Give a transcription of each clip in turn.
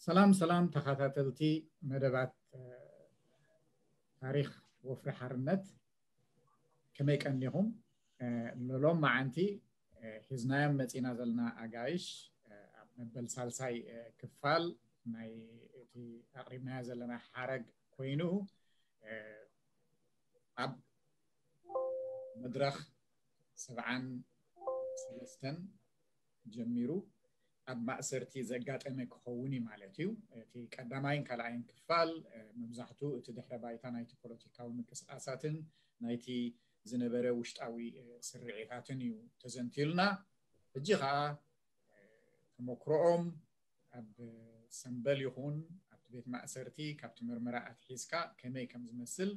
ሰላም ሰላም ተኸታተልቲ መደባት ታሪኽ ወፍሪ ሓርነት፣ ከመይ ቀኒኹም? ሎም መዓንቲ ሒዝናዮም መፂና ዘለና ኣጋይሽ ኣብ መበል ሳልሳይ ክፋል ናይ እቲ ኣቕሪብናዮ ዘለና ሓረግ ኮይኑ፣ ኣብ መድረኽ ሰብዓን ሰለስተን ጀሚሩ ኣብ ማእሰርቲ ዘጋጠመ ክኸውን እዩ ማለት እዩ። እቲ ቀዳማይን ካልኣይን ክፋል መብዛሕቱ እቲ ድሕረ ባይታ ናይቲ ፖለቲካዊ ምንቅስቃሳትን ናይቲ ዝነበረ ውሽጣዊ ስርዒታትን እዩ ተዘንትዩልና። ሕጂ ከዓ ተመክሮኦም ኣብ ሰምበል ይኹን ኣብቲ ቤት ማእሰርቲ ካብቲ ምርመራ ኣትሒዝካ ከመይ ከም ዝመስል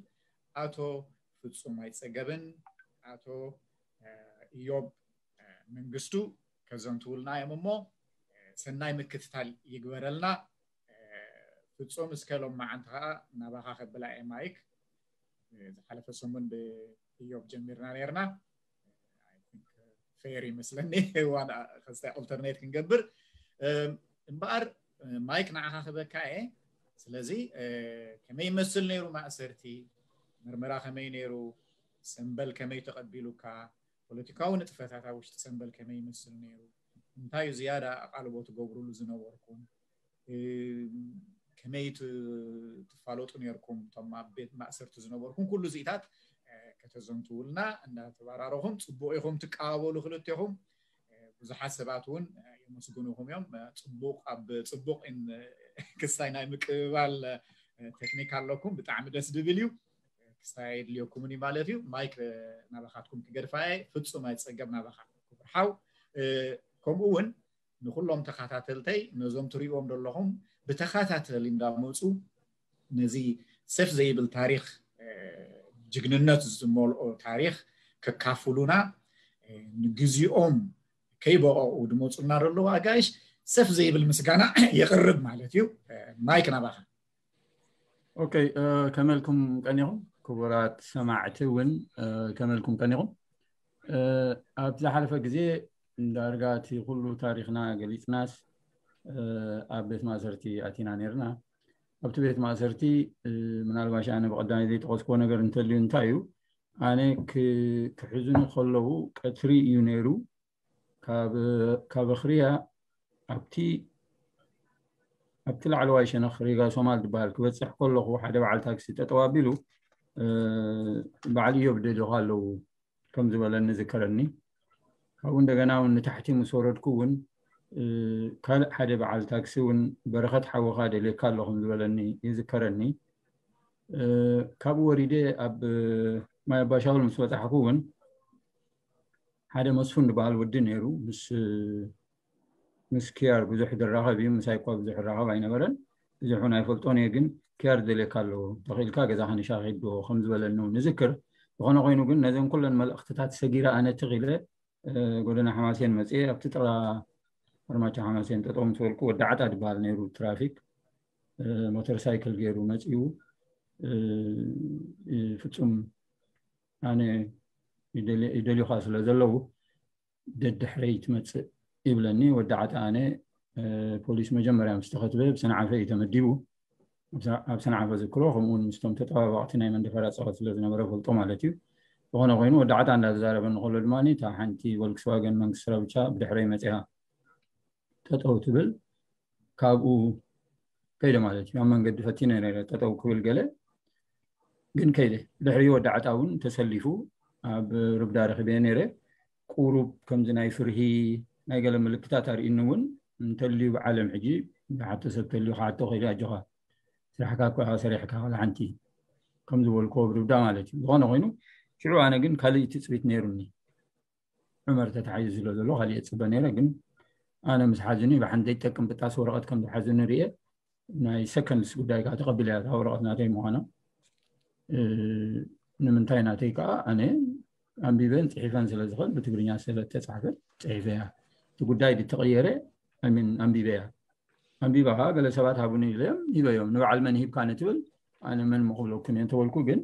ኣቶ ፍጹም ኣይጸገብን ኣቶ ኢዮብ መንግስቱ ከዘንትውልና እዮም እሞ ሰናይ ምክትታል ይግበረልና። ፍጹም እስከ ሎም መዓንቲ ከዓ ናባኻ ከብላ እየ ማይክ። ዝሓለፈ ሰሙን ብኢዮብ ጀሚርና ነርና። ፌር ይመስለኒ ዋን ከስታይ ኦልተርኔት ክንገብር እምበኣር ማይክ ንዓኻ ክበካ እየ። ስለዚ ከመይ ይመስል ነይሩ ማእሰርቲ? ምርመራ ከመይ ነይሩ? ሰምበል ከመይ ተቐቢሉካ? ፖለቲካዊ ንጥፈታት ኣብ ውሽጢ ሰምበል ከመይ ይመስል ነይሩ? እንታይ እዩ ዝያዳ ኣቓልቦ ትገብሩሉ ዝነበርኩም? ከመይ ትፋለጡ ነርኩም? እቶም ኣብ ቤት ማእሰርቲ ዝነበርኩም ኩሉ እዚኢታት ከተዘንትውልና እንዳተባራረኹም፣ ፅቡቅ ኢኹም ትቀባበሉ ክልቴኹም። ብዙሓት ሰባት እውን የመስግኑኹም እዮም። ፅቡቅ ኣብ ፅቡቅ ክስታይ ናይ ምቅብባል ቴክኒክ ኣለኩም። ብጣዕሚ ደስ ዝብል እዩ። ክስታይ የድልየኩምን እዩ ማለት እዩ። ማይክ ናባኻትኩም ክገድፋ እየ። ፍጹም ኣይፀገብ ናባኻ ክቡር ሓው። ከምኡ እውን ንኩሎም ተኸታተልተይ ነዞም ትሪእዎም ዘለኹም ብተኸታተሊ እንዳመፁ ነዚ ሰፍ ዘይብል ታሪኽ ጅግንነት ዝመልኦ ታሪኽ ከካፍሉና ንግዚኦም ከይበቐቑ ድመፁልና ዘለዉ ኣጋይሽ ሰፍ ዘይብል ምስጋና የቕርብ ማለት እዩ። ማይክ ናባኻ። ኦኬ፣ ከመልኩም ቀኒኹም ክቡራት ሰማዕቲ እውን ከመልኩም ቀኒኹም። ኣብ ዝሓለፈ ግዜ ዳርጋ እቲ ኩሉ ታሪኽና ገሊፅናስ ኣብ ቤት ማእሰርቲ ኣቲና ነርና። ኣብቲ ቤት ማእሰርቲ ምናልባሽ ኣነ ብቐዳሚ ዘይጠቐስክዎ ነገር እንተልዩ እንታይ እዩ፣ ኣነ ክሕዝኑ ከለዉ ቀትሪ እዩ ነይሩ። ካብ ኣኽርያ ኣብቲ ኣብቲ ላዕለዋይ ሸነኽ ሪጋ ሶማል ዝበሃል ክበፅሕ ከለኹ ሓደ በዓል ታክሲ ጠጠው ኣቢሉ በዓል እዮብ ደሊኹ ኣለዉ ከም ዝበለኒ ዝከረኒ። ካብኡ እንደገና እውን ንታሕቲ ምስ ወረድኩ እውን ካልእ ሓደ በዓል ታክሲ እውን በረኸት ሓወኻ ደልየካ ኣሎ ከም ዝበለኒ ይዝከረኒ። ካብኡ ወሪደ ኣብ ማይ ኣባሻውል ምስ በፃሕኩ እውን ሓደ መስፉን ዝበሃል ወዲ ነይሩ። ምስ ምስ ኪያር ብዙሕ ዝራኸብ እዩ፣ ምሳይ እኳ ብዙሕ ይራኸብ ኣይነበረን። ብዙሕ እውን ኣይፈልጦን እየ፣ ግን ኪያር ደልየካ ኣለዎ፣ ተኽኢልካ ገዛኻ ንሻሂ ዶ ከም ዝበለኒ እውን እዝክር። ዝኾነ ኮይኑ ግን ነዘን ኩለን መልእኽትታት ሰጊረ ኣነ ትኽ ኢለ ጎደና ሓማሴን መፅየ። ኣብቲ ጥራ ፈርማቻ ሓማሴን ጠጠው ምስ በልኩ ወዲ ዓጣ ዝበሃል ነይሩ ትራፊክ ሞተር ሳይክል ገይሩ መፂኡ። ፍፁም ኣነ ይደልዩኻ ስለ ዘለዉ ደድሕረይ ትመፅእ ይብለኒ። ወዲ ዓጣ ኣነ ፖሊስ መጀመርያ ምስ ተኸትበ ብሰንዓፈ እዩ ተመዲቡ። ኣብ ሰንዓፈ ዝክሮ ከምኡውን ምስቶም ተጠባባቕቲ ናይ መንደፈራ ፀወት ስለ ዝነበረ ፈልጦ ማለት እዩ። ዝኾነ ኮይኑ ወዲ ዓጣ እንዳተዛረበ እንከሎ ድማ እታ ሓንቲ ቮልክስዋገን መንግስቲ ረብቻ ብድሕረይ መፂኣ ጠጠው ትብል። ካብኡ ከይደ ማለት እዩ። ኣብ መንገዲ ፈቲነ ነረ ጠጠው ክብል ገለ ግን ከይደ። ድሕሪ ወዲ ዓጣ እውን ተሰሊፉ ኣብ ርብዳ ረኺበ ነረ። ቁሩብ ከምዚ ናይ ፍርሂ ናይ ገለ ምልክታት ኣርእኒ እውን እንተልዩ ብዓለም ሕጂ ብሓቶ ሰብ ተልዩ ክሓቶ ከይደ ኣጆኻ ስራሕካ እኮ ኢኻ ሰሪሕካ ካልእ ሓንቲ ከም ዝበልኩዎ ብርብዳ ማለት እዩ። ዝኾነ ኮይኑ ሽዑ ኣነ ግን ካልእ ትፅቢት ነይሩኒ። ዑመር ተታሒዙ ስለ ዘሎ ካልእ እፅበ ነይረ፣ ግን ኣነ ምስ ሓዙኒ ብሓንቲ ዘይጠቅም ብጣስ ወረቐት ከም ዝሓዙኒ ርየ። ናይ ሰከንድስ ጉዳይ ከዓ ተቐቢለ እያ እታ ወረቐት ናተይ ምዃና። ንምንታይ ናተይ ከዓ ኣነ ኣንቢበን ፅሒፈን ስለ ዝኽእል ብትግርኛ ስለ ተፃሕፈ ፅሒፈ እያ። እቲ ጉዳይ ድተቐየረ ሚን ኣንቢበ እያ። ኣንቢባ ከዓ ገለ ሰባት ሃቡኒ ኢለዮም ሂበዮም። ንበዓል መን ሂብካ ንትብል ኣነ መን ምኽብለኩም እየ እንተበልኩ ግን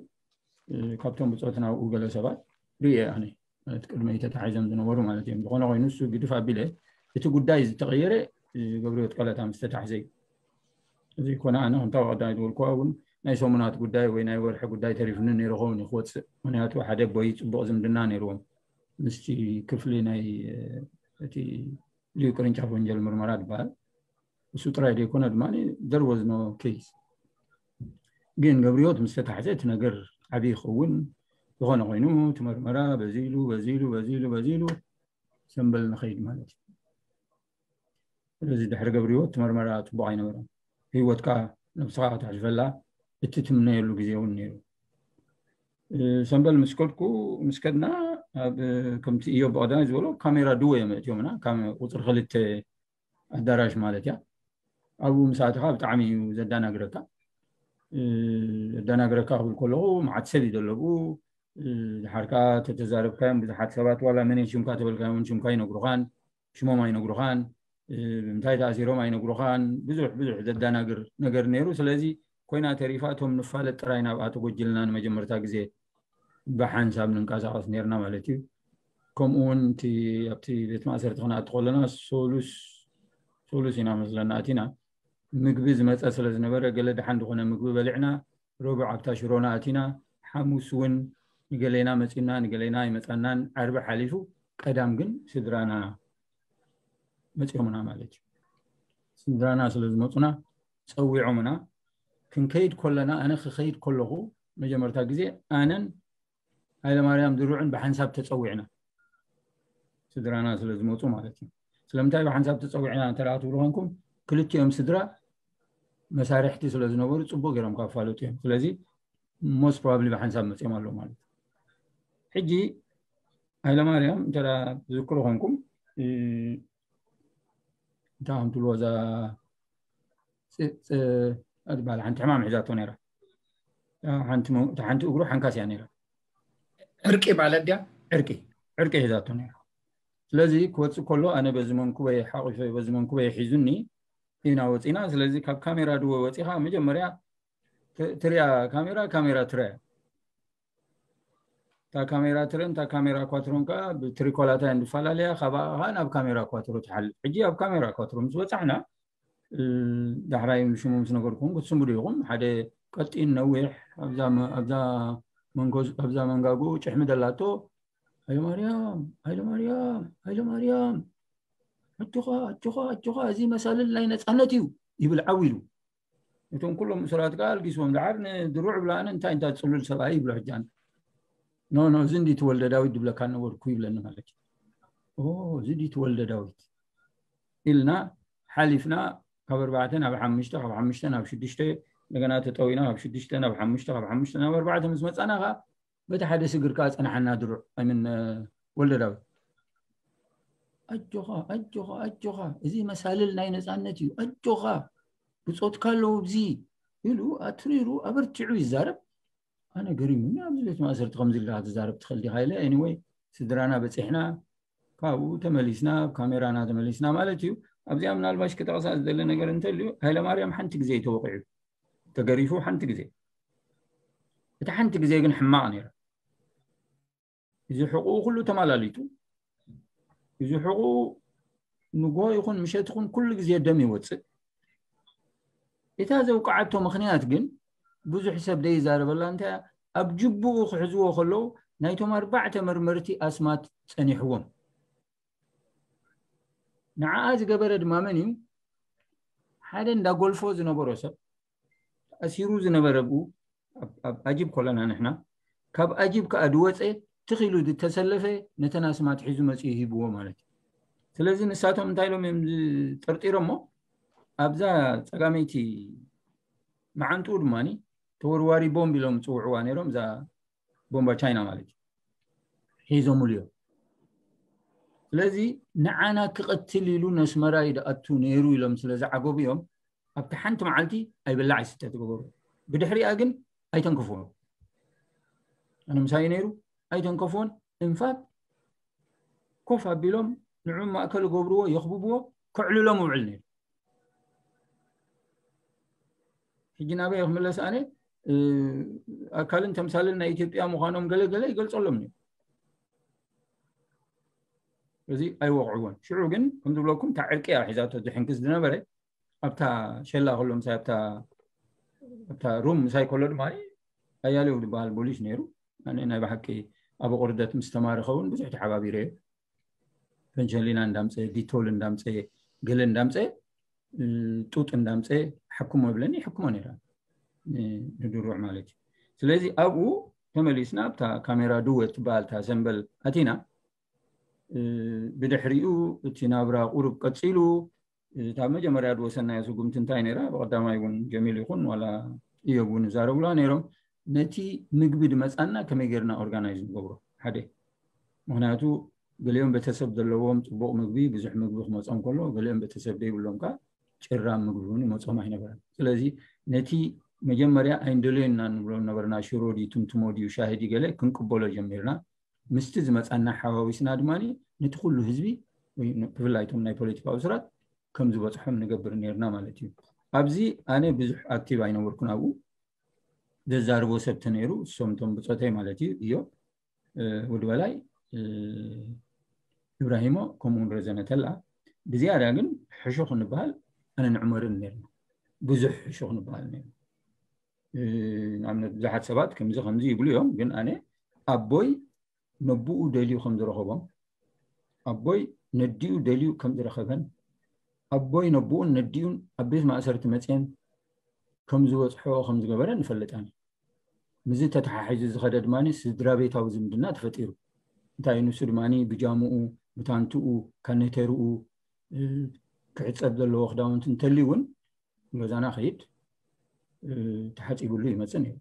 ካብቶም ብፆትና ኣብኡ ገለ ሰባት ርእየ ኣነ ማለት ቅድመይ ተታሒዞም ዝነበሩ ማለት እዮም። ዝኾነ ኮይኑ እሱ ግድፍ ኣቢለ እቲ ጉዳይ ዝተቐየረ ገብርዮት ቀለታ ምስ ተታሕዘ እዩ። እዚ ኮነ ኣነ ከምታ ቀዳይ ዝበልኩዋ እውን ናይ ሰሙናት ጉዳይ ወይ ናይ ወርሒ ጉዳይ ተሪፍኒ ነይሩ ኸውን እዩ ክወፅእ። ምክንያቱ ሓደ ቦይ ፅቡቕ ዝምድና ነይርዎም ምስቲ ክፍሊ ናይ እቲ ልዩ ቅርንጫፍ ወንጀል ምርመራ ዝበሃል እሱ ጥራይ ዘይኮነ ድማ there was no case። ግን ገብርዮት ምስ ተታሕዘ እቲ ነገር ዓብዪ ይኸውን። ዝኾነ ኮይኑ እቲ መርመራ በዚ ኢሉ በዚ ኢሉ በዚ ኢሉ በዚ ኢሉ ሰንበል ንኸይድ ማለት እዩ። ስለዚ ድሕሪ ገብርዮት እቲ መርመራ ፅቡቕ ኣይነበረን። ህይወትካ ነብስኻ ከተሕልፈላ እቲ ትምነየሉ ግዜ እውን ነይሩ። ሰንበል ምስ ከድኩ ምስ ከድና ኣብ ከምቲ እዮ ብቐዳማይ ዝበሎ ካሜራ ድወ እዮም እትዮምና ቁፅሪ ክልተ ኣዳራሽ ማለት እያ። ኣብኡ ምስ ኣተኻ ብጣዕሚ እዩ ዘዳናግረካ። ዘዳናግረካ ክብል ከለኹ መዓት ሰብ እዩ ዘለብኡ። ድሓርካ ተተዛረብካዮም ብዙሓት ሰባት ዋላ መን ሽምካ ተበልካዮም ሽምካ ይነግሩኻን ሽሞም ኣይነግሩኻን ብምንታይ ተኣሲሮም ኣይነግሩኻን። ብዙሕ ብዙሕ ዘዳናግር ነገር ነይሩ። ስለዚ ኮይና ተሪፋ እቶም ንፋለጥ ጥራይ ናብኣ ተጎጅልና ንመጀመርታ ግዜ ብሓንሳብ ንንቀሳቐስ ነርና ማለት እዩ። ከምኡ እውን እቲ ኣብቲ ቤት ማእሰርቲ ክነኣቱ ከለና ሶሉስ ሶሉስ ኢና መስለና ኣቲና። ምግቢ ዝመፀ ስለ ዝነበረ ገለ ደሓን ዝኾነ ምግቢ በሊዕና ረቡዕ ኣብታ ሽሮና ኣቲና። ሓሙስ እውን ንገሌና መፂና ንገሌና ኣይመፃናን። ዓርቢ ሓሊፉ ቀዳም ግን ስድራና መፂኦምና ማለት እዩ። ስድራና ስለ ዝመፁና ፀዊዖምና። ክንከይድ ከለና ኣነ ክኸይድ ከለኹ መጀመርታ ግዜ ኣነን ሃይለማርያም ድሩዕን ብሓንሳብ ተፀዊዕና ስድራና ስለ ዝመፁ ማለት እዩ። ስለምንታይ ብሓንሳብ ተፀዊዕና እንተ ትብሉ ኮንኩም ክልቲኦም ስድራ መሳርሕቲ ስለ ዝነበሩ ፅቡቅ ገይሮም ካፋለጡ እዮም። ስለዚ most probably ብሓንሳብ መፅኦም ኣለዉ ማለት እዩ። ሕጂ ሃይለማርያም እንተ ዝክሩ ኮንኩም እንታይ ከም ትብልዎ እዛ ትበሃል ሓንቲ ሕማም ሒዛቶ ነይራ። ሓንቲ እግሩ ሓንካስ እያ ነይራ። ዕርቂ ማለት ድያ? ዕርቂ ዕርቂ ሒዛቶ ነይራ። ስለዚ ክወፅእ ከሎ ኣነ በዚ መንኩበይ ሓቂፈ በዚ መንኩበይ ሒዙኒ ኢና ወፂና። ስለዚ ካብ ካሜራ ድወ ወፂኻ መጀመርያ ትሪያ ካሜራ ካሜራ ትረያ እታ ካሜራ ትረን እታ ካሜራ ኳትሮን ከዓ ብትሪኮላታ እንፈላለያ ካባኣ ከዓ ናብ ካሜራ ኳትሮ ትሓልፍ። ሕጂ ኣብ ካሜራ ኳትሮ ምስ በፃሕና ዳሕራይ ሽሙ ምስ ነገርኩም ክትስምዱ ኢኹም። ሓደ ቀጢን ነዊሕ ኣብዛ መንጋጉ ጭሕሚ ደላቶ ሃይለማርያም ሃይለማርያም ሃይለማርያም ኣጆኻ ኣጆኻ ኣጆኻ እዚ መሳልል ናይ ነፃነት እዩ ይብል ዓው ኢሉ። እቶም ኩሎም እሱራት ከዓ ኣልጊስዎም ደሓር ንድሩዕ ብላኣነ እንታይ እንታይ ፅሉል ሰብኣይ ይብሎ ሕጃን ኖ ኖ እዚ እንዲ ትወልደ ዳዊት ድብለካ ነበርኩ ይብለኒ ማለት እዩ። እዚ እንዲ ትወልደ ዳዊት ኢልና ሓሊፍና ካብ ኣርባዕተ ናብ ሓሙሽተ ካብ ሓሙሽተ ናብ ሽዱሽተ እንደገና ተጠዊና ካብ ሽዱሽተ ናብ ሓሙሽተ ካብ ሓሙሽተ ናብ ኣርባዕተ ምስ መፃና ከዓ በቲ ሓደ ስግር ከዓ ፀናሓና ድሩዕ ኣይምን ወልደ ዳዊት ኣጆኻ ኣጆኻ ኣጆኻ እዚ መሳልል ናይ ነፃነት እዩ ኣጆኻ ብፆትካ ኣለዉ እዚ ኢሉ ኣትሪሩ ኣበርቲዑ ይዛረብ። ኣነ ገሪሙኒ ኣብዚ ቤት ማእሰርቲ ከምዚ ኢልካ ትዛረብ ትኽእል ዲኻ ኢለ anyway ስድራና በፂሕና ካብኡ ተመሊስና ኣብ ካሜራና ተመሊስና ማለት እዩ። ኣብዚኣ ምናልባሽ ክጠቕሳ ዝደለ ነገር እንተልዩ ሃይለማርያም ሓንቲ ግዜ እዩ ተወቂዑ ተገሪፉ ሓንቲ ግዜ። እቲ ሓንቲ ግዜ ግን ሕማቕ ነይራ። እዚ ሕቁኡ ኩሉ ተማላሊጡ እዚ ሕቁኡ ንጎሆ ይኹን ምሸት ይኹን ኩሉ ግዜ ደም ይወፅእ። እታ ዘውቃዓቶ ምኽንያት ግን ብዙሕ ሰብ ደይዛረበላ እንታይ ኣብ ጅቡኡ ክሕዝዎ ከለዉ ናይቶም ኣርባዕተ መርመርቲ ኣስማት ፀኒሕዎም። ንዓኣ ዝገበረ ድማ መን እዩ? ሓደ እንዳ ጎልፎ ዝነበሮ ሰብ ተኣሲሩ ዝነበረ ብኡ ኣብ ኣጂብ ኮለና ንሕና ካብ ኣጂብ ከዓ ድወፀ ትኺሉ ዝተሰለፈ ነተን ኣስማት ሒዙ መፅኡ ሂብዎ ማለት እዩ። ስለዚ ንሳቶም እንታይ ኢሎም እዮም ጠርጢሮሞ ኣብዛ ፀጋመይቲ መዓንጥኡ ድማ ተወርዋሪ ቦምብ ኢሎም ዝፅውዕዋ ነይሮም እዛ ቦምባ ቻይና ማለት እዩ ሒዞምሉ እዮም። ስለዚ ንዓና ክቐትል ኢሉ ነስመራ ይድኣቱ ነይሩ ኢሎም ስለ ዝዓገቡ እዮም ኣብቲ ሓንቲ መዓልቲ ኣይበላዕ ኣይስተ ትገበሩ። ብድሕሪኣ ግን ኣይተንከፍዎን። ኣነ ምሳይ ነይሩ ኣይተንከፍዎን። እንፋት ኮፍ ኣቢሎም ንዑ ማእከል ገብርዎ የኽብብዎ ከዕልሎም ውዕል ነይሩ። ሕጂ ናበይ ክምለስ ኣነ ኣካልን ተምሳልን ናይ ኢትዮጵያ ምዃኖም ገለ ገለ ይገልፀሎም ነይሩ። እዚ ኣይወቕዕዎን። ሽዑ ግን ከም ዝብለኩም እታ ዕርቂ እያ ሒዛቶ ዝሕንክስ ዝነበረ። ኣብታ ሸላ ከሎ ምሳይ ኣብታ ኣብታ ሩም ምሳይ ከሎ ድማ ኣያሌው ዝበሃል ፖሊስ ነይሩ። ኣነ ናይ ብሓቂ ኣብ ቁርደት ምስ ተማረኸ እውን ብዙሕ ተሓባቢረ እየ። ፈንሸሊና እንዳምፀ፣ ዲቶል እንዳምፀ፣ ገለ እንዳምፀ፣ ጡጥ እንዳምፀ ሓክሞ ይብለኒ፣ ይሕክሞ ነይራ ንድሩዕ ማለት እዩ። ስለዚ ኣብኡ ተመሊስና ኣብታ ካሜራ ድወ ትበሃል እታ ሰንበል ኣቲና ብድሕሪኡ እቲ ናብራ ቁሩብ ቀፂሉ። እታ መጀመርያ ዝወሰናዮ ስጉምቲ እንታይ ነይራ? ብቀዳማይ እውን ጀሚል ይኹን ዋላ እዮብ እውን ይዛረቡላ ነይሮም። ነቲ ምግቢ ድመፃና ከመይ ጌርና ኦርጋናይዝ ንገብሮ? ሓደ ምክንያቱ ገሊኦም ቤተሰብ ዘለዎም ፅቡቕ ምግቢ፣ ብዙሕ ምግቢ ክመፆም ከሎ፣ ገሊኦም ቤተሰብ ዘይብሎም ከዓ ጭራም ምግቢ እውን ይመፆም ኣይነበረን። ስለዚ ነቲ መጀመርያ ኣይንደልዮና ንብሎ ነበርና፣ ሽሮ ድዩ ትምትሞ ድዩ ሻሂ ድዩ ገለ ክንቅበሎ ጀሚርና። ምስቲ ዝመፃና ሓዋዊስና ድማ ነቲ ኩሉ ህዝቢ ብፍላይ እቶም ናይ ፖለቲካዊ ስራት ከም ዝበፅሖም ንገብር ነርና ማለት እዩ። ኣብዚ ኣነ ብዙሕ ኣክቲቭ ኣይነበርኩን ኣብኡ። ዘዛርቦ ሰብ ተነይሩ እሶም እቶም ብፆተይ ማለት እዩ እዮ ወዲ በላይ፣ ኢብራሂሞ ከምኡውን ረዘነ ተላ። ብዝያዳ ግን ሕሹኽ ንበሃል ኣነ ንዕመርን ነርና። ብዙሕ ሕሹኽ ንበሃል ነርና። ንኣብነት ብዙሓት ሰባት ከምዚ ከምዚ ይብሉ እዮም፣ ግን ኣነ ኣቦይ ነብኡ ደልዩ ከም ዝረኸቦም፣ ኣቦይ ነዲኡ ደልዩ ከም ዝረኸበን፣ ኣቦይ ነብኡን ነዲኡን ኣብ ቤት ማእሰርቲ መፅየን ከም ዝበፅሖ ከም ዝገበረ ንፈልጣን። ምስዚ ተተሓሒዙ ዝኸደ ድማ ስድራ ቤታዊ ዝምድና ተፈጢሩ። እንታይ ንሱ ድማ ብጃምኡ፣ ብታንትኡ፣ ካኔተርኡ፣ ክዕፀብ ዘለዎ ክዳውንቲ እንተልዩ እውን ገዛና ከይድ ተሓፂብሉ ይመፅእ ነይሩ።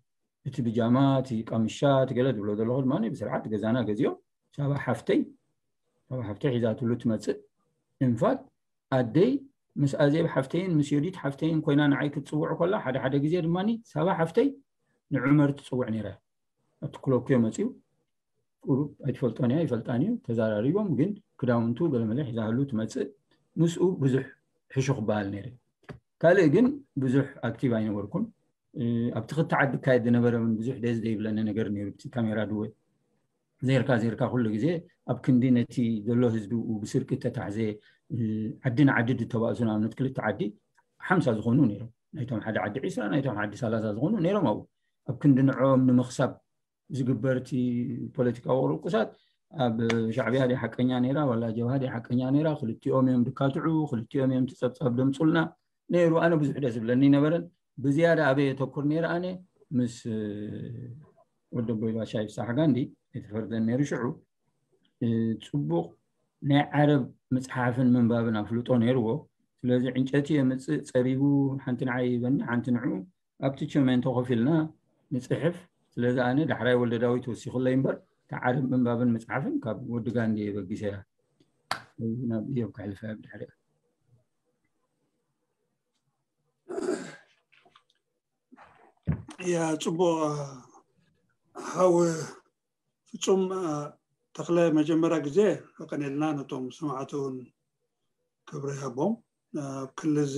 እቲ ብጃማ፣ እቲ ቃምሻ፣ እቲ ገለ ዝብሎ ዘለኹ ድማ ብስርዓት ገዛና ገዚኦም ሳባ ሓፍተይ፣ ሳባ ሓፍተይ ሒዛትሉ ትመፅእ። ኢንፋክት ኣደይ ምስ ኣዜብ ሓፍተይን ምስ ዮዲት ሓፍተይን ኮይና ንዓይ ክትፅውዕ ከላ ሓደ ሓደ ግዜ ድማ ሳባ ሓፍተይ ንዑመር ትፅውዕ ነይራ። ኣብቲ ክለኩዮ መፅዩ ቁሩብ ኣይትፈልጦን እያ፣ ይፈልጣን እዩ። ተዘራሪቦም ግን ክዳውንቱ ገለመለ ሒዛህሉ ትመፅእ። ምስኡ ብዙሕ ሕሹ ክበሃል ነይረ። ካልእ ግን ብዙሕ ኣክቲቭ ኣይነበርኩን። ኣብቲ ክልተ ዓዲ ካየድ ዝነበረ እውን ብዙሕ ደስ ዘይብለኒ ነገር ነይሩ። እቲ ካሜራ ድወ ዜርካ ዜርካ ኩሉ ግዜ ኣብ ክንዲ ነቲ ዘሎ ህዝቢ ብስርቂ ተታሕዘ፣ ዓዲ ንዓዲ ድተባእሱ ንኣብነት ክልተ ዓዲ ሓምሳ ዝኾኑ ነይሮም። ናይቶም ሓደ ዓዲ ዒስራ፣ ናይቶም ዓዲ ሰላሳ ዝኾኑ ነይሮም። ኣብኡ ኣብ ክንዲ ንዕኦም ንምኽሳብ ዝግበር እቲ ፖለቲካዊ ቅርቁሳት ኣብ ሻዕብያ ድያ ሓቀኛ ነይራ ዋላ ጀብሃ ድያ ሓቀኛ ነይራ፣ ክልቲኦም እዮም ድካትዑ፣ ክልቲኦም እዮም እቲ ጸብጻብ ደምጹልና ነይሩ። ኣነ ብዙሕ ደስ ዝብለኒ ነበረን። ብዝያዳ ኣበይ የተኩር ነይረ ኣነ ምስ ወዲ ኣቦይ ባሻይ ፍሳሕ ጋንዲ የተፈርደን ነይሩ። ሽዑ ጽቡቕ ናይ ዓረብ ምጽሓፍን ምንባብን ኣፍልጦ ነይርዎ። ስለዚ ዕንጨቲ የምጽእ ጸሪቡ ሓንቲ ንዓይ ይበኒ ሓንቲ ንዑ ኣብቲ ቸሜንቶ ኮፍ ኢልና ንጽሕፍ። ስለዚ ኣነ ዳሕራይ ወልደ ዳዊት ወሲኹለይ እምበር እቲ ዓረብ ምንባብን ምጽሓፍን ካብ ወዲ ጋንዲ እየ በጊሰያ። ናብ እዮብ ከሕልፈያ ብድሕሪኣ። ያ ጽቡቕ ሓው ፍጹም ተኽለ፣ መጀመርያ ግዜ ኣቐኔልና ነቶም ሰማዕቲ እውን ክብሪ ይሃቦም። ኣብ ክሊ እዚ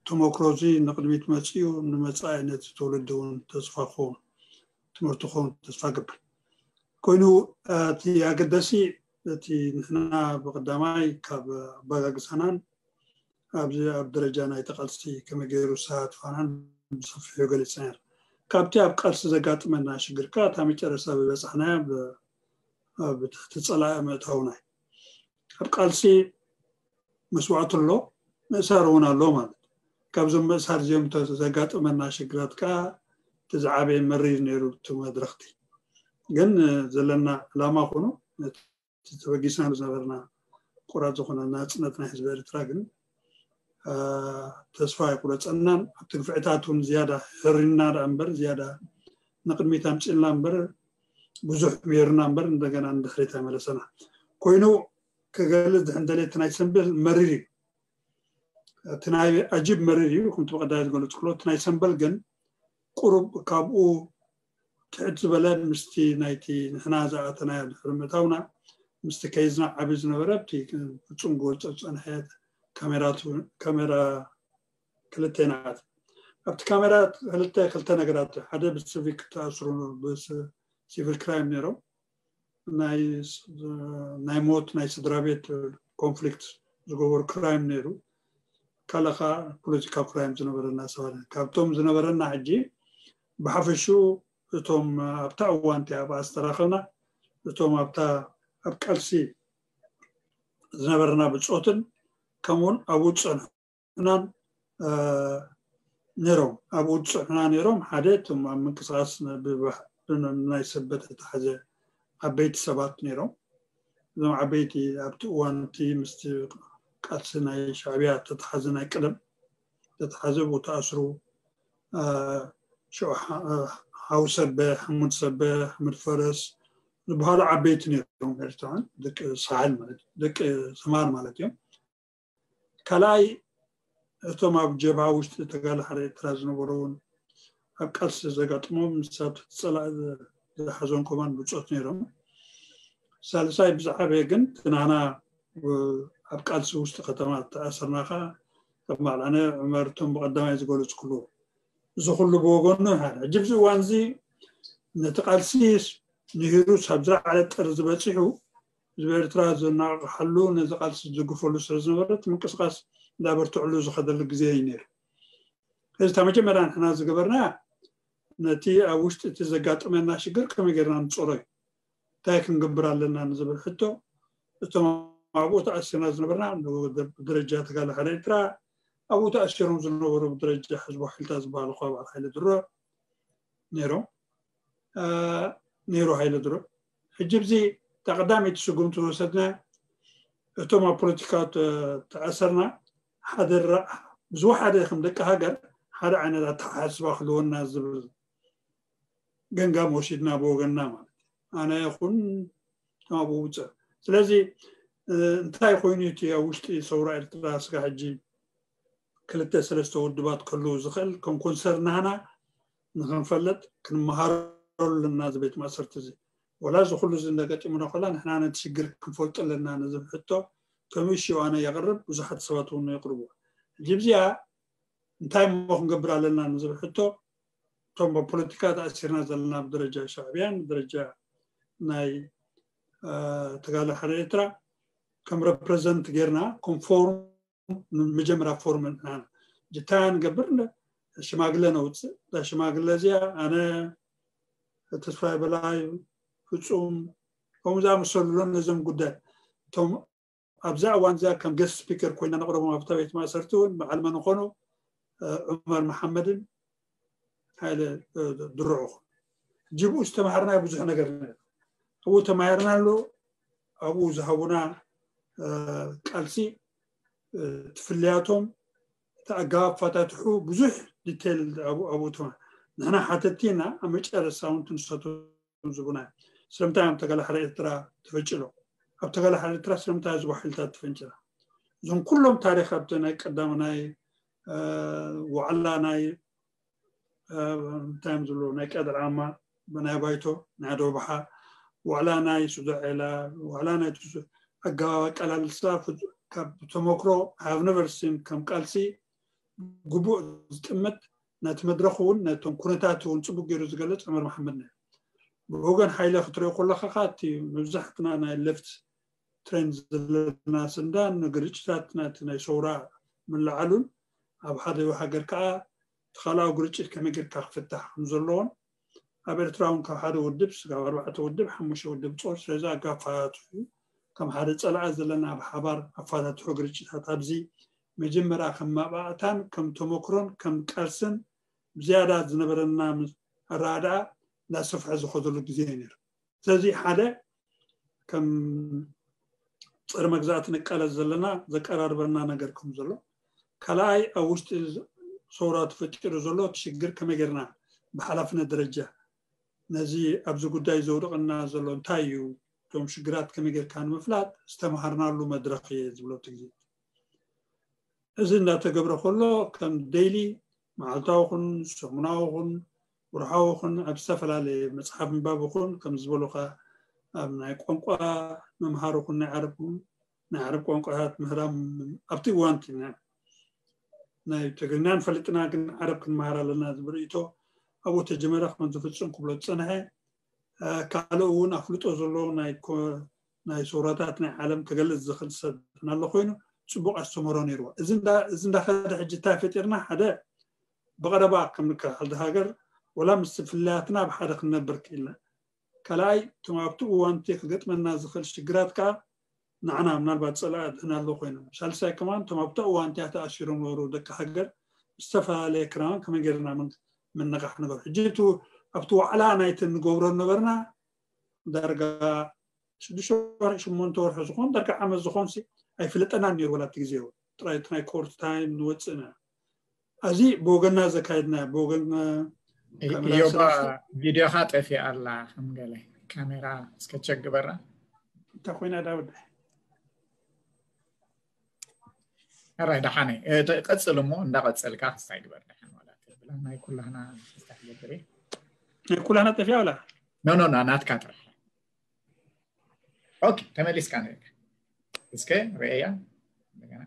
ተመክሮ እዚ ንቕድሚት መፅኡ ንመፃኢ ነቲ ትውልዲ እውን ተስፋ ክኸውን ትምህርቲ ክኸውን ተስፋ ገብር። ኮይኑ እቲ ኣገዳሲ እቲ ንሕና ብቀዳማይ ካብ ኣበጋግሳናን ኣብዚ ኣብ ደረጃ ናይ ተቃልስቲ ከመይ ገይሩ ዝሳትፋናን ብሰፊሑ ገሊፅና ኢና። ካብቲ ኣብ ቃልሲ ዘጋጥመና ሽግር ከዓ እታ መጨረስታ ዝበፃሕናያ ኣብ ትሕቲ ፀላኢ ምእታውና እዩ። ኣብ ቃልሲ መስዋእቲ ኣሎ፣ ምእሳር እውን ኣሎ ማለት እዩ። ካብዞም ምእሳር እዚኦም ዘጋጥመና ሽግራት ከዓ እቲ ዝዓበየ መሪር ነይሩ እቲ መድረኽቲ። ግን ዘለና ዕላማ ኮኑ እቲ ተበጊስናሉ ዝነበርና ቁራፅ ዝኾነ ናፅነት ናይ ህዝቢ ኤርትራ ግን ተስፋ ኣይቁረፀናን። ኣብቲ ግፍዕታት እውን ዝያዳ ሕሪና ደኣ እምበር ዝያዳ ንቅድሚት ኣምፂልና እምበር ብዙሕ ምሂርና እምበር እንደገና ንድሕሪት ኣይመለሰና። ኮይኑ ክገልፅ ድሕን ደልየ እቲ ናይ ሰንበል መሪር እዩ። እቲ ናይ ኣጂብ መሪር እዩ፣ ከምቲ ብቀዳይ ዝገለፅኩሎ። እቲ ናይ ሰንበል ግን ቁሩብ ካብኡ ትሕት ዝበለ ምስቲ ናይቲ ንሕና ዝኣተናዮ ድሕሪ ምእታውና ምስቲ ከይዝና ዓቢ ዝነበረ ኣብቲ ፍጹም ክገልጾ ዝጸንሐ ካሜራ ክልተ ኢና። ኣብቲ ካሜራ ክልተ ክልተ ነገራት ሓደ ብሲቪክ ተኣስሩ ብሲቪል ክራይም ነይሮም ናይ ሞት ናይ ስድራ ቤት ኮንፍሊክት ዝገበሩ ክራይም ነይሩ። ካልእ ከዓ ፖለቲካዊ ክራይም ዝነበረና ሰባት። ካብቶም ዝነበረና ሕጂ ብሓፈሽኡ እቶም ኣብታ እዋን እቲኣ ኣብኣ ዝተራኸብና እቶም ኣብታ ኣብ ቃልሲ ዝነበረና ብፆትን ከምኡውን ኣብኡ ዝፀንሑናን ነይሮም። ኣብኡ ዝፀንሑና ነይሮም። ሓደ እቶም ኣብ ምንቅስቃስ ናይ ሰበት ዝተሓዘ ዓበይቲ ሰባት ነይሮም። እዞም ዓበይቲ ኣብቲ እዋን እቲ ምስቲ ቃልሲ ናይ ሻዕብያ ተተሓዘ ናይ ቀደም ተተሓዘ ብኡ ተኣስሩ ሽዑ ሓው ሰበ፣ ሓሙድ ሰበ፣ ሓሙድ ፈረስ ዝበሃሉ ዓበይቲ ነይሮም ኤርትራውያን ደቂ ሳሕል ማለት ደቂ ሰማር ማለት እዮም። ካልኣይ እቶም ኣብ ጀብሃ ውሽጢ ተጋላሓሪ ኤርትራ ዝነበሩ እውን ኣብ ቃልሲ ዘጋጥሞም ንሳብ ፀላእ ዝሓዞም ከማን ብፆት ነይሮም። ሳልሳይ ብዝዓበየ ግን ትናና ኣብ ቃልሲ ውሽጢ ከተማ ተኣሰርናኻ ከም በዓል ኣነ ዑመር እቶም ብቐዳማይ ዝገለፅኩሉ እዚ ኩሉ ብወገኑ ሓደ ሕጂ ብዚ እዋን እዚ ነቲ ቃልሲ ንሂሩስ ኣብ ዝለዓለ ጥር ዝበፂሑ ህዝቢ ኤርትራ ዘናቕሓሉ ነዚ ቃልሲ ዝግፈሉ ስለ ዝነበረት ምንቅስቃስ እንዳበርትዕሉ ዝኸደሉ ግዜ እዩ ነይሩ። እዚ እታ መጀመርያ ንሕና ዝገበርና ነቲ ኣብ ውሽጢ እቲ ዘጋጠመና ሽግር ከመይ ጌርና ንፀሮ እዩ። እንታይ ክንገብር ኣለና ንዝብል ሕቶ እቶም ኣብኡ ተኣሲርና ዝነበርና ብደረጃ ተጋላሓሪ ኤርትራ ኣብኡ ተኣሲሮም ዝነበሩ ብደረጃ ሕዝቡ ሓይልታት ዝበሃሉ ከ በዓል ሓይለ ድሮ ነይሮም ነይሩ ሓይለ ድሮ ሕጂ ብዚ እታ ቀዳመይቲ ስጉምቲ ዝወሰድና እቶም ኣብ ፖለቲካ ተኣሰርና ሓደ ዝወሓደ ከም ደቂ ሃገር ሓደ ዓይነት ኣተሓሳስባ ክህልወና ዝብል ገንጋም ወሲድና ብወገንና ማለት ኣነ ይኹን ተማብኡ ውፅእ ስለዚ እንታይ ኮይኑ እቲ ኣብ ውሽጢ ሰውራ ኤርትራ ስጋ ሕጂ ክልተ ሰለስተ ውድባት ከልው ዝኽእል ከም ኮንሰር ናህና ንክንፈልጥ ክንመሃረሉ ኣለና እዚ ቤት ማእሰርቲ እዚ ወላ እዚ ኩሉ እዚ እንደገጢሙና ከላ ንሕና ነቲ ሽግር ክንፈልጦ ኣለና ንዝብ ሕቶ ከም እሽዋነ የቕርብ ብዙሓት ሰባት እውን የቕርቡ ሕጂ ብዚኣ እንታይ እሞ ክንገብር ኣለና ንዝብ ሕቶ እቶም ብፖለቲካ ተኣሲርና ዘለና ብደረጃ ሻዕብያን ብደረጃ ናይ ተጋለ ሓደ ኤርትራ ከም ረፕረዘንት ጌርና ኮንፎርም መጀመርያ ፎርም ንሕና ጅታ ንገብር ሽማግለ ነውፅእ እዛ ሽማግለ እዚኣ ኣነ ተስፋይ በላይ ፍፁም ከምኡ ዝኣመሰሉ ነዞም ጉዳይ እቶም ኣብዛ እዋን እዚኣ ከም ገስት ስፒከር ኮይና ነቕረቦም ኣብታ ቤት ማእሰርቲ እውን በዓል መን ኾኑ ዑመር መሓመድን ሃይለ ድርዑ ጅብኡ ዝተምሃርናዮ ብዙሕ ነገር ኣብኡ ተማሂርና ኣሎ ኣብኡ ዝሃቡና ቃልሲ ትፍልያቶም እቲ ኣገባብ ኣፈታትሑ ብዙሕ ዲቴል ኣብኡ ተማ ንሕና ሓተቲ ኢና ኣብ መጨረስታ እውን ትንሰቱ ዝቡና ስለምንታይ ኣብ ተጋላሕሪ ኤርትራ ተፈንጭሎ ኣብ ተጋላሕሪ ኤርትራ ስለምንታይ ህዝቡ ሓይልታት ተፈንጭላ እዞም ኩሎም ታሪክ ኣብቲ ናይ ቀዳም ናይ ዋዕላ ናይ እንታይ እዮም ዝብሉ ናይ ቀደር ዓማ ናይ ባይቶ ናይ ደብሓ ዋዕላ ናይ ሱዳዔላ ዋዕላ ናይ ኣገባብ ኣቀላልሳ ካብ ተመክሮ have never seen ከም ቃልሲ ግቡእ ዝጥምት ነቲ መድረኽ እውን ነቶም ኩነታት እውን ፅቡቅ ገይሩ ዝገልፅ ዑመር መሓመድ ነይሩ ብወገን ሓይለ ክትሪኦ ከለካ እቲ መብዛሕትና ናይ ለፍት ትሬንድ ዘለና ስንዳን ንግርጭታት ናቲ ናይ ሰውራ ምልዓሉን ኣብ ሓደ ሃገር ከዓ ተኻልኣዊ ግርጭት ከመይ ጌርካ ክፍታሕ ከም ዘለዎን ኣብ ኤርትራ እውን ካብ ሓደ ውድብ ስጋብ ኣርባዕተ ውድብ ሓሙሽተ ውድብ ጾር ስለዚ ኣጋፋትሑ ከም ሓደ ጸላኢ ዘለና ብሓባር ኣፋታትሑ ግርጭታት ኣብዚ መጀመርያ ከም ማባእታን ከም ተመክሮን ከም ቃልስን ብዝያዳ ዝነበረና ኣረዳድኣ እንዳሰፍሐ ዝኸደሉ ግዜ እዩ ነይሩ። ስለዚ ሓደ ከም ፀረ መግዛእቲ ንቃለስ ዘለና ዘቀራርበና ነገር ከም ዘሎ ካልኣይ ኣብ ውሽጢ ሰውራ ተፈጢሩ ዘሎ እቲ ሽግር ከመይ ጌርና ብሓላፍነት ደረጃ ነዚ ኣብዚ ጉዳይ ዘውድቀና ዘሎ እንታይ እዩ እቶም ሽግራት ከመይ ጌርካ ንምፍላጥ ዝተምሃርናሉ መድረክ እየ ዝብሎ እቲ ግዜ እዚ እንዳተገብረ ከሎ ከም ዴይሊ መዓልታዊ ኹን ሰሙናዊ ኹን ወርሓዊ ኹን ኣብ ዝተፈላለየ መፅሓፍ ምንባብ ኹን ከም ዝበሉኻ ኣብ ናይ ቋንቋ ምምሃር ኹን ናይ ዓረብ ኹን ናይ ዓረብ ቋንቋታት ምህራም ኣብቲ እዋን ናይ ትግርኛ ንፈልጥና ግን ዓረብ ክንመሃር ኣለና ዝብል ርእይቶ ኣብኡ ተጀመረ ከም ዝፍፅም ክብሎ ዝፀንሐ ካልእ እውን ኣፍልጦ ዘለዎ ናይ ሰውራታት ናይ ዓለም ክገልጽ ዝኽእል ሰብ ናሎ ኮይኑ ጽቡቕ ኣስተምህሮ ነይርዎ። እዚ እንዳኸደ ሕጂ እንታይ ፈጢርና? ሓደ ብቐረባ ከም ንከ-፣ ሓንቲ ሃገር ወላ ምስ ፍልልያትና ብሓደ ክንነብር ክኢልና። ካልኣይ፣ እቶም ኣብቲ እዋንቲ ክገጥመና ዝኽእል ሽግራት ከኣ ንዓና ምናልባት ጸላኢ ኣድህና ኣሎ ኮይኖም። ሳልሳይ ከማን እቶም ኣብቲ እዋንቲ ተኣሲሮም ነበሩ ደቂ ሃገር ዝተፈላለየ ክራማን ከመይ ጌርና ምን-፣ ምንቕራሕ ንገብር። ሕጂ እቱ ኣብቲ ዋዕላ ናይቲ ንገብሮ ነበርና ዳርጋ ሽዱሽተ ወርሒ፣ ሽሞንተ ወርሒ ዝኾን ዳርጋ ዓመት ዝኾን ሲ ኣይፍለጠናን ነይሩ ወላ እቲ ግዜ እውን። ጥራይ እቲ ናይ ኮርት ታይም ንወፅእና። ኣዚ ብወገንና ዘካየድና፣ ብወገን፣ እ፣ ካሜራ ኢዮባ ሰለስተ። ቪድዮኻ ጠፊኣ ኣላ፣ ከም ገለ ካሜራ እስከ ቸክ ግበራ። እንታይ ኮይና ዳውድ? ኣራይ፣ ደሓነ። እ፣ ተ-፣ ቀጽል እሞ፣ እንዳቐጸልካ ክስታይ ግበር ደሓን ዋላ ትብል። ናይ ኩላህና ክስታይ ግበር እየ። ናይ ኩላህና ጠፊኣ ወላ? ኖ፣ ኖ፣ ኖ፣ ናትካ ጥራሕ። ኦኬ፣ ተመሊስካ ነርካ። እስከ ርእያ እንደገና።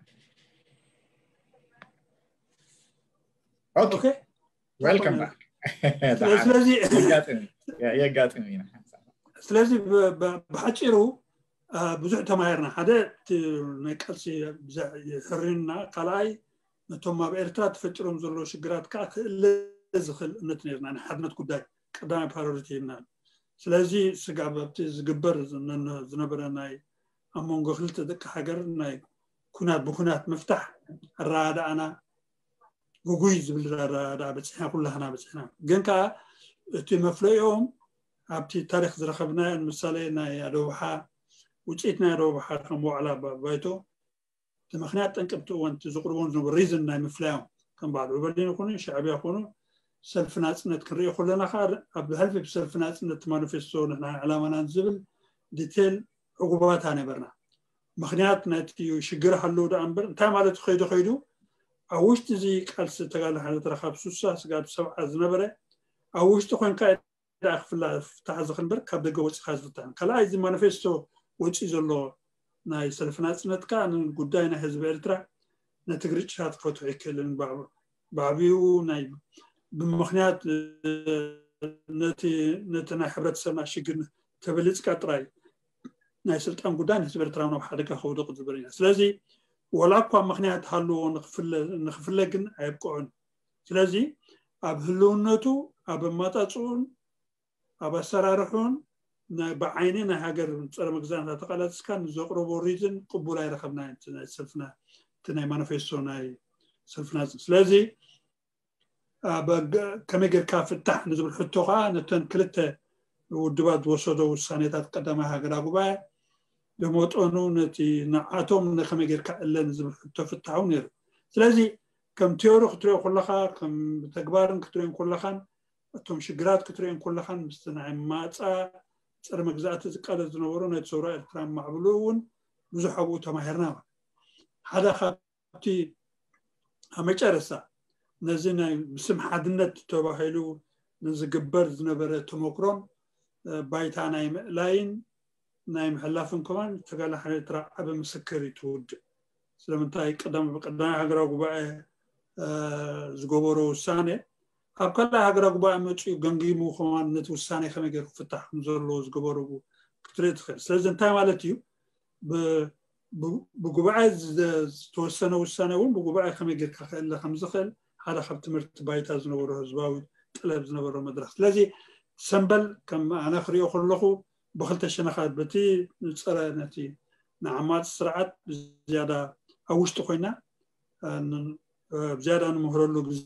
ኦኬ። ኦኬ። ዌልካም ባክ። ስለዚ የጋጥም፣ የ-፣ የጋጥም ኢና ሓንሳብ። ስለዚ ብ-፣ ብ-፣ ብሓጺሩ፣ አ፣ ብዙሕ ተማሂርና። ሓደ እቲ ናይ ቃልሲ ብዛ-፣ የሕርንና፣ ካልኣይ ነቶም ኣብ ኤርትራ ተፈጢሮም ዘለዉ ሽግራት ከኣ ክእለ ዝኽእል እምነት ነይርና። ናይ ሓድነት ጉዳይ ቀዳማይ ፕራዮሪቲ ሂብና። ስለዚ ስጋብ ኣብቲ ዝግበር ዝነ-፣ ዝነበረ ናይ ኣብ መንጎ ክልተ ደቂ ሃገር ናይ ኩናት ብኩናት ምፍታሕ ኣረዳድኣና ግጉይ ዝብል ኣረዳድኣ በጺሕና፣ ኩላህና በጺሕና። ግን ከኣ እቲ መፍለይኦም ኣብቲ ታሪኽ ዝረኸብናዮ፣ ንምሳሌ ናይ ኣደባሓ፣ ውጽኢት ናይ ኣደባሓ ከም ዋዕላ ባ-፣ ባይቶ፣ እቲ ምኽንያት ጠንቂ ኣብቲ እዋን እቲ ዘቕርቦም ዝነበሩ ሪዝን ናይ ምፍላዮም፣ ከም በዓል ዑበዲን ይኹኑ፣ ሻዕብያ ይኹኑ፣ ሰልፊ ናጽነት ክንሪኦ ከለና ከኣ፣ ኣብ ሕልፊ ብሰልፊ ናጽነት ማኒፌስቶ ንሕና ዕላማናን ዝብል ዲቴል ዕጉባት ነበርና። ምኽንያት ናይቲ ሽግር ሃለዉ ደኣ እምበር፣ እንታይ ማለት ከይዱ ከይዱ፣ ኣብ ውሽጢ እዚ ቃልሲ ተጋድሎ ሓርነት ኤርትራ ካብ ሱሳ ስጋብ ሰብዓ ዝነበረ፣ ኣብ ውሽጢ ኮንካ ደኣ ክፍላ-፣ ፍታሕ ዝኽእል እምበር ካብ ደገ ወጺኻ ዝፍታሕ። ካልኣይ፣ እዚ ማኒፌስቶ ወጺኡ ዘሎ ናይ ሰልፊ ናጽነት ከኣ ንጉዳይ ናይ ህዝቢ ኤርትራ ነቲ ግርጭታት ክፈትሖ ኣይክእልን። ብዓብ-፣ ብዓቢኡ ናይ፣ ብምኽንያት ነቲ፣ ነቲ ናይ ሕብረተሰብና ሽግር ተበሊጽካ ጥራይ ናይ ስልጣን ጉዳይ ንህዝቢ ኤርትራ ናብ ሓደጋ ከውድቕ ዝብል ኢና። ስለዚ ወላ እኳ ምኽንያት ሃልዎ ንኽፍለ-፣ ንኽፍለ ግን ኣየብቅዖን። ስለዚ ኣብ ህልውነቱ፣ ኣብ ኣማጻጽኡን ኣብ ኣሰራርሑን ናይ ብዓይኒ ናይ ሃገር ጸረ መግዛእቲ እናተቃለስካ ንዘቕረቦ ሪዝን ቅቡል ኣይረኸብናዮን። እቲ ናይ ሰልፍና፣ እቲ ናይ ማኒፌስቶ ናይ ሰልፍና። ስለዚ ኣብ ገ-፣ ከመይ ጌርካ ፍታሕ ንዝብል ሕቶ ከኣ ነተን ክልተ ውድባት ዝወሰዶ ውሳኔታት ቀዳማይ ሃገራዊ ጉባኤ ብመጠኑ ነቲ ንዓቶም ንኸመይ ጌርካ እለ ንዝብል ሕቶ ፍታሕ እውን ነይሩ። ስለዚ ከም ቲዮሪ ክትሪኦ ከለኻ፣ ከም ተግባርን ክትሪኦ ከለኻን፣ እቶም ሽግራት ክትሪኦ ከለኻን፣ ምስቲ ናይ ማጻ ጸረ መግዛእቲ ዝቃለስ ዝነበሩ ናይ ሰውራ ኤርትራ ማዕብሉ እውን ብዙሕ ኣብኡ ተማሂርና። ሓደ ካብ ኣብቲ ኣብ መጨረስታ ነዚ ናይ ብስም ሓድነት ተባሂሉ ንዝግበር ዝነበረ ተመክሮን፣ እ፣ ባይታ ናይ ምእላይን ናይ ምሕላፍን ከማን ተጋድሎ ሓርነት ኤርትራ ዓቢ ምስክር እዩ እቲ ውድብ። ስለምንታይ ቀዳም-፣ ቀዳማይ ሃገራዊ ጉባኤ፣ እ፣ ዝገበሮ ውሳኔ ኣብ ካልኣይ ሃገራዊ ጉባኤ መጺኡ ገምጊሙ ከማን ነቲ ውሳኔ ከመይ ገይሩ ክፍታሕ ከም ዘለዎ ዝገበሩ ክትርኢ ትኽእል። ስለዚ እንታይ ማለት እዩ? ብ-፣ ብ-፣ ብጉባኤ ዝደ-፣ ዝተወሰነ ውሳኔ እውን ብጉባኤ ከመይ ጌርካ ክእለ ከም ዝኽእል ሓደ ካብ ትምህርቲ ባይታ ዝነበሮ ህዝባዊ ጠለብ ዝነበሮ መድረኽ። ስለዚ ሰምበል ከም ኣነ ክሪኦ ከለኹ ብኽልተ ሸነኻት በቲ ንጸረ ነቲ ንዓማጺ ስርዓት ብዝያዳ ኣብ ውሽጢ ኮይና፣ እ፣ ን-፣ እ፣ ብዝያዳ ንምህረሉ ግዜ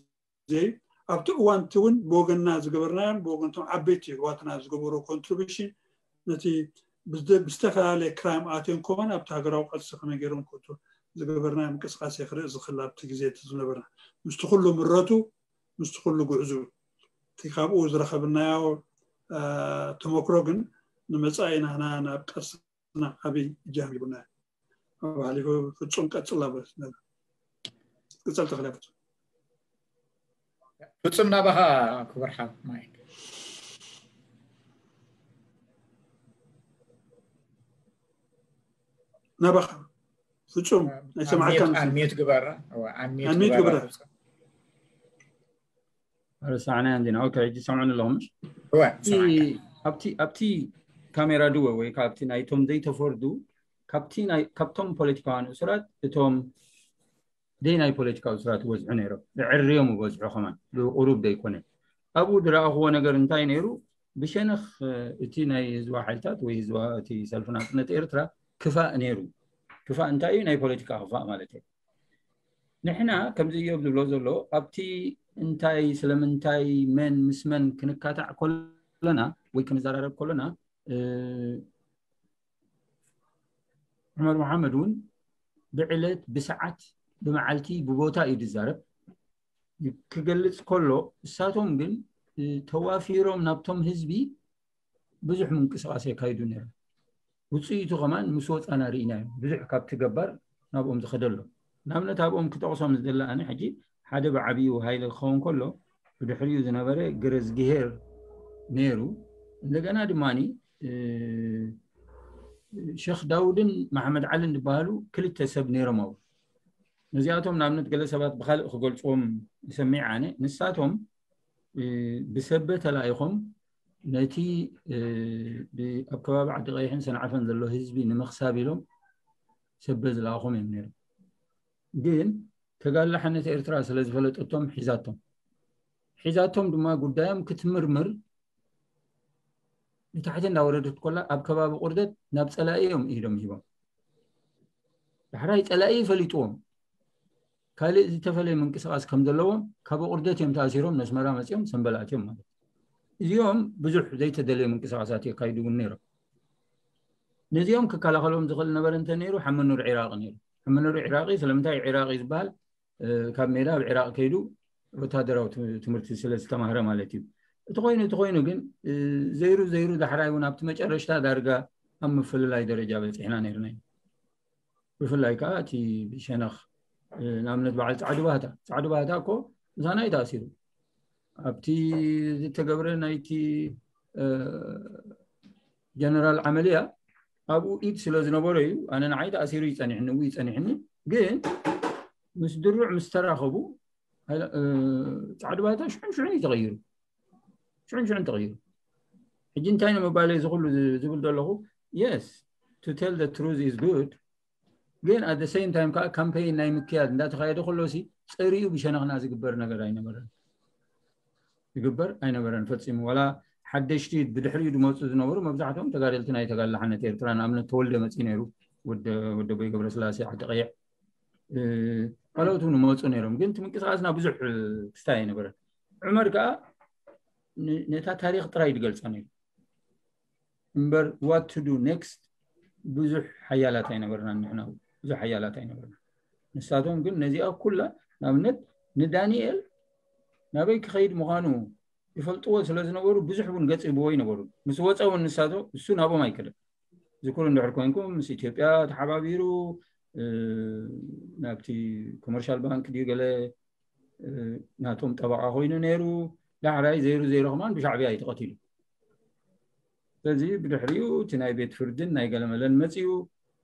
እዩ። ኣብቲ እዋን እቲ እውን ብወገንና ዝገበርናዮን ብወገን እቶም ዓበይቲ ኣሕዋትና ዝገበሮ ኮንትሪቢሽን ነቲ ብዝተ-፣ ብዝተፈላለየ ክራይም ኣትዮም ከማን ኣብቲ ሃገራዊ ቃልሲ ከመይ ገይሮም ክእቱ ዝገበርናዮ ምንቅስቃሴ ክርኢ ዝኽእል ኣብቲ ግዜ እቲ ዝነበርና ምስቲ ኩሉ ምረቱ፣ ምስቲ ኩሉ ጉዕዙ እቲ ካብኡ ዝረኸብናዮ፣ እ፣ ተመክሮ ግን ንመጻኢ ናህና ናብ ቃልስና ዓቢ እጃም ሂቡና እዩ። ኣብ ሓሊፉ ፍጹም ቀጽል ኣብ ነበር። ቅጸል ተኽለ ፍጹም። ፍጹም ናባኻ ክቡር ሓው ማይክ። ናባኻ ፍጹም፣ ኣይሰማዕካን። ኣንሚዩት፣ ኣንሚዩት ግበራ። እወ፣ ኣንሚዩት ኣንሚዩት ግበራ ግበራ። ፍጹም። ረሳዕናያ እንዲና። ኦኬ፣ ሕጂ ሰምዑኒ ኣለኹም፣ ምሽ? እወ፣ ሰማዕካ። ኣብቲ ኣብቲ ካሜራ ድወ ወይ ካብቲ ናይቶም ዘይተፈርዱ ካብቲ ናይ ካብቶም ፖለቲካውያን እሱራት እቶም ደይ ናይ ፖለቲካዊ እሱራት ይበዝሑ ነይሮም። ዝዕርዮም ይበዝሑ ከማን ብቁሩብ ዘይኮነ። ኣብኡ ዝረኣኽዎ ነገር እንታይ ነይሩ? ብሸነኽ እቲ ናይ ህዝባዊ ሓይልታት ወይ ህዝባ እቲ ሰልፊ ናጽነት ኤርትራ ክፋእ ነይሩ። ክፋእ እንታይ እዩ? ናይ ፖለቲካ ክፋእ ማለት እዩ። ንሕና ከምዚ እዮብ ዝብሎ ዘሎ ኣብቲ እንታይ ስለምንታይ መን ምስ መን ክንካታዕ ከለና ወይ ክንዘራረብ ከለና ዑመር መሓመድ እውን ብዕለት ብሰዓት ብመዓልቲ ብቦታ እዩ ዝዛረብ። ክገልጽ ከሎ እሳቶም ግን ተዋፊሮም ናብቶም ህዝቢ ብዙሕ ምንቅስቃስ የካይዱ ነይሮም። ውፅኢቱ ከማን ምስ ወፃና ርኢናዮ። ብዙሕ ካብቲ ገባር ናብኦም ዝኸደሎ ንኣብነት ኣብኦም ክጠቕሶም ዝደለ ኣነ ሕጂ ሓደ ብዓብዩ ሃይለ ክኸውን ከሎ ብድሕሪኡ ዝነበረ ግረዝግሄር ነይሩ። እንደገና ድማ ሸክ ዳውድን መሓመድ ዓልን ዝበሃሉ ክልተ ሰብ ነይሮም። ኣብ ነዚኣቶም ንኣብነት ገለ ሰባት ብካልእ ክገልፅዎም ይሰሚዕ ኣነ። ንሳቶም ብሰበ ተላኢኾም ነቲ ኣብ ከባቢ ዓዲ ቀይሕን ሰንዓፈን ዘሎ ህዝቢ ንምኽሳብ ኢሎም ሰበ ዝለኣኾም እዮም ነይሮም። ግን ተጋድሎ ሓነት ኤርትራ ስለ ዝፈለጠቶም ሒዛቶም ሒዛቶም ድማ ጉዳዮም ክትምርምር ንታሕቲ እንዳወረደት ኮላ ኣብ ከባቢ ቁርደት ናብ ፀላኢ እዮም ኢዶም ሂቦም። ዳሕራይ ፀላኢ ፈሊጥዎም ካልእ ዝተፈለየ ምንቅስቃስ ከም ዘለዎም ካብ ቁርደት እዮም ተኣሲሮም ነስመራ መፂኦም ሰንበላእት እዮም ማለት። እዚኦም ብዙሕ ዘይተደለየ ምንቅስቃሳት የካይዱ እውን ነይሮም። ነዚኦም ክከላኸሎም ዝኽእል ነበረ እንተ ነይሩ ሓመኑር ዒራቂ ነይሩ። ሓመኑር ዒራቂ ስለምንታይ ዒራቂ ዝበሃል ካብ ሜዳ ኣብ ዒራቅ ከይዱ ወታደራዊ ትምህርቲ ስለ ዝተማህረ ማለት እዩ። እቲ ኮይኑ እቲ ኮይኑ ግን ዘይሩ ዘይሩ ዳሕራይ እውን ኣብቲ መጨረሽታ ዳርጋ ኣብ ምፍልላይ ደረጃ በፂሕና ነይርና እዩ። ብፍላይ ከዓ እቲ ብሸነኽ ንኣብነት በዓል ፃዕዱ ባህታ ፃዕዱ ባህታ እኮ ምሳና እዩ ተኣሲሩ። ኣብቲ ዝተገብረ ናይቲ ጀነራል ዓመልያ ኣብኡ ኢድ ስለ ዝነበሮ እዩ። ኣነ ንዓይ ተኣሲሩ ይፀኒሕኒ ው ይፀኒሕኒ ግን ምስ ድሩዕ ምስ ተራኸቡ ፃዕዱ ባህታ ሽዑን ሽዑን እዩ ተቐይሩ። ሽዑን ሽዑን ተቐይሩ። ሕጂ እንታይ ንምባል እዚ ኩሉ ዝብል ዘለኹ? Yes, to tell the truth is good, ግን at the same time ከዓ ካምፔይን ናይ ምክያድ እንዳተኻየደ ከሎ ሲ ፀሪኡ ብሸነኽና ዝግበር ነገር ኣይነበረን። ዝግበር ኣይነበረን ፈፂሙ። ዋላ ሓደሽቲ ብድሕሪኡ ዝመፁ ዝነበሩ መብዛሕትኦም ተጋደልቲ ናይ ተጋድሎ ሓነት ኤርትራ ንኣብነት ተወልደ መፂኡ ነይሩ። ወደቦይ ገብረስላሴ ዓዲ ቀይሕ ካልኦት እውን መፁ ነይሮም። ግን እቲ ምንቅስቃስና ብዙሕ ክስታይ ኣይነበረን። ዑመር ከዓ ነታ ታሪክ ጥራይ ዝገልፃ ነይሩ እምበር what to do next ብዙሕ ሓያላት ኣይነበርና። ንሕና ብዙሕ ሓያላት ኣይነበርና። ንሳቶም ግን ነዚኣ ኩላ ንኣብነት ንዳንኤል ናበይ ክኸይድ ምዃኑ ይፈልጥዎ ስለ ዝነበሩ ብዙሕ እውን ገፅ ይብዎ ይነበሩ። ምስ ወፀ እውን ንሳቶ እሱ ናብኦም ኣይከደን። ዝኩር እንድሕር ኮንኩም ምስ ኢትዮጵያ ተሓባቢሩ ናብቲ ኮመርሻል ባንክ ድዩ ገለ ናቶም ጠበቃ ኮይኑ ነይሩ። ዳሕራይ ዘይሩ ዘይሩ ከማን ብሻዕብያ እዩ ተቐቲሉ። ስለዚ ብድሕሪኡ እቲ ናይ ቤት ፍርድን ናይ ገለመለን መፅኡ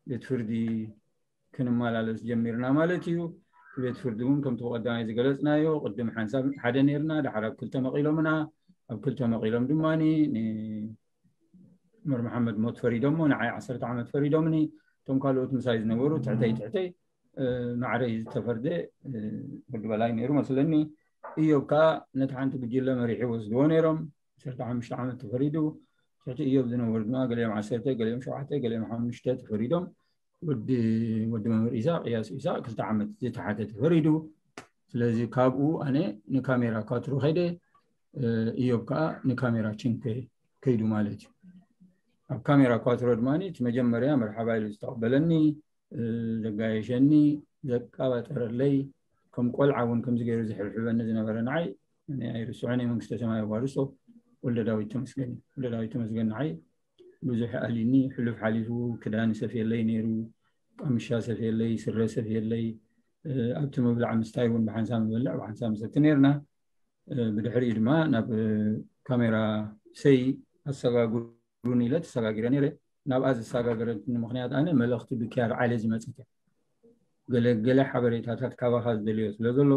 ቤት ፍርዲ ክንመላለስ ጀሚርና ማለት እዩ። ቤት ፍርዲ እውን ከምቲ ብቀዳማይ ዝገለፅናዮ ቅድም ሓንሳብ ሓደ ነርና ዳሓር ኣብ ክልተ መቂሎምና። ኣብ ክልተ መቂሎም ድማ ንዑመር መሓመድ ሞት ፈሪዶሞ ንዓይ ዓሰርተ ዓመት ፈሪዶምኒ። እቶም ካልኦት ምሳይ ዝነበሩ ትሕተይ ትሕተይ ማዕረይ ዝተፈርደ ወዲ በላይ ነይሩ መስለኒ። እዮብ ከዓ ነቲ ሓንቲ ጉጅለ መሪሒ ወስድዎ ነይሮም። ዓሰርተ ሓሙሽተ ዓመት ተፈሪዱ። ትሕቲ እዮብ ዝነበሩ ድማ ገሊኦም ዓሰርተ ገሊኦም ሸውዓተ ገሊኦም ሓሙሽተ ተፈሪዶም። ወዲ ወዲ መምህር ኢሳቅ እያሱ ኢሳቅ ክልተ ዓመት ዝተሓተ ተፈሪዱ። ስለዚ ካብኡ ኣነ ንካሜራ ኳትሮ ከይደ። እዮብ ከዓ ንካሜራ ችንከ ከይዱ ማለት እዩ። ኣብ ካሜራ ኳትሮ ድማ እቲ መጀመርያ መርሓባ ኢሉ ዝተቐበለኒ ዘጋየሸኒ ዘቃባጠረለይ ከም ቆልዓ እውን ከምዚ ገይሩ ዝሕብሕበኒ ዝነበረ ንዓይ ኣይርስዖን። መንግስተ ሰማይ ኣዋርሶ ወልደ ዳዊት ተመስገን። ወልደ ዳዊት ተመስገን ንዓይ ብዙሕ ኣሊኒ ሕሉፍ ሓሊፉ ክዳን ሰፍየለይ ነይሩ። ቀምሻ ሰፍየለይ ስረ ሰፍየለይ ኣብቲ ምብላዕ ምስታይ እውን ብሓንሳብ ንበልዕ ብሓንሳብ ንሰቲ ነርና። ብድሕሪኡ ድማ ናብ ካሜራ ሰይ ኣሰጋግሩን ኢለ ተሰጋጊረ ነይረ። ናብኣ ዘሰጋገረትኒ ምክንያት ኣነ መልእክቲ ብኪያር ዓለ ዝመፅት እያ። ገለ ገለ ሓበሬታታት ካባኻ ዝደልዮ ስለ ዘሎ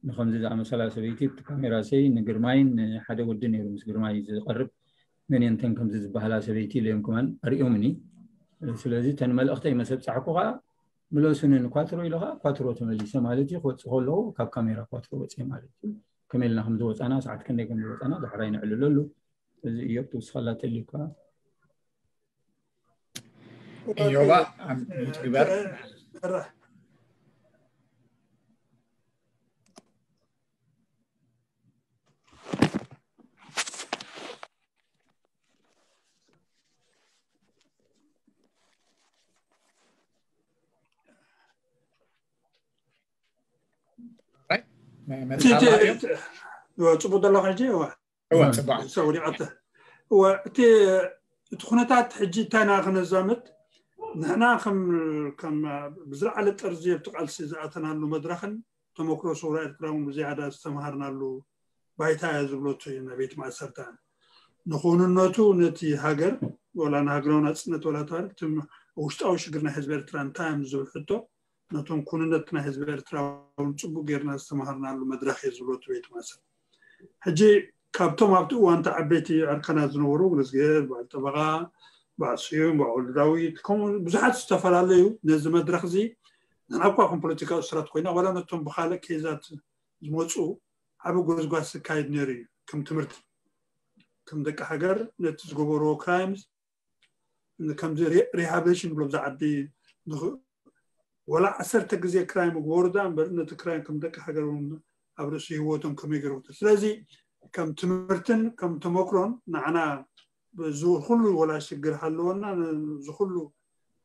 ንከምዚ ዝኣመሰላ ሰበይቲ እቲ ካሜራ ሰይ ንግርማይን ንሓደ ወዲ ነይሩ ምስ ግርማይ ዝቐርብ መን እየን እተን ከምዚ ዝበሃላ ሰበይቲ ኢለ እዮም ከማን ኣርእዮምኒ። ስለዚ እተን መልእኽተይ መሰ ኣብጻሕኩ ከዓ ምለሱንን ኳትሮ ኢሉ ከዓ ኳትሮ ተመሊሰ ማለት እዩ። ክወፅእ ከለኹ ካብ ካሜራ ኳትሮ ወፅየ ማለት እዩ። ከመይ ኢልና ከም ዝወፃና፣ ሰዓት ክንደይ ከም ዝወፃና ዳሕራይ ነዕልለሉ። እዚ እዮብ ትውስኸላ ተልዩካ። እዮባ ኣብ ሚዩት ግበር። ጽቡቅ ዘለኹ ሕጂ? እዋ፣ እዋ፣ ጽቡቅ። ሰው ወዲቃተ። እዋ፣ እቲ እቲ ኩነታት ሕጂ እንታይ ኢና ክነዛምት? ንሕና ከም ከም ብዝለዓለ ጠርዚ ኣብቲ ቃልሲ ዝኣተናሉ መድረኽን ተመክሮ ሰውራ ኤርትራ እውን ብዝያዳ ዝተምሃርናሉ ባይታ እያ ዝብለቱ እዩ። ናይ ቤት ማእሰርታ ንክውንነቱ ነቲ ሃገር፣ ወላ ንሃገራዊ ናጽነት ወላ ተባለ፣ እቲ ውሽጣዊ ሽግር ናይ ህዝቢ ኤርትራ እንታይ እዮም ዝብል ሕቶ፣ ነቶም ኩንነት ናይ ህዝቢ ኤርትራ እውን ጽቡቅ ጌርና ዝተምሃርናሉ መድረኽ እየ ዝብለቱ ቤት ማእሰርታ። ሕጂ ካብቶም ኣብቲ እዋን እቲ ዓበይቲ ዕርከናት ዝነበሩ፣ እግዝኣብሄር፣ በዓል ጠበቓ፣ በዓል ስዩም፣ በዓል ወልደዳዊት፣ ከምኡ ብዙሓት ዝተፈላለዩ፣ ነዚ መድረኽ እዚ ንሕና እኳ ከም ፖለቲካዊ እሱራት ኮይና፣ ዋላ ነቶም ብኻልእ ኬዛት ዝመፁ ዓቢ ጎዝጓዝ ዝካየድ ነይሩ እዩ። ከም ትምህርቲ፣ ከም ደቂ ሃገር ነቲ ዝገበርዎ ክራይምስ፣ ከምዚ ሪሃብሊቴሽን ብሎ ብዛ ዓዲ ንኽ-፣ ወላ ዓሰርተ ግዜ ክራይም ግበሩ ዳ እምበር፣ ነቲ ክራይም ከም ደቂ ሃገር እውን ኣብ ርእሲ ህይወቶም ከመይ ገይሮም ክተ-፣ ስለዚ ከም ትምህርትን ከም ተመክሮን ንዓና እዚ ኩሉ ወላ ሽግር ሃለወና፣ እዚ ኩሉ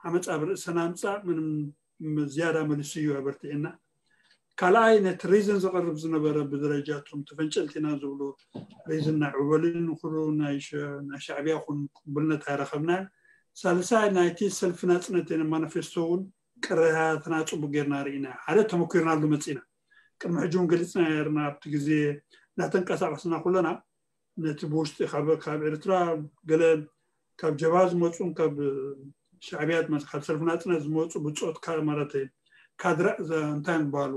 ዓመፃ ኣብ ርእሰና ምፃእ ምንም ዝያዳ መሊሱ እዩ ኣበርቲዕና። ካልኣይ፣ ነቲ ሪዝን ዘቕርብ ዝነበረ ብደረጃ እቶም ተፈንጨልቲ ኢና ዝብሉ ሪዝን ናይ ዑበልን ኩሉ ናይ ሸ-፣ ናይ ሻዕብያ ኩን ቅቡልነት ኣይረኸብናን። ሳልሳይ፣ ናይቲ ሰልፊ ናጽነት የነ ማኒፌስቶ እውን ቅሬታትና ጽቡቅ ጌርና ርኢና፣ ሓደ ተመኪርናሉ መጺና። ቅድሚ ሕጂ እውን ገሊጽና ነርና፣ ኣብቲ ግዜ እናተንቀሳቐስና ኩለና ነቲ ብውሽጢ ካብ፣ ካብ ኤርትራ ገለ ካብ ጀብሃ ዝመጹን ካብ ሻዕብያ ዝመጹ፣ ካብ ሰልፊ ናጽነት ዝመጹ ብጾት ካ-፣ ማለት ካድረ ዘ-፣ እንታይ ዝበሃሉ፣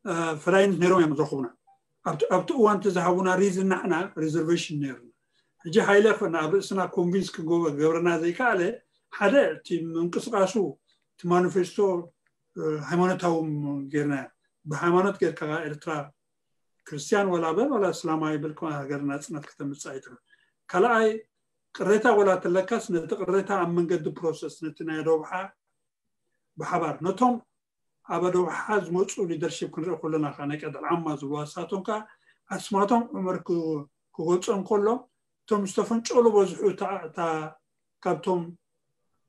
እ፣ ፈዳይነት ነይሮም እዮም ዝረኽቡና። ኣብቲ፣ ኣብቲ እዋን እቲ ዝሃቡና ሪዝን ንሕና ሪዘርቬሽን ነይሩና። ሕጂ ሃይለ ኮና ኣብ ርእስና ኮንቪንስ ክገበ-፣ ገብረና ዘይከኣለ፣ ሓደ እቲ ምንቅስቃሱ፣ እቲ ማኒፌስቶ፣ እ፣ ሃይማኖታዊ ጌርና፣ ብሃይማኖት ጌርካ ኤርትራ ክርስቲያን ወላ በል ወላ እስላማዊ በል ከማ ሃገር ናጽነት ከተምጽእ ኣይትኽእል። ካልኣይ፣ ቅሬታ ወላ ተለካስ ነቲ ቅሬታ ኣብ መንገዲ ፕሮሰስ፣ ነቲ ናይ ዶብሓ ብሓባር ነቶም ኣብ ዶብሓ ዝመጹ ሊደርሺፕ ክንርኢ ከለና ከኣ ናይ ቀደል ዓማ ዝብልዋ ንሳቶም ከኣ ኣስማቶም ዑመር ክ-፣ ክገልጾ እንከሎ፣ እቶም ዝተፈንጨሉ በዝሑ እታ፣ እታ ካብቶም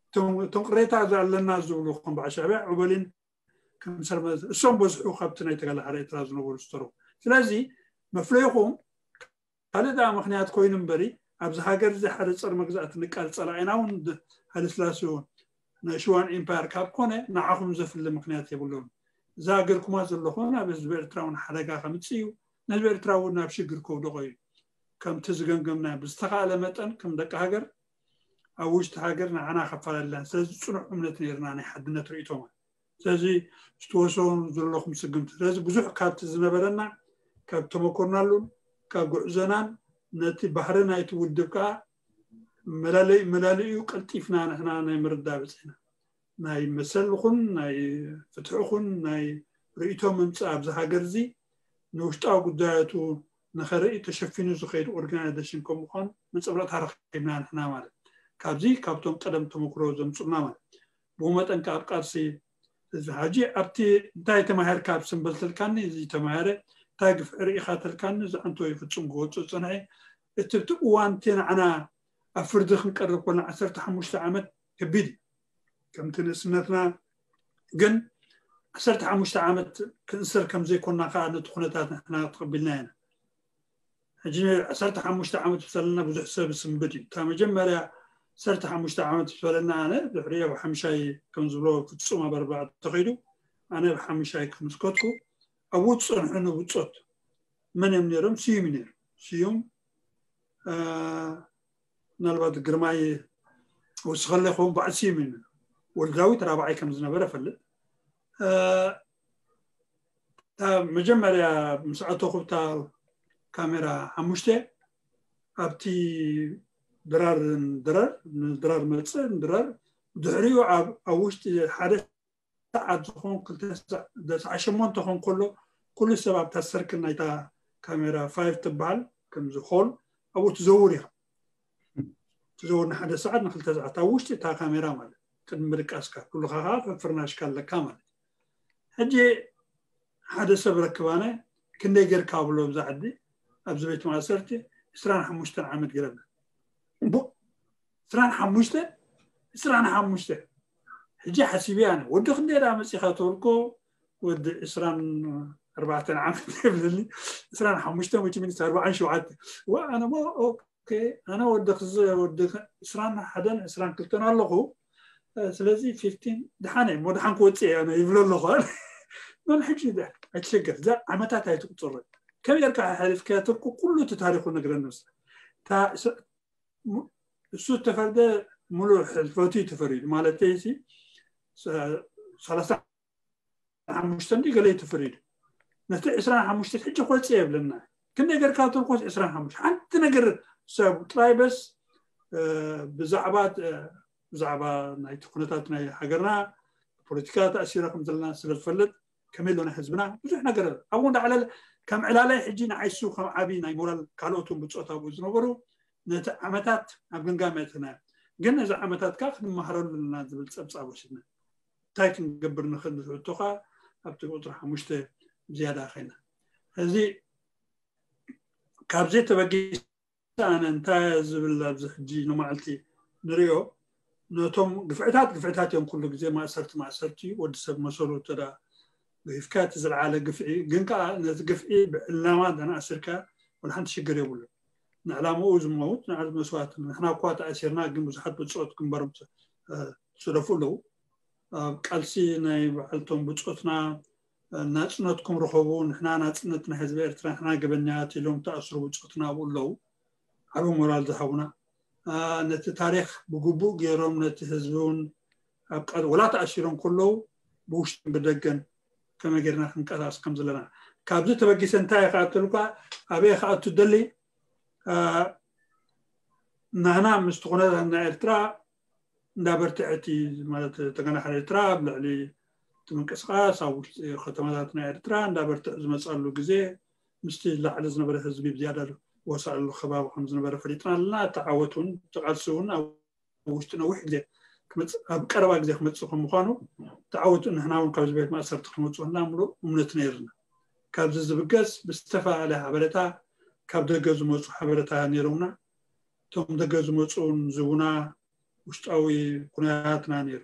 እቶም፣ እቶም ቅሬታ ኣለና ዝብሉ ከም በዓል ሻዕብያ ዑበሊን ከም ሰርመ-፣ እሶም በዝሑ ካብቲ ናይ ተጋላሓሪ ኤርትራ ዝነበሩ ዝተረፉ። ስለዚ መፍለይኹም ካልእ ደኣ ምኽንያት ኮይኑ እምበሪ፣ ኣብዚ ሃገር እዚ ሓደ ጸር መግዛእቲ ንቃል ጸላኢና እውን ድ-፣ ሃይለስላሴ እውን ናይ ሽዋን ኤምፓየር ካብ ኮነ ንዓኹም ዘፍሊ ምኽንያት የብሉን። እዛ ሃገርኩማ ዘለኹም ኣብ ህዝቢ ኤርትራ እውን ሓደጋ ከምጽእ እዩ፣ ንህዝቢ ኤርትራ እውን ናብ ሽግር ከውድቖ እዩ። ከምቲ ዝገምገምና ብዝተኻእለ መጠን ከም ደቂ ሃገር ኣብ ውሽጢ ሃገር ንዓና ከፈላለና። ስለዚ ጽኑዕ እምነት ነይርና ናይ ሓድነት ርእይቶማ። ስለዚ ዝተወሰኑ ዘለኹም ስግምቲ። ስለዚ ብዙሕ ካብቲ ዝነበረና ካብ ተመኮርናሉን ካብ ጉዕዞናን ነቲ ባህሪ ናይቲ ውድብ ከኣ መላለይ-፣ መላለዩ ቀልጢፍና ንሕና ናይ ምርዳእ በጺሕና። ናይ መሰል ይኹን ናይ ፍትሒ ይኹን ናይ ርእይቶ ምምጻእ ኣብዚ ሃገር እዚ ንውሽጣዊ ጉዳያቱ ንኸርኢ ተሸፊኑ ዝኸይድ ኦርጋናይዜሽን ከም ምዃኑ መንጸብረቕታ ረኺብና ንሕና ማለት። ካብዚ ካብቶም ቀደም ተመክሮ ዘምጹልና ማለት። ብኡ መጠን ከኣ ኣብ ቃልሲ እዚ ሕጂ ኣብቲ እንታይ ተማሂርካ ኣብ ስምበል ተልካኒ፣ እዚ ተማሂረ፣ እንታይ ግፍዒ ርኢኻ ተልካኒ፣ እዚ ኣንቶ እዩ ፍጹም ክወጽእ ዝጸንሐ። እቲ፣ እቲ እዋን እቲ ንዓና ኣብ ፍርዲ ክንቀርብ ኮልና ዓሰርተ ሓሙሽተ ዓመት ከቢድ እዩ። ከምቲ ንእስነትና ግን ዓሰርተ ሓሙሽተ ዓመት ክንእሰር ከም ዘይኮንና ከኣ ነቲ ኩነታት ንሕና ተቐቢልና ኢና። ሕጂ ዓሰርተ ሓሙሽተ ዓመት ምስ በለና ብዙሕ ሰብ ዝስንብድ እዩ። እታ መጀመርያ ዓሰርተ ሓሙሽተ ዓመት ምስ በለና ኣነ ድሕሪኡ ኣብ ሓምሻይ ከም ዝብሎ ፍጹም ኣብ ኣርባዕተ ተኸይዱ ኣነ ኣብ ሓምሻይ ከም ዝከድኩ ኣብኡ ዝጸንሑ ንብጾት መን እዮም ነይሮም? ስዩም እዩ ነይሩ። ስዩም፣ እ፣ ምናልባት ግርማይ ወስኸለ ይኸውን፣ በዓል ስዩም እዩ ነይሩ። ወልዳዊት ራብዓይ ከም ዝነበረ እፈልጥ። እ፣ እታ መጀመርያ ምስ ኣተኹ እታ ካሜራ ሓሙሽተ ኣብቲ ድራር ድራር ንድራር መፅእ ድራር ድሕሪኡ ኣብ ውሽጢ ሓደ ሰዓት ዝኾን ክልተ ሰዓት ሸሞንተ ኾን ከሎ ኩሉ ሰብ ኣብታ ሰርክል ናይታ ካሜራ ፋይቭ ትበሃል ከምዚ ሆል ኣብኡ ትዘውር ኢኻ። ትዘውር ንሓደ ሰዓት ንክልተ ሰዓት ኣብ ውሽጢ እታ ካሜራ ማለት ቅድሚ ምድቃስካ ኩልኻ ከዓ ፍርናሽካ ኣለካ ማለት። ሕጂ ሓደ ሰብ ረክባነ ክንደይ ጌርካ ብሎ ብዛ ዓዲ ኣብዚ ቤት ማእሰርቲ ዕስራን ሓሙሽተን ዓመት ገረብና። እሞ ዕስራን ሓሙሽተ ዕስራን ሓሙሽተ ሕጂ ሓሲበ ኣነ ወዲ ክንደይ ደኣ መፂኻ ተበልኮ ወዲ ዕስራን ኣርባዕተን ዓመት የብለኒ። ዕስራን ሓሙሽተ ወይ ሚኒስ ኣርባዓን ሸውዓተ ወ ኣነ ሞ ኦኬ ኣነ ወዲ ክዝ ወዲ ዕስራን ሓደን ዕስራን ክልተን ኣለኹ። ስለዚ ፊፍቲን ድሓነ እሞ ድሓን ክወፅእ እየ ኣነ ይብሎ ኣለኹ። መን ሕጂ ኣይትሸገር እዛ ዓመታት ኣይትቁፅር። ከመይ ጌርካ ሓሊፍካዮ ተልኩ ኩሉ እቲ ታሪኹ ነግረኒ። እሱ ተፈርደ ሙሉእ ሕልፈቱ እዩ ተፈሪዱ ማለት ሲ ሰላሳ ሓሙሽተ እንዲ ገለ እዩ ተፈሪዱ። ነቲ ዕስራን ሓሙሽተ ሕጂ ኮፅ የብለና። ክንደይ ገርካ ተልኮስ ዕስራን ሓሙሽተ ሓንቲ ነገር ሰብ ጥራይ በስ ብዛዕባ ብዛዕባ ናይቲ ኩነታት ናይ ሃገርና ፖለቲካ ተኣሲረ ከም ዘለና ስለ ዝፈልጥ ከመይ ኣሎ ናይ ህዝብና ብዙሕ ነገር ኣብኡ እንዳዕለለ ከም ዕላላይ ሕጂ ንዓይሱ ከም ዓብዪ ናይ ሞራል ካልኦት እውን ብፆት ኣብኡ ዝነበሩ ነቲ ዓመታት ኣብ ግምጋም የእተና። ግን ነዚ ዓመታት ከዓ ክንመሃረሉ ኣለና ዝብል ፀብፃብ ወሲድና እንታይ ክንገብር ንኽእል ዝሕቶኻ ኣብቲ ቁፅሪ ሓሙሽተ ዝያዳ ኸይና እዚ ካብዚ ተበጊሰ ኣነ እንታይ ዝብል ኣብዚ ሕጂ ንመዓልቲ ንሪኦ ነቶም ግፍዕታት ግፍዕታት እዮም ኩሉ ግዜ ማእሰርቲ ማእሰርቲ ወዲ ሰብ መሰሉ ተዳ ግፍካ እቲ ዝለዓለ ግፍዒ ግን ከዓ ነዚ ግፍዒ ብዕላማ ተናእስርካ ወላ ሓንቲ ሽግር የብሉ። ንዕላምኡ ዝመውት ንዓል መስዋዕት ንሕና እኳ ተኣሲርና ግን ብዙሓት ብፆት ግንባሮም ዝሰደፉ ኣለዉ። ኣብ ቃልሲ ናይ በዓልቶም ብፆትና ናፅነትኩም ርኸቡ ንሕና ናፅነት ናይ ህዝቢ ኤርትራ ንሕና ገበኛት ኢሎም ተኣስሩ ብፆትና ኣብኡ ኣለዉ። ዓብ ሞራል ዝሃቡና ነቲ ታሪክ ብግቡእ ገይሮም ነቲ ህዝቢ እውን ኣብ ቃል ወላ ተኣሲሮም ከለዉ ብውሽጥን ብደገን ከመይ ጌርና ክንቀሳቀስ ከም ዘለና ካብዚ ተበጊሰ እንታይ ክኣተልኳ ኣበይ ክኣቱ ደሊ ናህና ምስቲ ኩነታት ናይ ኤርትራ እንዳበርትዐቲ ማለት ተገናሕር ኤርትራ ኣብ ልዕሊ እቲ ምንቅስቃስ ኣብ ውሽጢ ከተማታት ናይ ኤርትራ እንዳበርትዐ ዝመፅኣሉ ግዜ ምስቲ ላዕሊ ዝነበረ ህዝቢ ብዝያዳ ወሳኣሉ ከባቢ ከም ዝነበረ ፈሊጥና ኣለና። እቲ ዓወት እውን ተቃልሲ እውን ኣብ ውሽጢ ነዊሕ ግዜ ኣብ ቀረባ ግዜ ክመፅእ ከም ምኳኑ ተዓወቱ ንሕና እውን ካብዚ ቤት ማእሰርቲ ክንወፅኡ እና ምሉእ እምነት ነይርና። ካብዚ ዝብገስ ብዝተፈላለየ ሓበሬታ ካብ ደገ ዝመፁ ሓበሬታ ነይሮምና። እቶም ደገ ዝመፁ እውን ዝቡና ውሽጣዊ ኩነታትና ነይሩ።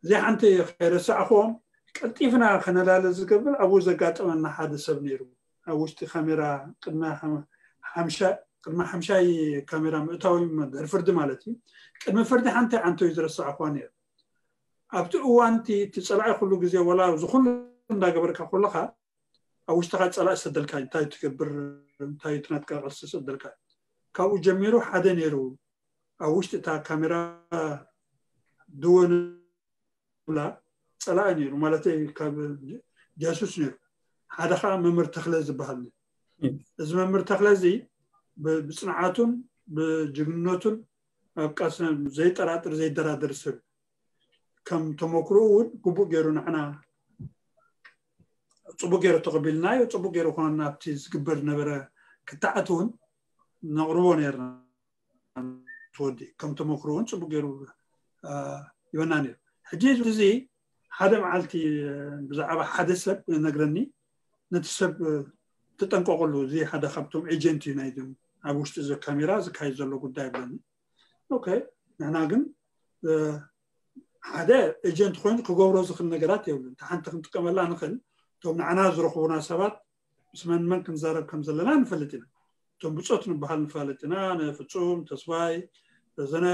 እዚ ሓንቲ ከይረሳዕኹዎም ቀልጢፍና ከነላለ ዝገብር ኣብኡ ዘጋጠመና ሓደ ሰብ ነይሩ። ኣብ ውሽጢ ካሜራ ቅድሚ ሓምሻ ቅድሚ ሓምሻይ ካሜራ ምእታዊ ድሕሪ ፍርዲ ማለት እዩ። ቅድሚ ፍርዲ ሓንቲ ዓንቶ እዩ ዝረሳዕኹዋ ነይሩ። ኣብቲ እዋንቲ እቲ ፀላኢ ኩሉ ግዜ ወላ ዝኩሉ እንዳገበርካ ከለካ ኣብ ውሽጥካ ፀላኢ ሰደልካ እንታይ ትገብር እንታይ ትናትካ ቅርሲ ሰደልካ ካብኡ ጀሚሩ ሓደ ነይሩ ኣብ ውሽጢ እታ ካሜራ ድወ ንብላ ፀላኢ ነይሩ ማለተይ ካብ ጃሱስ ነይሩ። ሓደ ከዓ መምህር ተክለ ዝበሃል ነይሩ። እዚ መምህር ተክለ እዚ ብፅንዓቱን ብጅግንነቱን ኣብ ቃልስና ዘይጠራጥር ዘይደራደር ሰብ ከም ተመክሮኡ እውን ግቡእ ገይሩ ንዓና ፅቡቅ ገይሩ ተቀቢልናዮ ፅቡቅ ገይሩ ኮነ ናብቲ ዝግበር ዝነበረ ክትዓት እውን ነቅርቦ ነርና። ትወዲ ከም ተመክሮ እውን ፅቡቅ ገይሩ ይበና ነይሩ። ሕጂ እዚ ሓደ መዓልቲ ብዛዕባ ሓደ ሰብ ነግረኒ ነቲ ሰብ ትጠንቀቀሉ እዚ ሓደ ካብቶም ኤጀንት እዩ ናይዞም ኣብ ውሽጢ እዚ ካሜራ ዝካየድ ዘሎ ጉዳይ ብለኒ። ኦኬ ንሕና ግን ሓደ ኤጀንት ኮይኑ ክገብሮ ዝኽእል ነገራት የብሉን። እታ ሓንቲ ክንጥቀመላ ንኽእል እቶም ንዓና ዝረኽቡና ሰባት ምስ መን መን ክንዛረብ ከም ዘለና ንፈልጥ ኢና። እቶም ብፆት ንበሃል ንፋለጥ ኢና። ንፍፁም ተስፋይ፣ ረዘነ፣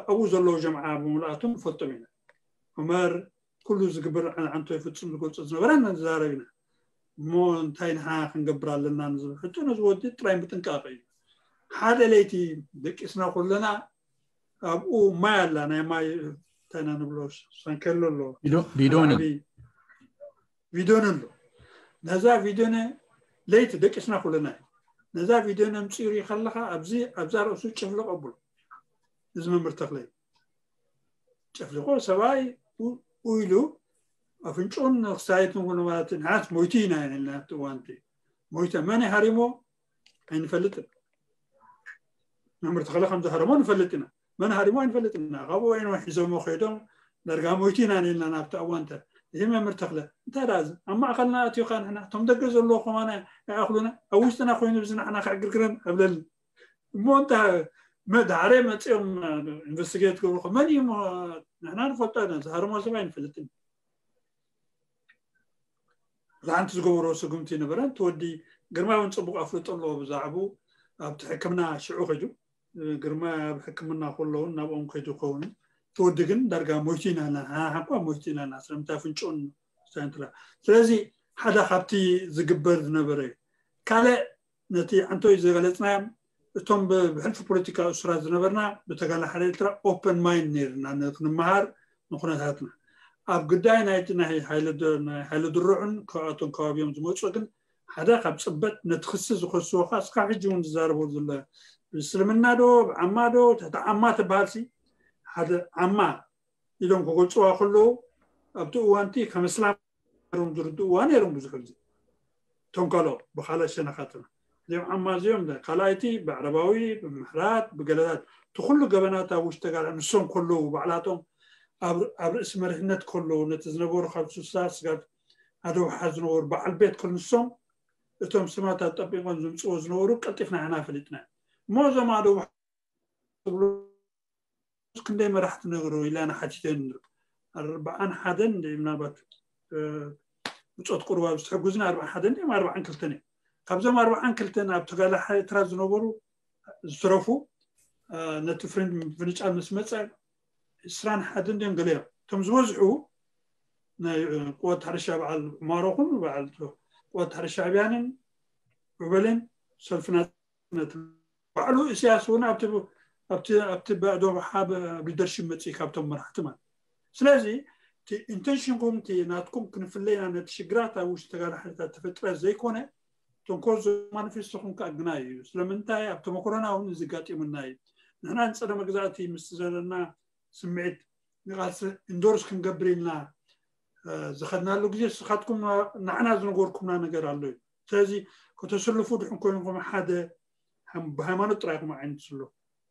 ኣብኡ ዘለዉ ጀምዓ ብምልኣቶም ንፈልጦም ኢና። ዑመር ኩሉ ዝግበር ዓንቶ ይፍፅም ዝገልፆ ዝነበረ ንዛረብ ኢና። እሞ እንታይ ንሓ ክንገብር ኣለና ንዝብል ሕቶ ነዚ ወዲ ጥራይ ምጥንቃቕ እዩ። ሓደ ለይቲ ደቂስና ኩለና ኣብኡ ማይ ኣላ ናይ ማይ እንታይ ኢና ንብሎ ሳንከሎ ኣሎ ቢዶን ኣሎ። ነዛ ቪድዮነ ለይቲ ደቂስና ኩለና እዩ። ነዛ ቪድዮ ነምፅኡ ርኢ ከለኻ ኣብዚ ኣብዛ ርእሱ ጨፍልቆ ኣብሎ። እዚ መምህር ተኽለ ጨፍልቆ ሰብኣይ ኢሉ ኣፍንጭኡን ክሳየትን ኩሉ ማለት ንሓስ ሞይቱ ኢና ኢልና ኣብቲ እዋንቲ ሞይተ መን ሃሪሞ ኣይንፈልጥን። መምህር ተኽለ ከም ዝሃረሞ ንፈልጥ ኢና። መን ሃሪሞ ኣይንፈልጥ ኢና። ካብኡ ወይኖ ሒዞሞ ከይዶም ዳርጋ ሞይቱ ኢና ኢልና ናብቲ እዋንተ እዚ መምህር ተኽለ እንታይ ደኣ ኣብ ማእኸልና ኣትዮካ ንሕና እቶም ደገ ዘለዎ ከማና ይኣኽሉና ኣብ ውሽጥና ኮይኑ ብዚ ንሕና ክዕግርግረን ኣብለል እሞ እንተ መድሓረ መፅኦም ኢንቨስቲጌት ገብሩ መን እዩ ንሕና ንፈልጦ ኢና ዝሃርሞ ሰብ ኣይንፈልጥን። ዝሓንቲ ዝገበሮ ስጉምቲ ነበረ። እቲ ወዲ ግርማ እውን ፅቡቅ ኣፍልጦ ኣለዎ ብዛዕቡ ኣብቲ ሕክምና ሽዑ ከይዱ ግርማ ኣብ ሕክምና ከለውን ናብኦም ከይዱ ከውን እቲ ወዲ ግን ዳርጋ ሞይቱ ኢና ሓኳ ሞይቱ ኢና ስለምንታይ ፍንጭኡን ስታይንትላ ስለዚ ሓደ ካብቲ ዝግበር ዝነበረ እዩ። ካልእ ነቲ ዓንቶይ ዝገለፅናዮም እቶም ብሕልፊ ፖለቲካ እሱራት ዝነበርና ብተጋላ ሓደ ኤርትራ ኦፐን ማይንድ ነርና ክንመሃር ንኩነታትና ኣብ ጉዳይ ናይቲ ናይ ሓይለ ድርዑን ካብኣቶም ከባቢኦም ዝመፁ ግን ሓደ ካብ ፅበት ነቲ ክሲ ዝኸስዎ ከዓ እስካ ሕጂ እውን ዝዛረቦ ዘሎ ብእስልምና ዶ ብዓማ ዶ ትሕቲ ዓማ ትበሃል ሲ ሓደ ዓማ ኢሎም ክገልፅዋ ከለዉ ኣብቲ እዋንቲ ከም እስላም ሮም ዝርድእዋ ነይሮም ብዙሕ ግዜ እቶም ካልኦ ብካልእ ሸነኻትና እዚኦም ዓማ እዚኦም ካልኣይቲ ብዕረባዊ ብምሕራት ብገለታት እቲ ኩሉ ገበናት ኣብ ውሽጢ ተጋር ንሶም ከለዉ ባዕላቶም ኣብ ርእሲ መሪሕነት ከለዉ ነቲ ዝነበሩ ካብ ሱሳ ስጋብ ኣደውሓ ዝነበሩ በዓል ቤት ከል ንሶም እቶም ስማት ኣጠቢቆም ዝምፅዎ ዝነበሩ ቀልጢፍና ኢና ፈሊጥና እሞ እዞም ኣደውሓ ክንደይ መራሕቲ ነግሩ ኢላ ንሓቲተን ኣርባዓን ሓደን ምናልባት ብፆት ቁርባ ዝተሕጉዝና ኣርባዓን ሓደን እዮም ኣርባዓን ክልተን እዮም ካብዞም ኣርባዓን ክልተን ኣብ ተጋላ ኤርትራ ዝነበሩ ዝትረፉ ነቲ ፍሬንድ ምፍንጫል ምስ መፀ ዕስራን ሓደን ድዮም ገለ እዮም እቶም ዝበዝሑ ናይ ቅወት ሕርሻ በዓል ዑማሮ ኹን በዓል ቅወት ሕርሻ ኣብያንን ዑበልን ሰልፍና ባዕሉ ኢሳያስ እውን ኣብቲ ኣብቲ ኣብቲ ባዕዶ ሓብ ኣብ ሊደርሽፕ መፅእ ካብቶም መራሕቲ ማለት ስለዚ ኢንቴንሽንኩም እቲ ናትኩም ክንፍለይና ነቲ ሽግራት ኣብ ውሽጢ ተጋዳሓሪታት ተፈጥረ ዘይኮነ ተንኮል ማኒፌስቶኹም ከኣ ግና እዩ ስለምንታይ ኣብ ተመክሮና እውን እዚ ጋጢሙና እዩ ንሕና ንፀረ መግዛእቲ ምስ ዘለና ስምዒት ንቃልሲ ኢንዶርስ ክንገብር ኢልና ዝኸድናሉ ግዜ ስኻትኩም ንዓና ዝነገርኩምና ነገር ኣሎ እዩ ስለዚ ከተሰልፉ ድሕን ኮይንኩም ሓደ ብሃይማኖት ጥራይ ኢኹም ዓይነት ስሎ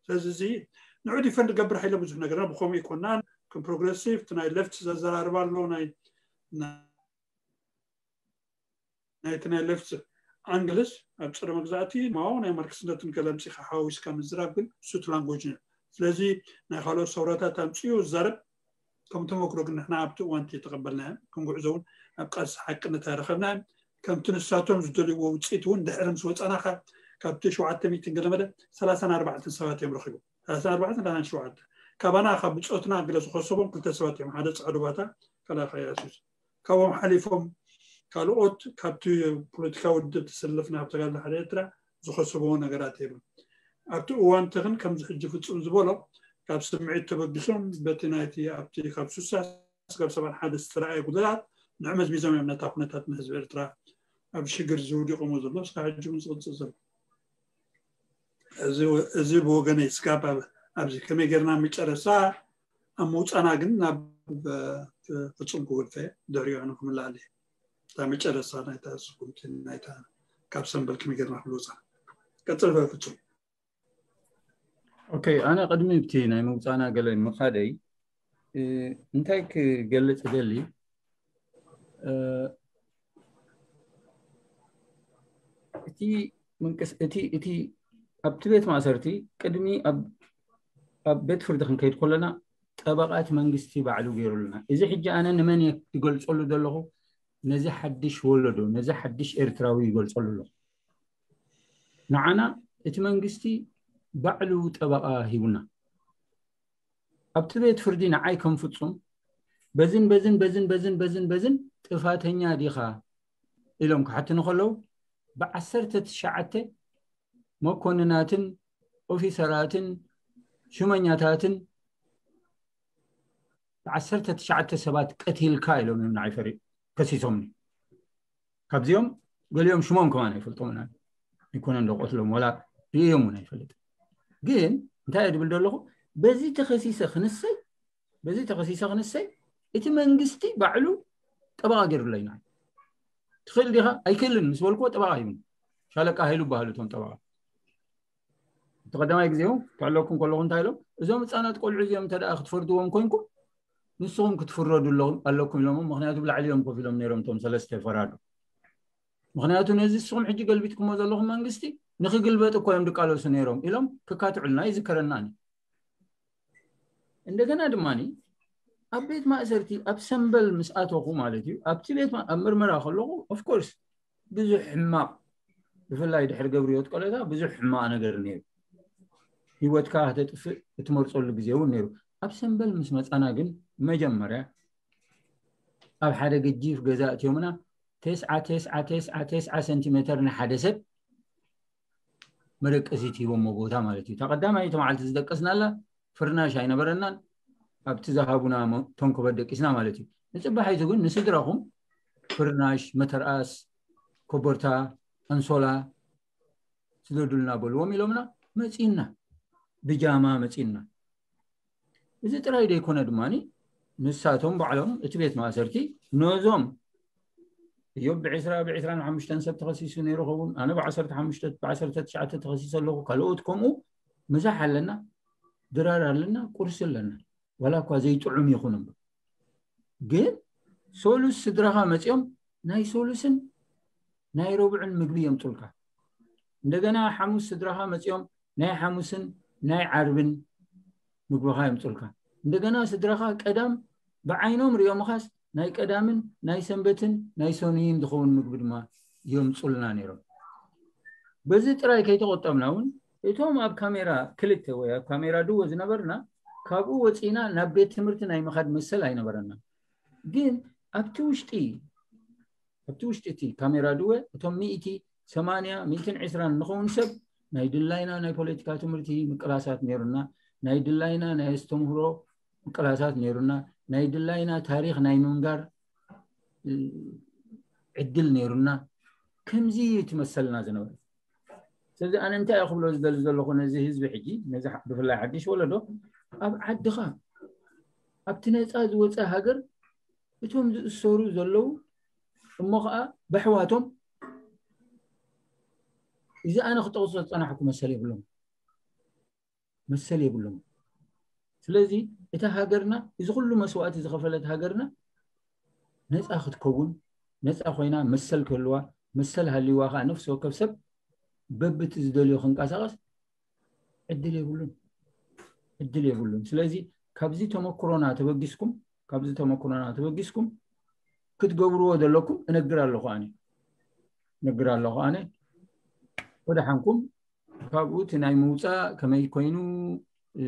ስለዚ እዚ ንዑ ዲፈንድ ገብር ሓይለ ብዙሕ ነገርና ብከምኡ ይኮናን ከም ፕሮግረሲቭ ናይ ሌፍት ዘዘራርባ ኣሎ ናይ ናይቲ ናይ ሌፍት ኣንግልስ ኣብ ፀረ መግዛእቲ ማው ናይ ማርክስነትን ገለምፂ ሓዋዊስካ ምዝራብ ግን ሱት ላንጎጅ እዩ ስለዚ ናይ ካልኦት ሰውራታት ኣምፅኡ ዝዛረብ ከም ተመክሮ ግን ንሕና ኣብቲ እዋንቲ ተቐበልናዮ ከም ጉዕዞ እውን ኣብ ቃልሲ ሓቅነት ኣይረኸብናዮ ከምቲ ንሳቶም ዝደልይዎ ውፅኢት እውን ድሕሪ ምስ ወፃና ካብቲ ሸውዓተ ሚእትን ገለመለ ሰላሳን ኣርባዕተን ሰባት እዮም ረኺቦም ሰላሳን ኣርባዕተን ሰላሳን ሸውዓተ ካባና ካብ ብፆትና ገለ ዝኸሰቦም ክልተ ሰባት እዮም ሓደ ፃዕዱ ባታ ካልኣይ ከኣ ኣሱስ ካብኦም ሓሊፎም ካልኦት ካብቲ ፖለቲካዊ ውድብ ተሰለፍና ኣብ ተጋድሎ ሓደ ኤርትራ ዝኸሰብዎ ነገራት የብሉን ኣብቲ እዋን ተኽን ከምዚ ሕጂ ፍፁም ዝበሎ ካብ ስምዒት ተበጊሶም በቲ ናይቲ ኣብቲ ካብ ሱሳ ስጋብ ሰብዓን ሓደ ዝተረኣየ ጉድላት ንዑ መዝሚዞም እዮም ነታ ኩነታት ንህዝቢ ኤርትራ ኣብ ሽግር ዝውዲቆሞ ዘሎ እስካ ሕጂ እውን ዝቕፅል ዘሎ እዚ ብወገነይ ስጋብ ኣብዚ ከመይ ጌርና መጨረሳ ኣብ ምውፃና ግን ናብ ፍፁም ክወድፈ ድሕሪኡ ንክምላል እየ እታ መጨረሳ ናይታ ስጉምቲ ናይታ ካብ ሰንበል ከመይ ጌርና ክልውፃ ቀፅል ፍፁም ኦኬ ኣነ ቅድሚ ብቲ ናይ ምውፃና ገለ ምኻደይ እንታይ ክገልፅ ደሊ እቲ ምንቅስ እቲ እቲ ኣብቲ ቤት ማእሰርቲ ቅድሚ ኣብ ቤት ፍርዲ ክንከይድ ከለና ጠበቓ እቲ መንግስቲ ባዕሉ ገይሩልና እዚ ሕጂ ኣነ ንመን ይገልፀሉ ዘለኹ ነዚ ሓድሽ ወለዶ ነዚ ሓድሽ ኤርትራዊ ይገልፀሉ ኣለኹ ንዓና እቲ መንግስቲ ባዕሉ ጠበቓ ሂቡና ኣብቲ ቤት ፍርዲ ንዓይ ከም ፍጹም በዝን በዝን በዝን በዝን በዝን በዝን ጥፋተኛ ዲኻ ኢሎም ክሓትኒ ከለዉ ብዓሰርተ ትሽዓተ መኮንናትን ኦፊሰራትን ሹመኛታትን ብዓሰርተ ትሽዓተ ሰባት ቀቲልካ ኢሎም እዮም ንዓይ ፈሪ ከሲሶምኒ ካብዚኦም ገሊኦም ሽሞም ከማን ኣይፈልጦምን ኣይኮነን ዶ ቀትሎም፣ ዋላ ርእዮም እውን ኣይፈልጥ። ግን እንታይ እየ ድብል ዘለኹ? በዚ ተኸሲሰ ክንሰይ በዚ ተኸሲሰ ክንሰይ እቲ መንግስቲ ባዕሉ ጠበቓ ገይሩለይና። ትኽእል ዲኻ? ኣይክእልን ምስ በልኩዎ ጠበቓ ይብሉ። ሻለቃ ሃይሉ በሃሉ እቶም ጠበቓ። እቲ ቀዳማይ ግዜ እውን ክዕለኩም ከለኹ እንታይ ኢሎም? እዞም ህፃናት ቆልዑ እዚኦም እንተ ደኣ ክትፈርድዎም ኮንኩም ንስኹም ክትፍረዱ ኣለኹም ኢሎም። ምክንያቱ ብላዕሊ እዮም ኮፍ ኢሎም ነይሮም እቶም ሰለስተ ፈራዱ። ምክንያቱ ነዚ ንስኹም ሕጂ ገልቢጥኩሞ ዘለኹም መንግስቲ ንክግልበጥ እኮ እዮም ድቃለሱ ነይሮም ኢሎም ክካትዑልና ይዝከረና። እንደገና ድማ ኣብ ቤት ማእሰርቲ ኣብ ሰንበል ምስ ኣተኹ ማለት እዩ፣ ኣብቲ ቤት ማ- ኣብ ምርመራ ከለኹ ኦፍኮርስ ብዙሕ ሕማቕ፣ ብፍላይ ድሕሪ ገብርዮት ቆለታ ብዙሕ ሕማቕ ነገር ነይሩ። ህይወትካ ከተጥፍእ እትመርፀሉ ግዜ እውን ነይሩ። ኣብ ሰንበል ምስ መፃና ግን መጀመርያ ኣብ ሓደ ገጂፍ ገዛ እትዮምና ተስዓ ተስዓ ተስዓ ተስዓ ሰንቲሜተር ንሓደ ሰብ መደቀሲት ሂቦሞ ቦታ ማለት እዩ። እታ ቀዳማይቲ መዓልቲ ዝደቀስናላ ፍርናሽ ኣይነበረናን። ኣብቲ ዝሃቡና ሞ- ተንኮበት ደቂስና ማለት እዩ። ንፅባሒቱ ግን ንስድራኹም ፍርናሽ፣ መተርኣስ፣ ኮቦርታ፣ ኣንሶላ ስደዱልና በልዎም ኢሎምና መፂና ብጃማ መፂና። እዚ ጥራይ ዘይኮነ ድማ ንሳቶም ባዕሎም እቲ ቤት ማእሰርቲ ነዞም እዮብ ብዕስራ ብዕስራን ሓሙሽተን ሰብ ተኸሲሱ ነይሩ ኸውን፣ ኣነ ብዓሰርተ ሓሙሽተ ብዓሰርተ ትሽዓተ ተኸሲሰ ኣለኹ፣ ካልኦት ከምኡ ምሳሕ ኣለና፣ ድራር ኣለና፣ ቁርሲ ኣለና። ዋላ እኳ ዘይጥዑም ይኹን እምበር ግን ሶሉስ ስድራኻ መፂኦም ናይ ሶሉስን ናይ ረቡዕን ምግቢ የምፁልካ። እንደገና ሓሙስ ስድራኻ መፂኦም ናይ ሓሙስን ናይ ዓርብን ምግብኻ የምፁልካ። እንደገና ስድራኻ ቀዳም ብዓይኖም ሪኦምኻስ ናይ ቀዳምን ናይ ሰንበትን ናይ ሰኑይን ዝኸውን ምግቢ ድማ የምፁልና ነይሮም። በዚ ጥራይ ከይተቆጠብና እውን እቶም ኣብ ካሜራ ክልተ ወይ ኣብ ካሜራ ድወ ዝነበርና ካብኡ ወፂና ናብ ቤት ትምህርቲ ናይ ምኻድ መሰል ኣይነበረና። ግን ኣብቲ ውሽጢ ኣብቲ ውሽጢ እቲ ካሜራ ድወ እቶም ሚእቲ ሰማንያ ሚእትን ዕስራን ንኸውን ሰብ ናይ ድላይና ናይ ፖለቲካ ትምህርቲ ምቅላሳት ነይሩና፣ ናይ ድላይና ናይ ኣስተምህሮ ምቅላሳት ነይሩና፣ ናይ ድላይና ታሪኽ ናይ ምንጋር እ፣ ዕድል ነይሩና። ከምዚ እዩ ትመሰልና ዝነበረ። ስለዚ ኣነ እንታይ እየ ክብሎ ዝደሊ ዘለኹ ነዚ ህዝቢ ሕጂ፣ ነዚ ሓ- ብፍላይ ሓድሽ ወለዶ ኣብ ዓድኻ ኣብቲ ነፃ ዝወፀ ሃገር እቶም ዝእሰሩ ዘለዉ እሞ ከዓ በሕዋቶም እዚ ኣነ ክጠቕሶ ዝፀናሕኩ መሰል የብሎም መሰል የብሎም። ስለዚ እታ ሃገርና እዚ ኩሉ መስዋእቲ ዝኸፈለት ሃገርና ነፃ ክትከውን ነፃ ኮይና መሰል ክህልዋ መሰል ሃልይዋ ከዓ ነፍሲ ወከፍ ሰብ በብቲ ዝደልዮ ክንቀሳቐስ ዕድል የብሉን ዕድል የብሉን። ስለዚ ካብዚ ተመክሮና ተበጊስኩም ካብዚ ተመክሮና ተበጊስኩም ክትገብርዎ ዘለኩም እነግር ኣለኹ ኣነ እነግር ኣለኹ ኣነ ወደሓንኩም ካብኡ እቲ ናይ ምውፃእ ከመይ ኮይኑ እ፣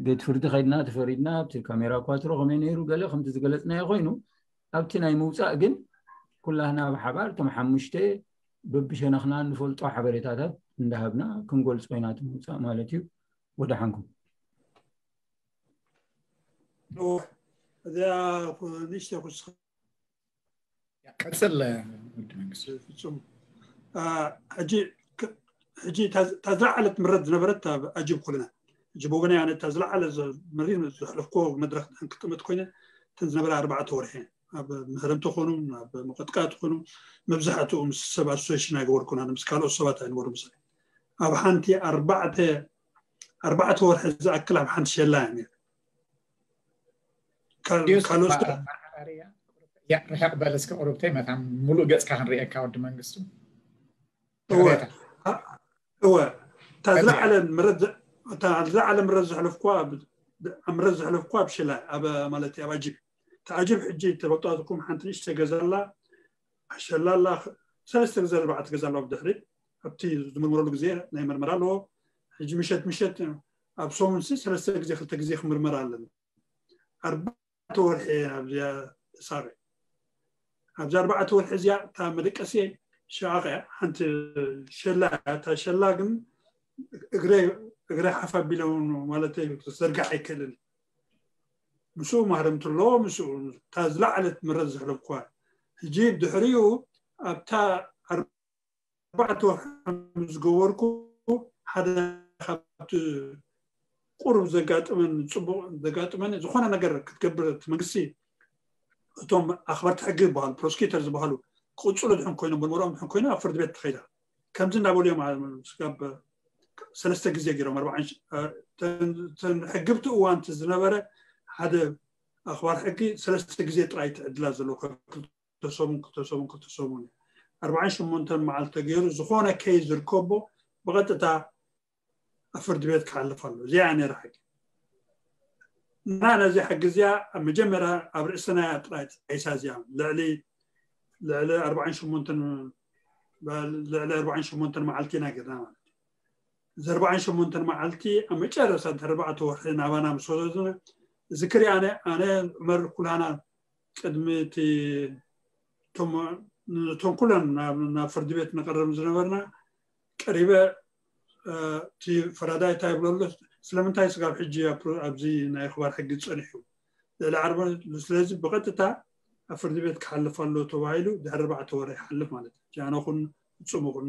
ቤት ፍርዲ ከድና ተፈሪድና ኣብቲ ካሜራ ኳትሮ ከመይ ነይሩ ገለ ከምቲ ዝገለፅናዮ ኮይኑ ኣብቲ ናይ ምውፃእ ግን ኩላህና ብሓባር እቶም ሓሙሽተ በብሸነኽና ንፈልጦ ሓበሬታታት እንዳሃብና ክንገልፆ ኢና እቲ ምውፃእ ማለት እዩ። ወደሓንኩም እዚኣ ንእሽተይ ክውስኽ ቀፅል ወዲ መንግስቱ ፍጹም ሕጂ ሕጂ እታ ዝለዓለት ምረት ዝነበረት ኣብ ኣጅብ ኩልና ሕጂ ብወገነይ ኣነ እታ ዝለዓለ መሪ ዘሕለፍኮ መድረክ ክትቅመጥ ኮይነ እተን ዝነበረ ኣርባዕተ ወርሒ ኣብ ምህረምቲ ኮኑ ኣብ መቀጥቃጥ ኮኑ መብዛሕትኡ ምስ ሰብ ኣሶሴሽን ኣይገበርኩን ኣነ ምስ ካልኦት ሰባት ኣይነበሩ ምሳሌ ኣብ ሓንቲ ኣርባዕተ ኣርባዕተ ወርሒ ዝኣክል ኣብ ሓንቲ ሸላ እየ ነይረ ካልኦት ርሕቕ በል እስከ ቁሩብተይ መታን ሙሉእ ገፅካ ክንርእየካ ወዲ መንግስቱ እወ እታ ዝለዓለ ምረት ዝሕለፍኳ ምረት ዝሕለፍኳ ኣብ ሽላ ኣብ ማለት ኣብ ኣጅብ እቲ ኣጅብ ሕጂ ተበጣትኩም ሓንቲ ንእሽተ ገዛላ ኣሸላላ ሰለስተ ግዜ ኣርባዕተ ገዛላ ብድሕሪ ኣብቲ ዝምርመረሉ ግዜ ናይ መርመራ ኣለዎ ሕጂ ምሸት ምሸት ኣብ ሰሙን ሰለስተ ግዜ ክልተ ግዜ ክምርመራ ኣለና ኣርባዕተ ወርሒ ኣብዚኣ ሳሪ ኣብዚ ኣርባዕተ ወርሒ እዚኣ እታ መደቀሲ ሸቃቕ እያ ሓንቲ ሸላ እያ እታ ሸላ ግን እግረ እግረ ሓፍ ኣቢለ ማለት ክዘርጋሕ ኣይክእልን ምስኡ ማህረምቲ ኣለዎ ምስኡ እታ ዝለዓለት ምረት ዘሕለፍኳ ሕጂ ድሕሪኡ ኣብታ ኣርባዕተ ወርሒ ዝገበርኩ ሓደ ካብቲ ቁሩብ ዘጋጥመን ጽቡቕ ዘጋጥመን ዝኾነ ነገር ክትገብር እቲ መንግስቲ እቶም ኣኽበርቲ ሕጊ ዝበሃሉ ፕሮስኪተር ዝበሃሉ ክቕጽሉ ድሕን ኮይኖም ምርመርኦም ድሕን ኮይኖም ኣብ ፍርዲ ቤት ተኸይዳ ከምዚ እንዳበሉ እዮም ስጋብ ሰለስተ ግዜ ገይሮም ኣርባዓን ተን ሕግብቲ እዋንቲ ዝነበረ ሓደ ኣኽባር ሕጊ ሰለስተ ግዜ ጥራይ ትዕድላ ዘለዎ ክልተሰሙን ክልተሰሙን ክልተሰሙን ኣርባዓን ሸሞንተን መዓልቲ ተገይሩ ዝኾነ ከይ ዝርከቦ ብቐጥታ ኣብ ፍርዲ ቤት ክሓልፍ ኣሎ። እዚኣ ነራ ሕጊ እና ነዚ ሕጊ እዚኣ ኣብ መጀመርያ ኣብ ርእስና ጥራይ ተጣይሳ እዚኣ ልዕሊ ልዕሊ ኣርባዓን ሸሞንተን ልዕሊ ኣርባዓን ሸሞንተን መዓልቲ ኢና ገርና ማለት እዩ። እዚ ኣርባዓን ሸሞንተን መዓልቲ ኣብ መጨረሻ ድሕሪ ኣርባዕተ ወርሒ ናባና ምስ ወሰዱና እዚ ክሪኣነ ኣነ ዑመር ኩላና ቅድሚ እቲ እቶም ኩለን ናብ ፍርዲ ቤት ንቐርብ ዝነበርና ቀሪበ እቲ ፈራዳይ እንታይ ይብሎ ኣሎ ስለምንታይ ስጋብ ሕጂ ኣብዚ ናይ ክባር ሕጊ ዝፀኒሑ ልዕሊ ዓርቢ ስለዚ ብቐጥታ ኣብ ፍርዲ ቤት ክሓልፍ ኣሎ ተባሂሉ ድሕሪ ኣርባዕተ ወረ ይሓልፍ ማለት እዩ ጃኖኹን ፍፁምኹን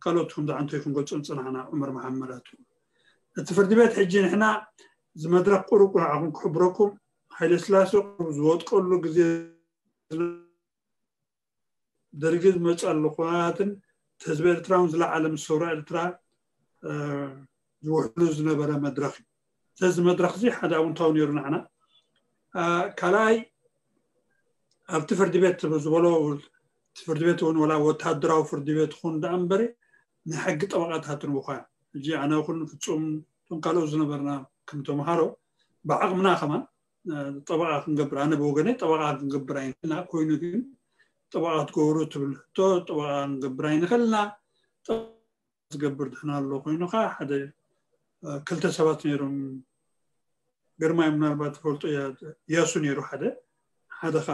ካልኦት ከም ዝዓንቶ ክንገልፆ ዝፅናሕና ዑመር መሓመዳቱ እቲ ፍርዲ ቤት ሕጂ ንሕና ዝመድረክ ቁሩብ ንዓኹም ክሕብረኩም ሃይለ ስላሴ ዝወጥቀሉ ግዜ ደርጊ ዝመፀሉ ኩነታትን ህዝቢ ኤርትራ እውን ዝለዓለ ምስ ሰውራ ኤርትራ ዝውሕሉ ዝነበረ መድረክ እዩ። ስለዚ መድረክ እዚ ሓደ ኣውንታዊ ነይሩ ንዓና። ካልኣይ ኣብቲ ፍርዲ ቤት ዝበሎ ፍርዲ ቤት እውን ወላ ወታደራዊ ፍርዲ ቤት ኹን ደኣ እምበሪ ናይ ሕጊ ጠበቃታት ንብኳ ሕጂ ኣነ ኹን ፍፁም እቶም ካልኦት ዝነበርና ከም ተምሃሮ ብዓቕምና ከማን ጠበቃ ክንገብር ኣነ ብወገነይ ጠበቃ ክንገብር ኣይንክልና ኮይኑ ግን ጠበቃ ክትገብሩ ትብል ሕቶ ጠበቃ ክንገብር ኣይንክልና ዝገብር ድሕና ኣሎ ኮይኑካ ሓደ ክልተ ሰባት ነይሮም ግርማይ ምናልባት ትፈልጦ እያሱ ነይሩ ሓደ ሓደ ካ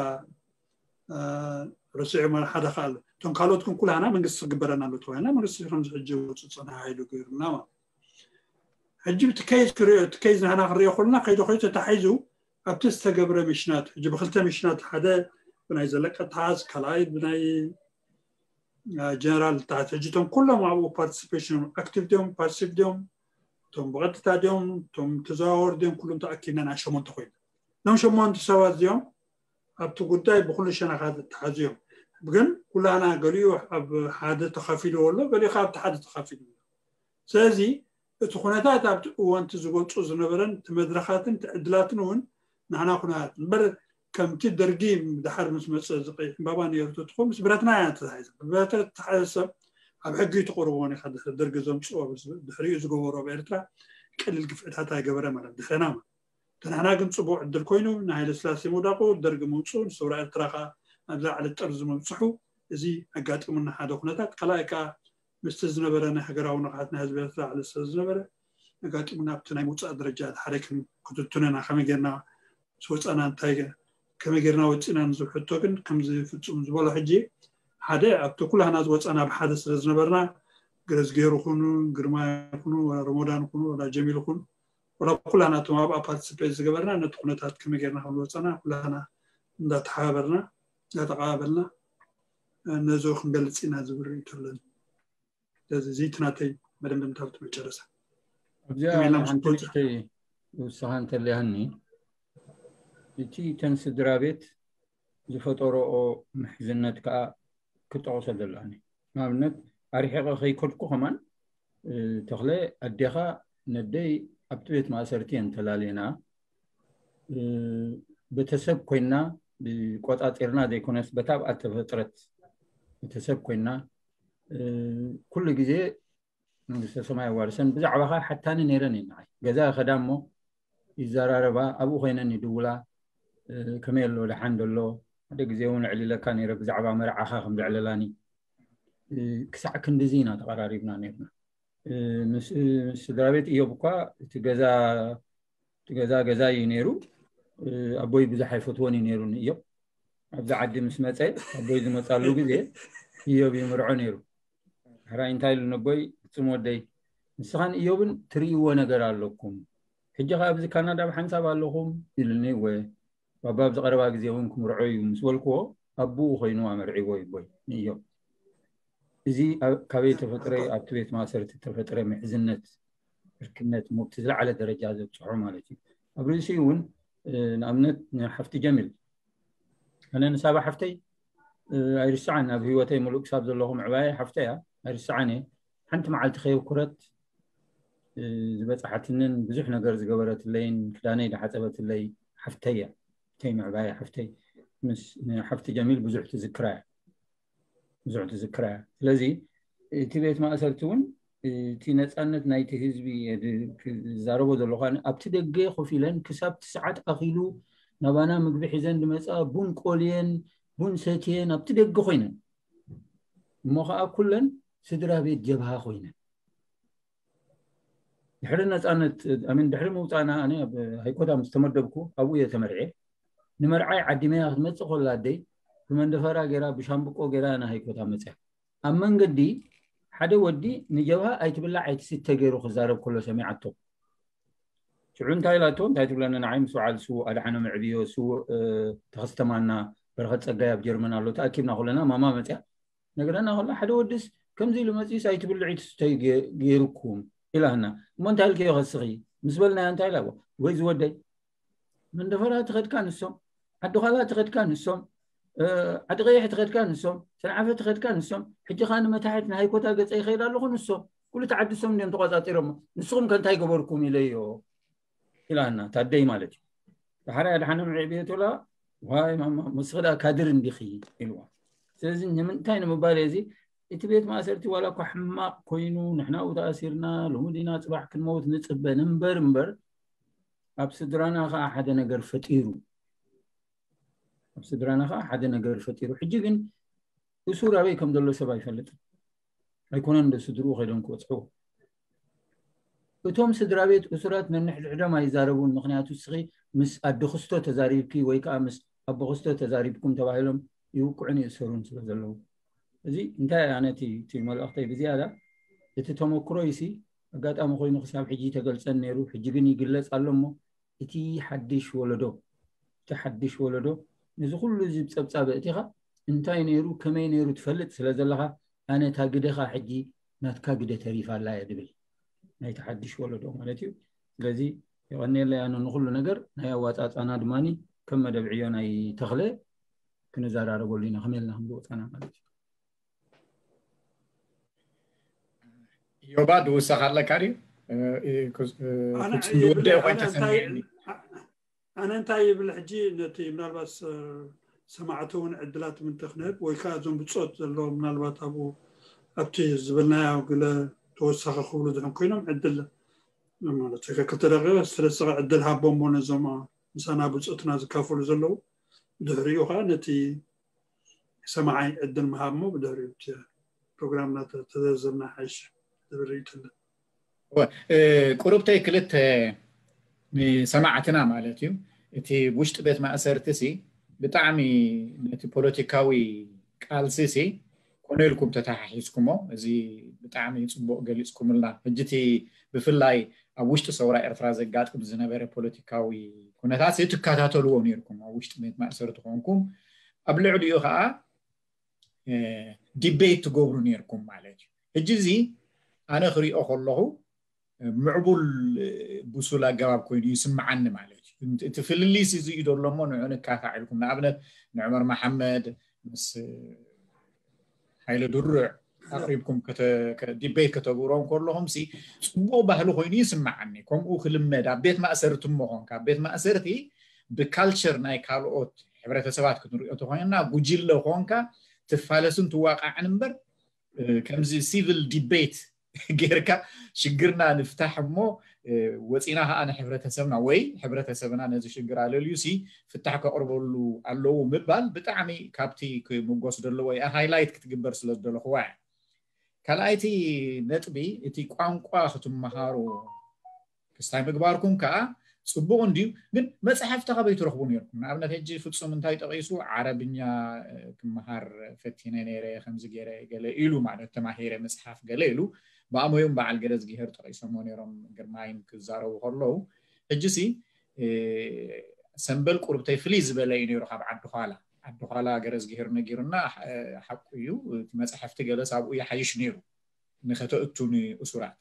ረሲዑ ማለት ሓደ ካ ኣሎ እቶም ካልኦት ግን ኩላና መንግስቲ ክግበረና ኣሎ ተባሂልና መንግስቲ ከምዚ ሕጂ ወፁ ፀና ሃይሉ ገይሩና ማለት ሕጂ እቲ ኬዝ ክሪኦ እቲ ኬዝ ንሕና ክንሪኦ ከለና ከይዶ ከይዶ ተታሒዙ ኣብቲ ዝተገብረ ሚሽናት ሕጂ ብክልተ ሚሽናት ሓደ ብናይ ዘለቀ ተሓዝ ካልኣይ ብናይ ጀነራል ተሓዝ ሕጂ እቶም ኩሎም ኣብኡ ፓርቲሲፔሽን ኣክቲቭ ድዮም ፓሲቭ ድዮም እቶም ብቐጥታ ድዮም እቶም ተዘዋወር ድዮም ኩሎም ተኣኪብና ናይ ሸሞንተ ኮይኑ እዞም ሸሞንተ ሰባት እዚኦም ኣብቲ ጉዳይ ብኩሉ ሸነኻት ተሓዙ እዮም ግን ኩላና ገሊኡ ኣብ ሓደ ተኸፊሉ ኣሎ ገሊኡ ካብ ሓደ ተኸፊሉ ስለዚ እቲ ኩነታት ኣብቲ እዋንቲ ዝገልፁ ዝነበረን እቲ መድረኻትን እቲ ዕድላትን እውን ንሕና ኩነታት እምበር ከምቲ ደርጊ ድሓር ምስ መፀ ዝቀይ ዕምባባ ነይሩ ተትኾን ምስ ብረትና እያ ተታሒዘ ብብረተ ተተሓዘ ሰብ ኣብ ሕጊ ተቆርቦ ኔካ ድሕሪ ደርጊ ዘምፅኦ ድሕሪኡ ዝገበሮ ኣብ ኤርትራ ቀሊል ግፍዕታት ኣይገበረ ማለት ድሕረና ማለት ተናሕና ግን ፅቡቅ ዕድል ኮይኑ ንሃይለ ስላሴ ምውዳቁ ደርጊ ምውፅኡ ንሰውራ ኤርትራ ከዓ ናብዛ ዓለት ጠርዚ ምብፅሑ እዚ ኣጋጢሙና ሓደ ኩነታት ካልኣይ ከዓ ምስቲ ዝነበረ ናይ ሃገራዊ ንቕሓት ናይ ህዝቢ ኤርትራ ዓለት ስለ ዝነበረ ኣጋጢሙና ኣብቲ ናይ ምውፃእ ደረጃ ሓደ ክትትኑና ከመይ ጌርና ዝወፃና እንታይ ከመይ ጌርና ወፂና ንዝብል ሕቶ ግን ከምዚ ፍፁም ዝበሎ ሕጂ ሓደ ኣብቲ ኩላህና ዝወፃና ብሓደ ስለ ዝነበርና ግረዝጌሩ ኩኑ ግርማ ኩኑ ረሞዳን ኩኑ ወላ ጀሚል ኩኑ ወላ ኩላህና እቶም ኣብኣ ፓርቲስፔት ዝገበርና ነቲ ኩነታት ከመይ ጌርና ከም ዝወፃና ኩላህና እንዳተሓባበርና እንዳተቀባበልና ነዚ ክንገልፅ ኢና ዝብል ርእይቶ ኣለኒ ስለዚ እዚ እቲ ናተይ መደምደምታ ኣብቲ መጨረሳ ኣብዚኣ ኢሜይልና ምስ ሓንቲ ትወፅእ። ንእሽተይ ውሳኻ እንተለያኒ እቲ ተን ስድራ ቤት ዝፈጠረኦ ምሕዝነት ከዓ ክጠቕሶ ዘለኒ ንኣብነት ኣርሒቐ ከይከድኩ ከማን ተኽለ ኣዴኻ ነደይ ኣብቲ ቤት ማእሰርቲ እየን ተላልየና ቤተሰብ ኮይና ቆፃፂርና ዘይኮነስ በታ ኣብኣ ተፈጥረት ቤተሰብ ኮይና ኩሉ ግዜ መንግስተ ሰማይ ኣዋርሰን ብዛዕባኻ ሓታኒ ነይረን እየ ንዓይ ገዛ ከዳ እሞ ይዘራረባ ኣብኡ ኮይነን ይድውላ ከመይ ኣሎ ደሓን ደሎ ሓደ ግዜ እውን ዕሊለካ ነይረ ብዛዕባ መርዓኻ ከም ዘዕለላኒ ክሳዕ ክንድዚ ኢና ተቐራሪብና ነርና ምስ ስድራ ቤት እዮብ እኳ እቲ ገዛ እቲ ገዛ ገዛ እዩ ነይሩ ኣቦይ ብዙሕ ኣይፈትዎን እዩ ነይሩ ንእዮብ ኣብዚ ዓዲ ምስ መፀ ኣቦይ ዝመፃሉ ግዜ እዮብ ይምርዖ ነይሩ ሕራይ እንታይ ኢሉ ነቦይ ፍፁም ወደይ ንስኻን እዮብን ትርእይዎ ነገር ኣለኩም ሕጂ ከ ኣብዚ ካናዳ ብሓንሳብ ኣለኹም ኢሉኒ እወ ባባ ኣብዚ ቀረባ ግዜ እውን ክምርዖ እዩ ምስ በልክዎ ኣቦኡ ኮይኑ ኣመርዒዎ ይቦይ ንእዮብ እዚ ኣብ- ካበይ ተፈጥረ? ኣብቲ ቤት ማእሰርቲ ተፈጥረ ምሕዝነት፣ ዕርክነት፣ ሞብቲ ዝለዓለ ደረጃ ዘብፅሖ ማለት እዩ። ኣብ ርእሲ እውን እ፣ ንኣብነት ንሓፍቲ ጀሚል፣ ኣነ ንሳባ ሓፍተይ እ፣ ኣይርስዓን። ኣብ ህይወተይ ሙሉእ ክሳብ ዘለኹ ምዕባየ ሓፍተይ እያ፣ ኣይርስዓን እየ። ሓንቲ መዓልቲ ከየኩረት እ፣ ዝበፅሓትንን ብዙሕ ነገር ዝገበረትለይን ክዳነይ ዝሓፀበትለይ ሓፍተይ እያ። ተይ ምዕባየ ሓፍተይ ምስ ንሓፍቲ ጀሚል ብዙሕ ትዝክራ እያ። ብዙሕ ትዝክራ እያ። ስለዚ እቲ ቤት ማእሰርቲ እውን እቲ ነፃነት ናይቲ ህዝቢ ዝዛረቦ ዘለኹ ኣብቲ ደገ ኮፍ ኢለን ክሳብ እቲ ሰዓት ኣኺሉ ናባና ምግቢ ሒዘን ዝመፃ ቡን ቆልየን ቡን ሰትየን ኣብቲ ደገ ኮይነን እሞ ከዓ ኩለን ስድራ ቤት ጀብሃ ኮይነን ድሕሪ ነፃነት ኣሚን ድሕሪ ምውፃእና ኣነ ኣብ ሃይኮታ ምስ ተመደብኩ ኣብኡ እየ ተመርዐ። ንመርዓይ ዓዲመያ ክትመፅእ ከላ ኣደይ ብመንደፈራ ገይራ ብሻምብቆ ገይራ ና ሃይኮታ መፅያ። ኣብ መንገዲ ሓደ ወዲ ንጀብሃ ኣይትብላዕ ኣይትስተ ገይሩ ክዛረብ ከሎ ሰሚዓቶ። ሽዑ እንታይ ኢላቶ እንታይ ትብለኒ ንዓይ ምስ በዓል ስዉእ ኣድሓኖም ዕብዮ ስዉእ ተኸስተማና በረኸት ፀጋይ ኣብ ጀርመን ኣሎ ተኣኪብና ከለና ማማ መፅያ ነግረና ከሎ ሓደ ወድስ ከምዚ ኢሉ መፂስ ኣይትብልዒ ትስተይ ገይሩኩም ኢላና። እሞ እንታይ ኢልክዮ ከስኺ ምስ በልናያ እንታይ ኢላ ወይ ዝወደይ መንደፈራ ትኸድካ ንሶም ዓዲ ዃላ ትኸድካ ንሶም ዓዲ ቀይሕ ትኸድካ ንሶም ሰንዓፈ ትኸድካ ንሶም ሕጂ ኸ ንመታሕት ንሃይኮታ ገፀ ይኸይድ ኣለኹ ንሶም ኩሉ ተዓዲ ሶም እንዲዮም ተቋፃፂሮሞ ንስኹም ከ እንታይ ገበርኩም ኢለዮ ኢላና ታደይ ማለት እዩ። ዳሕራይ ኣድሓኖም ዕዕብየቶላ ዋይ ማማ ምስኽዳ ካድር እንዲኺ ኢልዋ። ስለዚ ንምንታይ ንምባል እዚ እቲ ቤት ማእሰርቲ ዋላ እኳ ሕማቕ ኮይኑ ንሕና ኣብኡ ተኣሲርና ሎሚ ዲና ፅባሕ ክንመውት ንፅበ ንንበር እምበር ኣብ ስድራና ከዓ ሓደ ነገር ፈጢሩ ኣብ ስድራና ከዓ ሓደ ነገር ፈጢሩ ሕጂ ግን እሱር ኣበይ ከም ዘሎ ሰብ ኣይፈልጥን ኣይኮነን ዶ ስድርኡ ከይዶም ክበፅሕዎ እቶም ስድራ ቤት እሱራት ነንሕድሕዶም ኣይዛረቡን ምክንያቱ እስኺ ምስ ኣዲ ክስቶ ተዛሪብኪ ወይ ከዓ ምስ ኣቦ ክስቶ ተዛሪብኩም ተባሂሎም ይውቅዑን ይእሰሩን ስለ ዘለዉ እዚ እንታይ ኣነ እቲ መልእክተይ ብዝያዳ እቲ ተመክሮ ይሲ ኣጋጣሚ ኮይኑ ክሳብ ሕጂ ተገልፀን ነይሩ ሕጂ ግን ይግለፅ ኣሎ እሞ እቲ ሓድሽ ወለዶ እቲ ሓድሽ ወለዶ ነዚ ኩሉ እዚ ፀብፃብ ኣእቲኻ እንታይ ነይሩ ከመይ ነይሩ ትፈልጥ ስለ ዘለኻ ኣነ እታ ግደኻ ሕጂ ናትካ ግደ ተሪፋ ኣላ እየ ድብል ናይቲ ሓድሽ ወለዶ ማለት እዩ ስለዚ የቐንየለይ ኣነ ንኩሉ ነገር ናይ ኣዋፃፃና ድማ ከም መደብ ዕዮ ናይ ተኽለ ክንዘራረበሉ ኢና ከመይ ኢልና ከም ዝወፃና ማለት እዩ ዮባ ድውሳኽ ኣለካ ድዩ ዝወደአ ኮይንካ ሰሚዕኒ ኣነ እንታይ ይብል ሕጂ ነቲ ምናልባት ሰማዕቲ እውን ዕድላት ምንተ ክነህብ ወይ ከዓ እዞም ብፆት ዘለዎም ምናልባት ኣብኡ ኣብቲ ዝበልናዮ ግለ ተወሳኺ ክብሉ ዝሕን ኮይኖም ዕድል ማለት ክልተ ደቂቀ ስለስኻ ዕድል ሃቦሞ ነዞም ምሳና ብፆትና ዝካፈሉ ዘለዉ ድሕሪኡ ከዓ ነቲ ሰማዓይ ዕድል ምሃብ ሞ ብድሕሪኡ ፕሮግራምና ተዘርዘርና ሓይሽ ዝብል ርእይቶ ኣሎ። ቁሩብተይ ክልተ ንሰማዕትና ማለት እዩ። እቲ ውሽጢ ቤት ማእሰርቲ ሲ ብጣዕሚ ነቲ ፖለቲካዊ ቃልሲ ሲ ኮነ ኢልኩም ተተሓሒዝኩሞ። እዚ ብጣዕሚ ፅቡቅ ገሊፅኩምልና። ሕጂ እቲ ብፍላይ ኣብ ውሽጢ ሰውራ ኤርትራ ዘጋጥም ዝነበረ ፖለቲካዊ ኩነታት ትከታተልዎ ነርኩም ኣብ ውሽጢ ቤት ማእሰርቲ ትኾንኩም ኣብ ልዕሊኡ ከዓ ዲቤት ትገብሩ ነርኩም ማለት እዩ። ሕጂ እዚ ኣነ ክሪኦ ከለኹ ምዕቡል ብሱል ኣገባብ ኮይኑ ይስምዓኒ ማለት እዩ። እቲ ፍልልይስ እዚ እዩ ዘሎ እሞ ንዑ ንካታዕ ኢልኩም ንኣብነት ንዑመር መሓመድ ምስ ሃይለ ድሩዕ ኣቅሪብኩም ዲቤት ከተግብሮም ከለኹም ሲ ፅቡቅ ባህሊ ኮይኑ ይስምዓኒ። ከምኡ ክልመድ ኣብ ቤት ማእሰርቲ እሞ ኮንካ ኣብ ቤት ማእሰርቲ ብካልቸር ናይ ካልኦት ሕብረተሰባት ክንሪኦ ተኮይንና ጉጅለ ኮንካ ትፋለስን ትዋቃዕን እምበር ከምዚ ሲቪል ዲቤት ጌርካ ሽግርና ንፍታሕ እሞ ወፂና ከዓ ንሕብረተሰብና ወይ ሕብረተሰብና ነዚ ሽግር ኣለልዩ ሲ ፍታሕ ከቅርበሉ ኣለዉ ምባል ብጣዕሚ ካብቲ ክምጎስ ዘለዎ እያ ሃይላይት ክትግበር ስለ ዝደለኹዋ እያ። ካልኣይቲ ነጥቢ እቲ ቋንቋ ክትመሃሩ ክስታይ ምግባርኩም ከዓ ፅቡቅ እንድዩ። ግን መፅሓፍቲ ካበይ ትረኽቡ ነርኩም? ንኣብነት ሕጂ ፍፁም እንታይ ጠቂሱ ዓረብኛ ክመሃር ፈቲነ ነይረ ከምዚ ገይረ ገለ ኢሉ ማለት ተማሂረ መፅሓፍ ገለ ኢሉ ብኣሞዮም በዓል ገለ ዝግሄር ጠቂሶሞ ነይሮም ግርማይን ክዛረቡ ከለዉ ሕጂ ሲ ሰንበል ቁርብተይ ፍልይ ዝበለ እዩ ነይሩ ካብ ዓዲ ኋላ ዓዲ ኳላ ገረዝግሄር ነጊሩና። ሓ- ሓቁ እዩ። እቲ መፅሓፍቲ ገለስ ኣብኡ ይሓይሽ ነይሩ ንኸተእቱ ንእሱራት።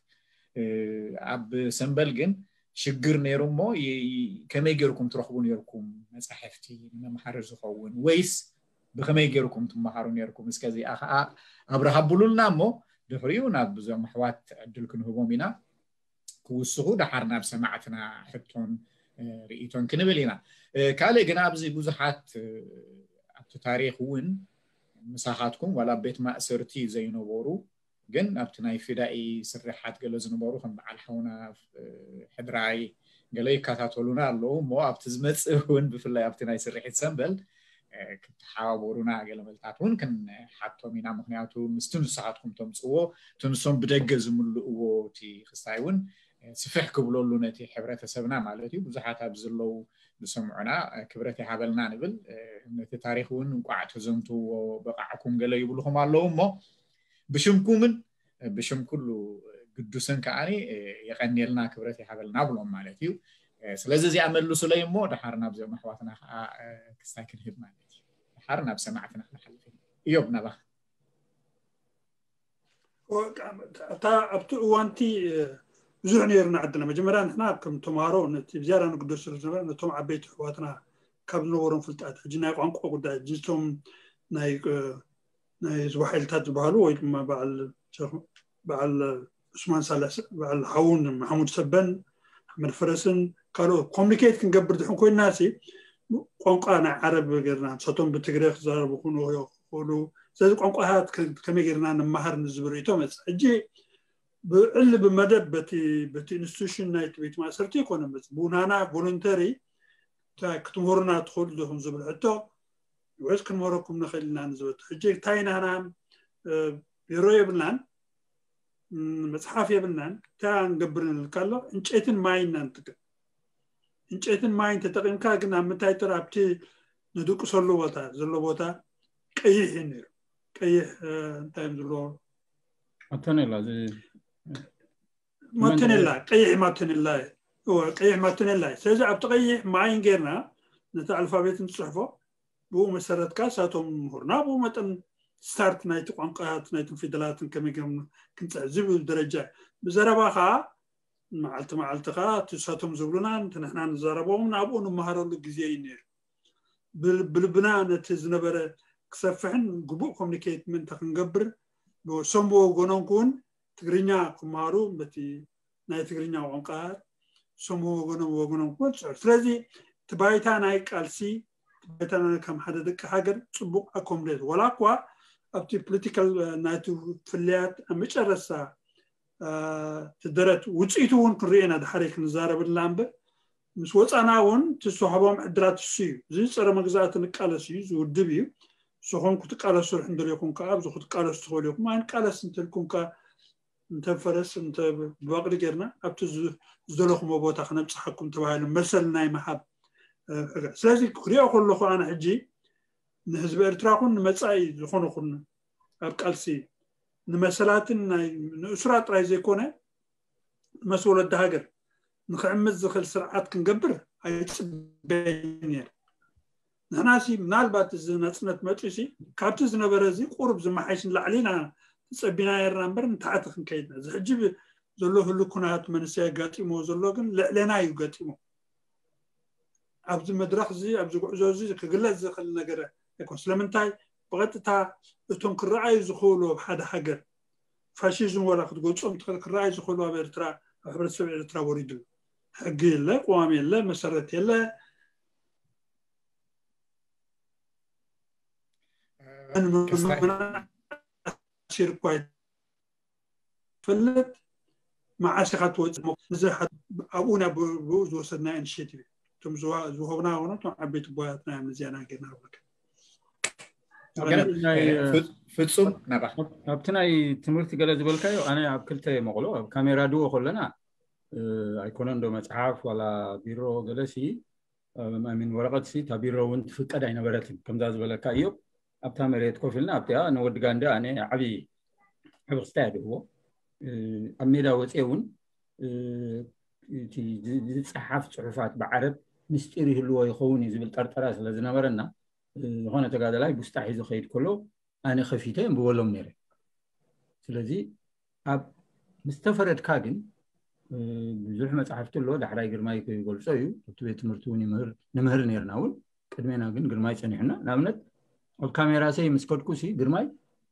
ኣብ ሰምበል ግን ሽግር ነይሩ እሞ ይ- ይ- ከመይ ገይርኩም ትረኽቡ ነይርኩም መፃሕፍቲ ንመምሃሪ ዝኸውን ወይስ ብኸመይ ገይርኩም ትመሃሩ ነይርኩም? እስከ እዚኣ ከዓ ኣብርሃ ብሉልና እሞ ድሕሪኡ ናብ እዞም ኣሕዋት ዕድል ክንህቦም ኢና። ክውስኹ ደሓር ናብ ሰማዕትና ሕቶን እ፣ ርእይቶን ክንብል ኢና። እ፣ ካልእ ግን ኣብዚ ብዙሓት እ፣ ኣብቲ ታሪኽ እውን ምሳኻትኩም ዋላ ኣብ ቤት ማእሰርቲ ዘይነበሩ ግን ኣብቲ ናይ ፊዳኢ ስርሓት ገለ ዝነበሩ ከም በዓል ሓውና እ፣ ሕድራይ ገለ ይከታተሉና ኣለዉ እሞ ኣብቲ ዝመፅእ እውን ብፍላይ ኣብቲ ናይ ስርሒት ሰንበል እ፣ ክትሓባበሩና ገለ መልታት እውን ክንሓቶም ኢና። ምክንያቱ ምስቲ ንስኻትኩም ተምፅዎ እቲ ንሶም ብደገ ዝምልእዎ እቲ ክስታይ እውን እ፣ ስፍሕ ክብለሉ ነቲ ሕብረተሰብና ማለት እዩ። ብዙሓት ኣብ ዘለዉ ዝሰምዑና እ፣ ክብረት ይሃበልና ንብል። እ፣ ነቲ ታሪኽ እውን እንቋዕ ተዘንትዎ በቃዕኩም ገለ ይብልኹም ኣለዉ እሞ ብሽምኩምን እ፣ ብሽም ኩሉ ግዱስን ከዓኒ እ፣ የቐንየልና ክብረት ይሃበልና ብሎም ማለት እዩ። እ፣ ስለዚ እዚኣ መልሱለይ እሞ ደሓር ናብዚኦም ኣሕዋትና ከዓ እ፣ ክስታይ ክንህብ ማለት እዩ። ደሓር ናብ ሰማዕትና ክንሓልፍ ኢና። እዮብ ናባኻ። እታ ኣብቲ እዋንቲ ብዙሕ ነይርና ዓድና መጀመርያ ንሕና ከም ተምሃሮ ነቲ ብዝያዳ ንግደሰሉ ዝነበረ ነቶም ዓበይቲ ኣሕዋትና ካብ ዝነበሮም ፍልጣት ሕጂ ናይ ቋንቋ ጉዳይ ሕጂ እቶም ናይ ናይ ህዝቢ ሓይልታት ዝበሃሉ ወይ ድማ በዓል ሸኽ- በዓል ዑስማን ሳልሕ በዓል ሓውን ማሕሙድ ሰበን ኣሕመድ ፈረስን ካልኦት ኮሚኒኬት ክንገብር ድሕን ኮይንና ሲ ቋንቋ ናይ ዓረብ ገርና ንሳቶም ብትግረ ክዛረቡ ክኾኑ ይኽእሉ። ስለዚ ቋንቋታት ከ- ከመይ ገርና ንመሃር ንዝብል ርእቶ መፅእ። ሕጂ ብዕሊ ብመደብ በቲ በቲ ኢንስቲቱሽን ናይቲ ቤት ማእሰርቲ ይኮነ መፅእ ብናና ቮለንተሪ ክትምህሩና ትኽእሉ ዲኹም ዝብል ሕቶ ወይስ ክንምህረኩም ንኽእል ኢና ንዝበቱ ሕጂ እንታይ ናህና ቢሮ የብልናን፣ መፅሓፍ የብልናን። እንታይ ንገብር ንልካ ኣሎ? ዕንጨይትን ማይን ኢና ንጥቀም። ዕንጨይትን ማይን ተጠቂምካ ግን ኣብ ምንታይ ጥራ ኣብቲ ንድቅሰሉ ቦታ ዘሎ ቦታ ቀይሕ እዩ ነይሩ። ቀይሕ እንታይ እዮም ዝብሎ ማተኔላ እዚ ማተኔላ ቀይሕ ማተኔላ እዩ። እወ፣ ቀይሕ ማተኔላ እዩ። ስለዚ ኣብቲ ቀይሕ ማይን ጌርና ነቲ ኣልፋቤት ንፅሕፎ ብኡ መሰረት ከዓ ሳቶም ምሁርና ብኡ መጠን ስታርት ናይቲ ቋንቋታት ናይቶም ፊደላትን ከመይ ገርና ክንፅሕፍ ዝብል ደረጃ እዩ። ብዘረባ ከዓ መዓልቲ መዓልቲ ከዓ እቲ ሳቶም ዝብሉና እቲ ንሕና ንዛረቦም ናብኡ ንመሃረሉ ግዜ እዩ ነይሩ። ብል- ብልብና ነቲ ዝነበረ ክሰፍሕን ግቡእ ኮሚኒኬት ምእንተ ክንገብር ሰምቦ ወገኖም ክውን ትግርኛ ክመሃሩ በቲ ናይ ትግርኛ ቋንቋ ሰምቦ ወገኖም ወገኖም ክውን ፅሑፍ ስለዚ እቲ ባይታ ናይ ቃልሲ እቲ ባይታ ናይ ከም ሓደ ደቂ ሃገር ፅቡቅ ኣኮምዴት ወላ እኳ ኣብቲ ፖለቲካል ናይቲ ፍልያት ኣብ መጨረስታ እቲ ደረት ውፅኢቱ እውን ክንሪኦ ኢና ድሓረይ ክንዛረብላ እምበር ምስ ወፃና እውን እቲ ዝተዋህቦም ዕድላት እሱ እዩ። እዚ ፀረ መግዛእቲ ንቃለስ እዩ፣ እዚ ውድብ እዩ። ንስኹም ክትቃለሱ ድሕን ደሊኹም ከዓ ኣብዚ ክትቃለሱ ትኽእሉ ኢኹም። ኣይንቃለስ እንተልኩም ከዓ እንተ ፈረስ እንተ ብባቕሊ ጌርና ኣብቲ ዝ- ዝደለኹሞ ቦታ ክነብፅሓኩም ተባሂሉ መሰል ናይ ምሃብ እ፣ ሕገ። ስለዚ ክሪኦ ከለኹ ኣነ ሕጂ ንህዝቢ ኤርትራ ኩን ንመፃኢ ዝኾነ ኩን ኣብ ቃልሲ ንመሰላትን ናይ ንእሱራት ጥራይ ዘይኮነ መስ ወለዲ ሃገር ንክዕምት ዝኽእል ስርዓት ክንገብር ኣይፅበይን ነይር። ንሕና ሲ ምናልባት እዚ ናፅነት መፅኡ ሲ ካብቲ ዝነበረ እዚ ቁሩብ ዝመሓይሽ ንላዕሊ ኢና ተፀቢና ነርና እምበር ንታሕቲ ክንከይድና እዚ ሕጂ ብ- ዘሎ ህሉ ኩናት መንእሰይ ኣጋጢሞ ዘሎ ግን ልዕሌና እዩ ገጢሞ። ኣብዚ መድረኽ እዚ ኣብዚ ጉዕዞ እዚ ክግለፅ ዝኽእል ነገር ኣይኮን። ስለምንታይ ብቐጥታ እቶም ክረኣዩ ዝኽእሉ ኣብ ሓደ ሃገር ፋሽዝም ወላ ክትገልፆም ትኽእል ክረኣዩ ዝኽእሉ ኣብ ኤርትራ ኣብ ሕብረተሰብ ኤርትራ ወሪዱ ኣሎ። ሕጊ የለ፣ ቅዋም የለ፣ መሰረት የለ። ክስታይ ሲር እኳ ይፈልጥ መዓስ ኢኻ ትወፅእ እዚ ሓ- ኣብኡ ናብ ብኡ ዝወሰድና ኢኒሽቲቭ እቶም ዝዋ- ዝወሃቡና ሆኖ እቶም ዓበይቲ ቦያትና እዮም ነዚያና ጌርና ብለካ ግን ናይ እ፣ ፍ- ፍጹም ናባኻ ኣብቲ ናይ ትምህርቲ ገለ ዝበልካዮ ኣነ ኣብ ክልተ መቕሎ ኣብ ካሜራ ድዎ ከለና እ፣ ኣይኮነን ዶ መፅሓፍ ዋላ ቢሮ ገለሲ ሚን ወረቐት ሲ እታ ቢሮ እውን ትፍቀድ ኣይነበረትን ከምዛ ዝበለካ እዮ ኣብታ መሬት ኮፍ ኢልና ኣብቲኣ ንወዲ ጋንዲ ኣነ ዓብዪ ዓብዪ ክስታይ ድህቦ ኣብ ሜዳ ወፅየ እውን እቲ ዝፀሓፍ ፅሑፋት ብዓረብ ምስጢር ይህልዎ ይኸውን እዩ ዝብል ጠርጠራ ስለ ዝነበረና ዝኾነ ተጋደላይ ቡስጣ ሒዙ ከይድ ከሎ ኣነ ከፊተ የንብበሎም ነይረ። ስለዚ ኣብ ምስ ተፈረድካ ግን ብዙሕ መፅሓፍቲ ኣሎ። ዳሕራይ ግርማይ ክገልፆ እዩ። ኣብቲ ቤት ትምህርቲ እውን ይምህር ንምህር ነርና እውን። ቅድሜና ግን ግርማይ ፀኒሑና። ንኣብነት ኣብ ካሜራ ሰይ ምስ ከድኩ ሲ ግርማይ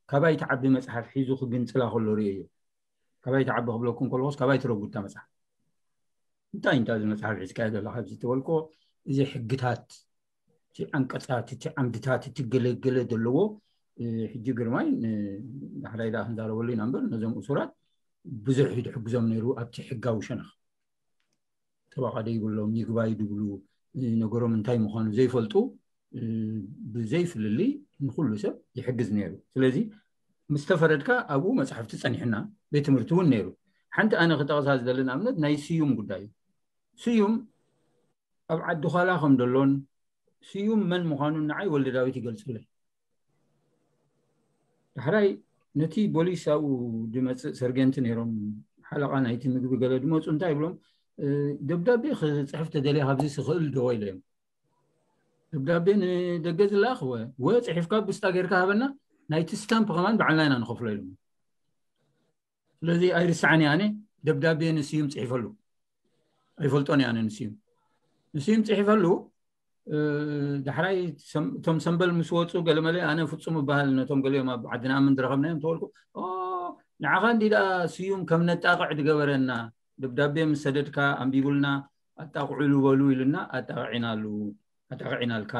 ካባይ ትዓቢ መፅሓፍ ሒዙ ክግንፅላ ከሎ ርእዮ እዩ። ካባይ ትዓቢ ክብለኩም ከለኩስ ካባይ ትረጉድታ መፅሓፍ እንታይ እንታይ እዚ መፅሓፍ ሒዝካዮ ዘለካ ኣብዚ ተበልኮ፣ እዚ ሕግታት፣ እቲ ዓንቀፃት፣ እቲ ዓምድታት፣ እቲ ገለገለ ዘለዎ ሕጂ ግርማይ ዳሕራይ ዳ ክንዛረበሉ ኢና እምበር ነዞም እሱራት ብዙሕ እዩ ዝሕግዞም ነይሩ ኣብቲ ሕጋዊ ሸነኽ። ተባቓደ ይብሎም፣ ይግባይ ድብሉ፣ ነገሮም እንታይ ምዃኑ ዘይፈልጡ ብዘይ ፍልልይ ንኩሉ ሰብ ይሕግዝ ነይሩ። ስለዚ ምስ ተፈረድካ ኣብኡ መፅሓፍቲ ፀኒሕና፣ ቤት ትምህርቲ እውን ነይሩ። ሓንቲ ኣነ ክጠቕሳ ዝደሊ ንኣብነት ናይ ስዩም ጉዳይ እዩ። ስዩም ኣብ ዓዲ ዃላ ከም ደሎን ስዩም መን ምዃኑን ንዓይ ወልደ ዳዊት ይገልፅለይ። ዳሕራይ ነቲ ቦሊስ ኣብኡ ዝመፅእ ሰርጌንት ነይሮም፣ ሓለቓ ናይቲ ምግቢ ገለ ዝመፁ እንታይ ይብሎም፣ ደብዳቤ ክፅሕፍ ተደልየ ካብዚ ስኽእል ዶ ኢለዮም። ደብዳቤ ንደገ ዝለኣኽ ወ ወ ፅሒፍካ ብስጣ ጌርካ ሃበና፣ ናይቲ ስታምፕ ከማን ባዕልና ኢና ንኸፍሎ ኢሎም። ስለዚ ኣይርስዓን እየ ኣነ። ደብዳቤ ንስዩም ፅሒፈሉ፣ ኣይፈልጦን እየ ኣነ ንስዩም። ንስዩም ፅሒፈሉ። ዳሕራይ እቶም ሰምበል ምስ ወፁ ገለመለ ኣነ ፍፁም እበሃል ነቶም ገሊኦም ኣብ ዓዲ ንኣምን ዝረኸብናዮም ተበልኩ። ንዓኻ እንዲ ደኣ ስዩም ከም ነጣቕዕ ዝገበረና፣ ደብዳቤ ምስ ሰደድካ ኣንቢቡልና፣ ኣጣቕዑሉ በሉ ኢሉና ኣጣቕዒናሉ ኣጣቕዒናልካ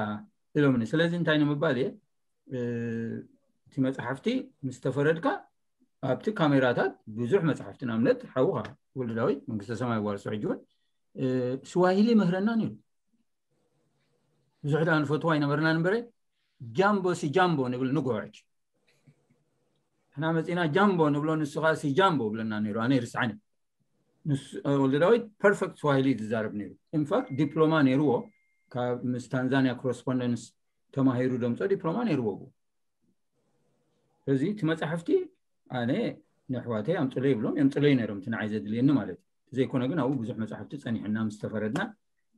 ኢሎምኒ። ስለዚ እንታይ ንምባል እየ፣ እቲ መፅሓፍቲ ምስ ተፈረድካ ኣብቲ ካሜራታት ብዙሕ መፅሓፍቲ ንኣብነት ሓውኻ ወልደ ዳዊት መንግስተ ሰማይ ዋርሶ ሕጂ እውን ስዋሂሊ ምህረና ነይሩ። ብዙሕ ደኣ ንፈትዋ ኣይነበርናን እምበረ ጃምቦ ሲ ጃምቦ ንብል ንጎ ሕጂ ንሕና መፂና ጃምቦ ንብሎ ንሱ ከዓ ሲ ጃምቦ ብለና ነይሩ። ኣነ ይርስዓኒ። ወልደ ዳዊት ፐርፌክት ስዋሂሊ ዝዛረብ ነይሩ። ኢንፋክት ዲፕሎማ ነይርዎ፣ ካብ ምስ ታንዛኒያ ኮረስፖንደንስ ተማሂሩ ደምፆ ዲፕሎማ ነይርዎ። እዚ እቲ መፅሓፍቲ ኣነ ንኣሕዋተይ ኣምፅለይ ይብሎም፣ የምፅለይ ነይሮም እቲ ንዓይ ዘድልየኒ ማለት እዩ። ዘይኮነ ግን ኣብኡ ብዙሕ መፅሓፍቲ ፀኒሕና ምስ ተፈረድና፣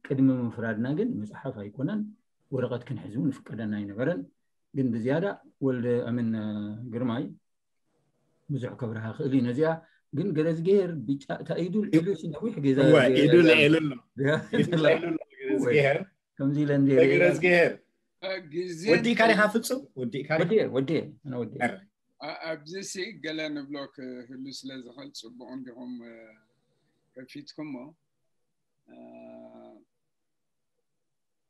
ቅድሚ ምፍራድና ግን መፅሓፍ ኣይኮነን ወረቐት ክንሕዝ እውን ይፍቀደና ኣይነበረን። ግን ብዝያዳ ወልደ ኣምን ግርማይ ብዙሕ ከብርሃ ክእል እዩ ነዚኣ። ግን ገረዝግሄር ብጫ እታ ኢዱ ልዒሉ ሲ ነዊሕ ጌዛ እዋ፣ ኢዱ ልዒሉ ኣሎ። ኢዱ ልዒሉ ኣሎ ገረዝግሄር። ከምዚ ኢለ እንደ ገረዝግሄር። ግዜ ወዲእካ ዲኻ ፍጹም? ወዲእካ ዲኻ? ወዲኤ፣ ወዲኤ፣ ኣነ ወዲኤ። ኣብዚ ሲ ገለ ንብሎ ክህሉ ስለ ዝኽእል ጽቡቕ እንዲኹም ከፊትኩሞ።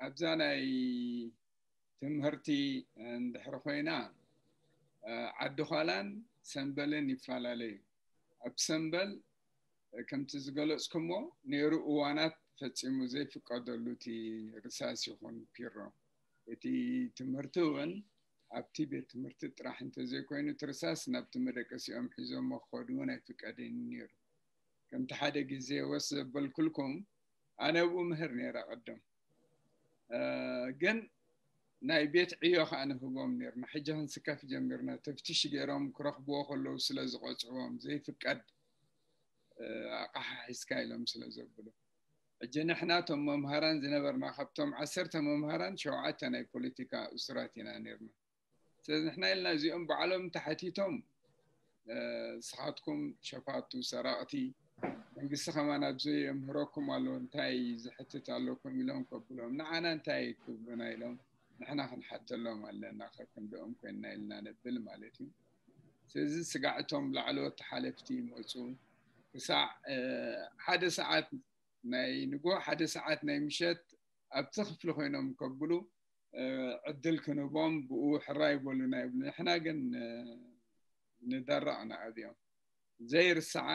ኣብዛ ናይ ትምህርቲ እንድሕር ኮይና፣ ዓዲ ዃላን ሰምበልን ይፈላለዩ። ኣብ ሰምበል ከምቲ ዝገለጽኩሞ ነይሩ እዋናት ፈጺሙ ዘይፍቀደሉ እቲ ርሳስ ይኹን ፒሮ። እቲ ትምህርቲ እውን ኣብቲ ቤት ትምህርቲ ጥራሕ እንተዘይኮይኑ እቲ ርሳስ ናብቲ መደቀሲኦም ሒዞሞ ክኸዱ እውን ኣይፍቀድን ነይሩ። ከምቲ ሓደ ግዜ ወስ ዘበልኩልኩም ኣነ ኣብኡ ምህር ነይረ ቅድም። ግን ናይ ቤት ዕዮ ከዓ ንህቦም ነርና። ሕጂ ክንስከፍ ጀሚርና። ተፍትሽ ገይሮም ክረኽብዎ ከለዉ ስለ ዝቆፅዕዎም ዘይፍቀድ ኣቕሓ ሒዝካ ኢሎም ስለ ዘብሉ። ሕጂ ንሕና እቶም መምሃራን ዝነበርና ካብቶም ዓሰርተ መምሃራን ሸውዓተ ናይ ፖለቲካ እሱራት ኢና ነርና። ስለዚ ንሕና ኢልና እዚኦም ባዕሎም ተሓቲቶም ስኻትኩም ሸፋቱ ሰራቕቲ መንግስቲ ከማን ኣብዚ የምህረኩም ኣሎ እንታይ ዝሕትት ኣለኩም ኢሎም ከብሎም ንዓና እንታይ ክብሉና ኢሎም ንሕና ክንሓተሎም ኣለና ከክንደኦም ኮይንና ኢልና ነብል ማለት እዩ። ስለዚ ስጋዕቶም ላዕለዎት ሓለፍቲ ይመፁ ክሳዕ ሓደ ሰዓት ናይ ንጎ ሓደ ሰዓት ናይ ምሸት ኣብቲ ክፍሊ ኮይኖም ከብሉ ዕድል ክንህቦም ብኡ ሕራይ ይበሉና ይብሉ። ንሕና ግን ንደረቕና ኣብዮም። ዘይርሳዓ